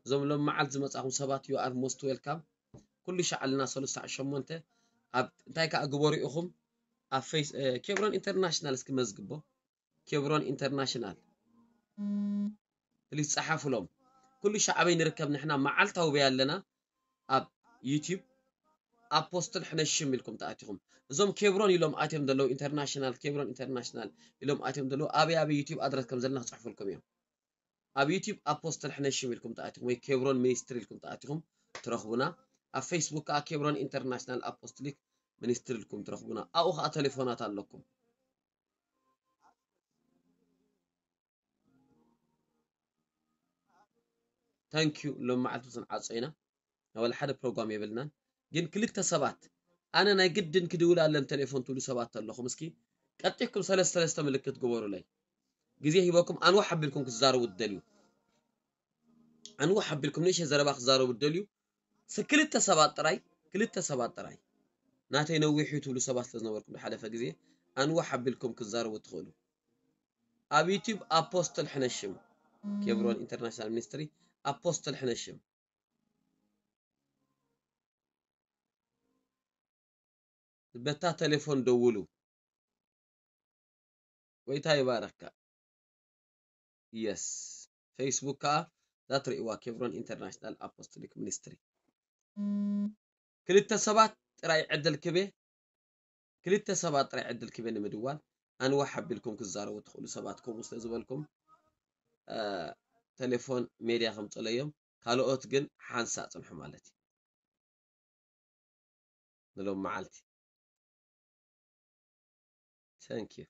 እዞም ሎም መዓልቲ ዝመጻኹም ሰባት፣ you are most welcome። ኩሉ ሻዕ ኣለና፣ ሰሉስ ሰዓት ሸሞንተ። ኣብ እንታይ ከኣ ግበሩ ኢኹም፣ ኣብ ፌስ-፣ እ፣ ኬብሮን ኢንተርናሽናል እስኪ መዝግቦ። ኬብሮን ኢንተርናሽናል ፕሊስ ጸሓፉሎም። ኩሉ ሻዕ ኣበይ ንርከብ ንሕና? መዓልታዊ በይ ኣለና። ኣብ ዩቲዩብ ኣፖስትል ሕነሽም ኢልኩም ተኣቲኹም። እዞም ኬብሮን ኢሎም ኣትዮም ዘለዉ፣ ኢንተርናሽናል፣ ኬብሮን ኢንተርናሽናል ኢሎም ኣትዮም ዘለዉ፣ ኣበይ ኣበይ ዩቲዩብ ኣድረስ ከም ዘለና ክጽሕፉልኩም እዮም። ኣብ ዩቲዩብ ኣፖስትል ሕነሽም ኢልኩም ተኣቲኹም ወይ ኬብሮን ሚኒስትሪ ኢልኩም ተኣቲኹም ትረኽቡና። ኣብ ፌስቡክ ከኣ ኬብሮን ኢንተርናሽናል ኣፖስቶሊክ ሚኒስትሪ ኢልኩም ትረኽቡና። ኣብኡ ከኣ ቴሌፎናት ኣለኩም። Thank you። ሎም መዓልቲ ስንዓጾ ኢና። ወላ ሓደ ፕሮግራም የብልናን። ግን ክልተ ሰባት፣ ኣነ ናይ ግድን ክድውል ኣለን ቴሌፎን ትብሉ ሰባት ኣለኹም፣ እስኪ ቀጢኩም ሰለስተ ሰለስተ ምልክት ግበሩለይ። ግዜ ሂበኩም ኣንዋሕ ኣቢልኩም ክትዛረቡ ትደልዩ። ኣንዋሕ ኣቢልኩም ንእሽተይ ዘረባ ክትዛረቡ ትደልዩ። ስ-፣ ክልተ ሰባት ጥራይ፣ ክልተ ሰባት ጥራይ። ናተይ ነዊሕ እዩ ትብሉ ሰባት ስለ ዝነበርኩም ዝሓለፈ ግዜ፣ ኣንዋሕ ኣቢልኩም ክትዛረቡ ትኽእሉ። ኣብ ዩቲዩብ ኣፖስትል ሕነሽም፣ ኬብሮን ኢንተርናሽናል ሚኒስትሪ፣ ኣፖስትል ሕነሽም። በታ ቴሌፎን ደውሉ። ጎይታ ይባርኽካ። የስ። ፌስቡክ ከኣ እዛ ትርእይዋ ኬብሮን ኢንተርናሽናል ኣፖስቶሊክ ሚኒስትሪ። ክልተ ሰባት ጥራይ ዕድል ክቤ፣ ክልተ ሰባት ጥራይ ዕድል ክቤ ንምድዋል ኣንዋሕ ኣቢልኩም ክዛረቡ ትኽእሉ ሰባት ከምኡ ስለ ዝበልኩም፣ እ፣ ቴሌፎን ሜድያ ከምጽለዮም፣ ካልኦት ግን ሓንሳእ ጽንሑ ማለት እዩ። ንሎም መዓልቲ። Thank you።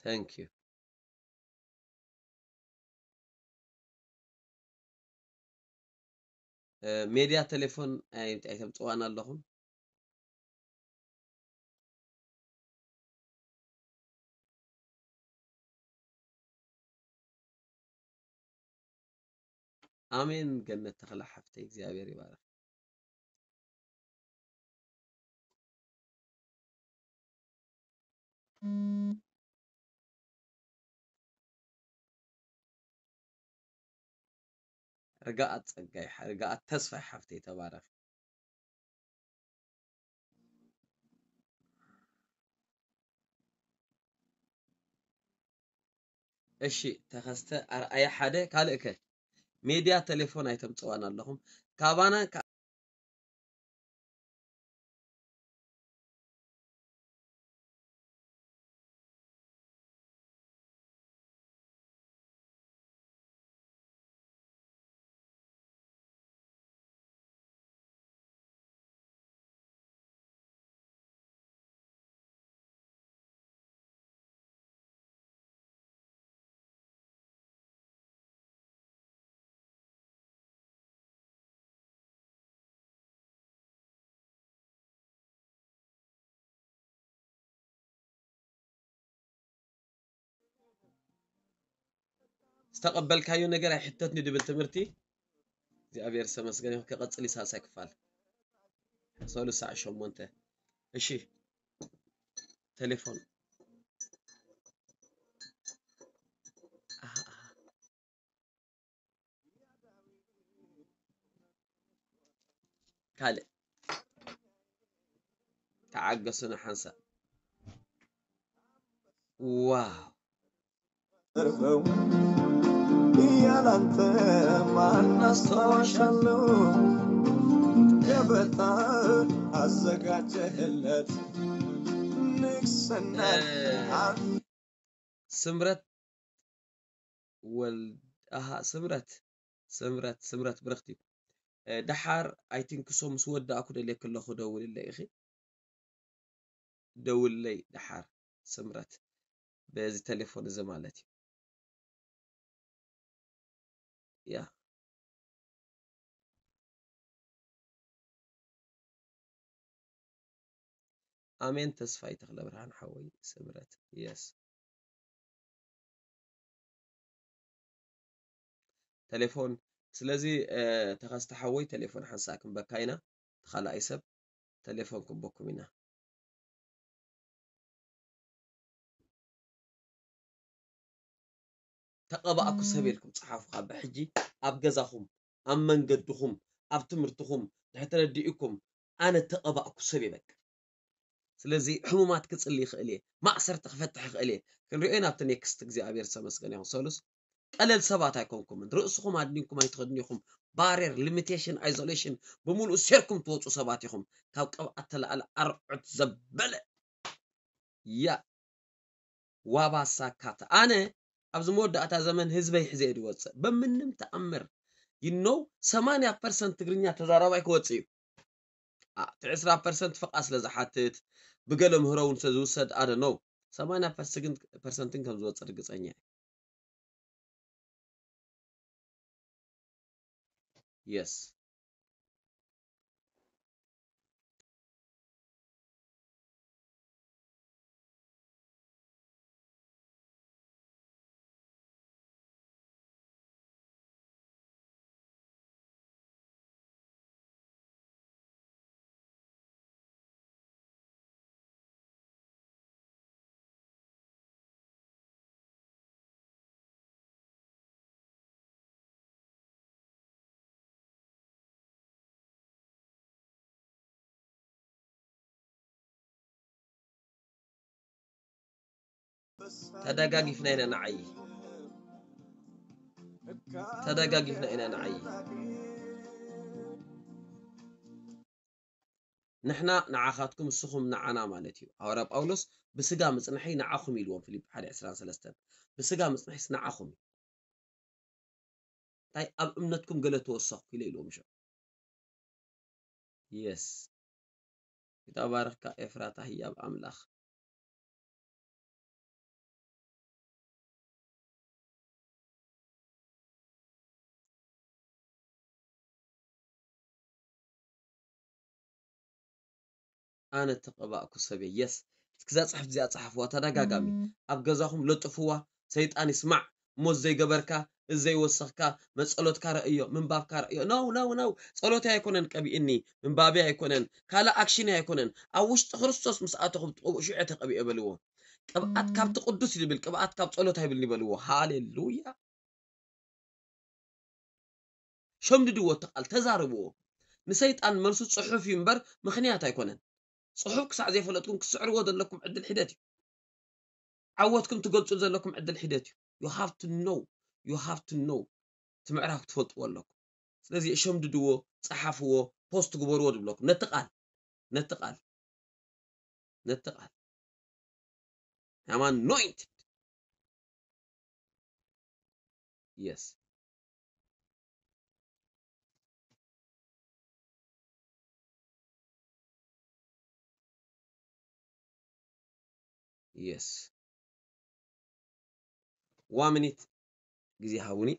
Thank you። እ፣ ሜድያ ቴሌፎን ኣይ-፣ ኣይተምጽዋን ኣለኹም? ኣሜን። ገነት ተኽለ ሓፍተይ እግዚኣብሔር ይባርኽ። ርግኣት ጸጋይ፣ ርግኣት ተስፋይ ሓፍተይ፣ ተባረኺ። እሺ፣ ተኸስተ ኣርኣያ ሓደ፣ ካልእ ከ? ሜድያ ቴሌፎን ኣይተምጽዋን ኣለኹም። ካባና ካ- ዝተቐበልካዮ ነገር ኣይሕተትኒ ድብል ትምህርቲ እግዚኣብሔር ዝተመስገነ ይሁን። ክቐጽል እዩ ሳልሳይ ክፋል ሰሉስ ሰዓት ሸሞንተ። እሺ፣ ቴሌፎን። ኣሃ፣ ኣሃ። ካልእ ተዓገሱና ሓንሳእ። ዋው! ያላንተ ማን አስታዋሻለሁ? ገበታ አዘጋጀህለት ንግስና እ፣ ስምረት ወልድ፣ ኣሃ፣ ስምረት፣ ስምረት፣ ስምረት ብርኽቲ። እ፣ ደሓር፣ I think so፣ ምስ ወዳእኩ ደልየኪ ኣለኹ፣ ደውልለይ ኢኺ። ደውልለይ ደሓር፣ ስምረት፣ በዚ ቴሌፎን እዚ ማለት እዩ። ያ። ኣሜን ተስፋይ ተኽለብርሃን ሓወይ ስምረት። የስ። ቴሌፎን። ስለዚ፣ እ፣ ተኸስተ ሓወይ ቴሌፎን ሓንሳእ ክንበካ ኢና። እቲ ካልኣይ ሰብ ቴሌፎን ክንበኩም ኢና። ተቐባእኩ ሰብ ኢልኩም ጸሓፉ። ካብ ሕጂ ኣብ ገዛኹም፣ ኣብ መንገድኹም፣ ኣብ ትምህርትኹም ድሕሪ ተረዲእኩም፣ ኣነ ተቐባእኩ ሰብ እየ በቃ። ስለዚ ሕሙማት ክጽሊ ይኽእል እየ፣ ማእሰርቲ ክፈትሕ ይኽእል እየ። ክንሪኦ ኢና ኣብቲ ኔክስት። እግዚኣብሔር ዝተመስገነ ይኹን። ሰሉስ ቀለል ሰባት ኣይኮንኩምን። ርእስኹም ኣድኒንኩም ኣይትኸድኑ ኢኹም። ባሬር፣ ሊሚቴሽን፣ ኣይዞሌሽን ብምሉኡ ሴርኩም ትወጹ ሰባት ኢኹም። ካብ ቅብኣት ተላኣለ ኣርዑት ዘበለ። ያ ዋባ ሳካት። ኣነ ኣብዚ መወዳእታ ዘመን ህዝበይ ሒዘ እየ ዝወጽእ። በምንም ተኣምር፣ you know፣ ሰማንያ ፐርሰንት ትግርኛ ተዛራባይ ክወጽእ እዩ። አ፣ እቲ ዕስራ ፐርሰንት ፍቓድ ስለ ዝሓትት፣ ብገለ ምህሮ እውን ስለ ዝውሰድ፣ I don't know፣ ሰማንያ ፐርሰንት ግን ከም ዝወጽእ ርግጸኛ እየ። የስ። ተደጋጊፍና ኢና ንዓዪ። ተደጋጊፍና ኢና ንዓዪ። ንሕና ንዓኻትኩም፣ ንስኹም ንዓና ማለት እዩ። ሃዋርያ ጳውሎስ፣ "ብስጋ ምጽንሐይ ንዓኹም" ኢልዎም፣ ፊልጲ ሓደ ዕስራን ሰለስተን። ብስጋ ምጽንሐይስ ንዓኹም እዩ። እንታይ ኣብ እምነትኩም ገለ ተወሰኽኩ ኢለ ኢልዎም። ሸ የስ። ይትባረኽካ ኤፍራታ ህያብ ኣምላኽ። ኣነ ተቐባእኩ ሰብ እየ። የስ። እስኪ እዛ ጽሕፍቲ እዚኣ ጸሓፍዋ ተደጋጋሚ። ኣብ ገዛኹም ለጥፍዋ፣ ሰይጣን ይስማዕ። እሞ ዘይገበርካ፣ ዘይወሰኽካ፣ መጸሎትካ ረእዮ፣ ምንባብካ ረእዮ። No, no, no። ጸሎተይ ኣይኮነን ቀቢእኒ፣ ምንባበይ ኣይኮነን፣ ካልእ ኣክሽነይ ኣይኮነን። ኣብ ውሽጢ ክርስቶስ ምስ ኣተኹ ብትቐብኡ ሽዑ እየ ተቐቢኤ በልዎ። ቅብኣት ካብቲ ቅዱስ እዩ ዝብል፣ ቅብኣት ካብ ጸሎት ኣይብልን ይበልዎ። ሃሌሉያ። ሸምድድዎ፣ እቲ ቃል ተዛርብዎ። ንሰይጣን መልሱ ጽሑፍ እዩ እምበር ምኽንያት ኣይኮነን። ጽሑፍ ክሳዕ ዘይፈለጥኩም ክትስዕርዎ ዘለኩም ዕድል ሒደት እዩ። ዓወትኩም ትገልጹ ዘለኩም ዕድል ሒደት እዩ። You have to know, you have to know። እቲ ምዕራፍ ክትፈልጥዎ ኣለኩም። ስለዚ ሸምድድዎ፣ ጸሓፍዎ፣ ፖስት ግበርዎ ዝብለኩም ነቲ ቃል፣ ነቲ ቃል፣ ነቲ ቃል። I'm anointed. Yes. Yes. One minute ግዜ ሃቡኒ።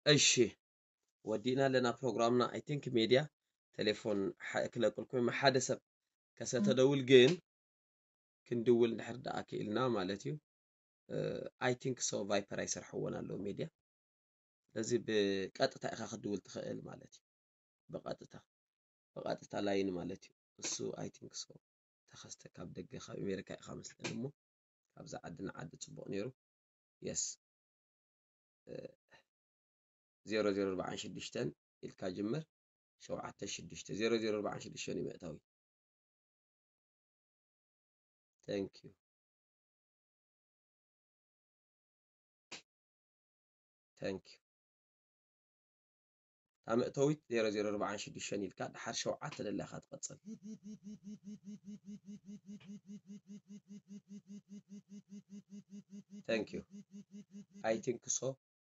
እሺ፣ ወዲእና ኣለና ፕሮግራምና። I think ሜድያ ቴሌፎን ክለቅልኩም ሓደ ሰብ ከሰተደውል ግን ክንድውል እንድሕር ደኣ ክኢልና ማለት እዩ። I think so ቫይፐር ኣይሰርሐዎን ኣለዉ ሜድያ። ስለዚ ብቀጥታ ኢኻ ክትድውል ትኽእል ማለት እዩ። ብቐጥታ፣ ብቐጥታ ላይን ማለት እዩ። እሱ I think so ተኸስተ ካብ ደገ ካብ ኣሜሪካ ኢኻ መስለኒ እሞ ካብዛ ዓዲ ንዓዲ ጽቡቕ ነይሩ። Yes። ዜሮ ዜሮ ኣርባዓን ሽዱሽተን ኢልካ ጅምር። ሸውዓተ ሽዱሽተ፣ ዜሮ ዜሮ ኣርባዓን ሽዱሽተን እዩ መእታዊ። Thank you. Thank you። እታ መእተዊት ዜሮ ዜሮ ኣርባዓን ሽዱሽተን ኢልካ ድሓር ሸውዓተ ደላ ኢኻ ትቐጽል። Thank you. I think so.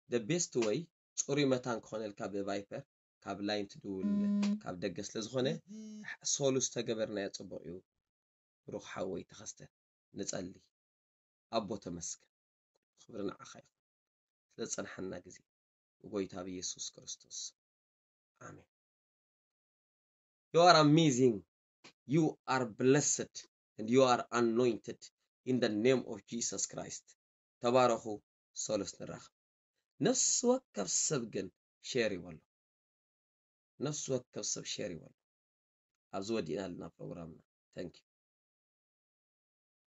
The best way ጽሩይ መታን ክኾነልካ ብቫይፐር ካብ ላይን ትድውል ካብ ደገ ስለ ዝኾነ ሶሉስ ተገበርናዮ ጽቡቕ እዩ። ብሩኽ ሓወይ ተኸስተ ንጸሊ። ኣቦ ተመስገን። ክብሪ ንዓኻ ይኹን። ስለ ዝጸንሓና ግዜ ብጎይታ ብኢየሱስ ክርስቶስ። ኣሜን። You are amazing. You are blessed and you are anointed in the name of Jesus Christ. ተባረኹ። ሶሉስ ንራኸብ። ነፍሲ ወከፍ ሰብ ግን ሼር ይበሎ። ነፍሲ ወከፍ ሰብ ሼር ይበሎ። ኣብዚ ወዲእና ኣለና ፕሮግራምና። Thank you።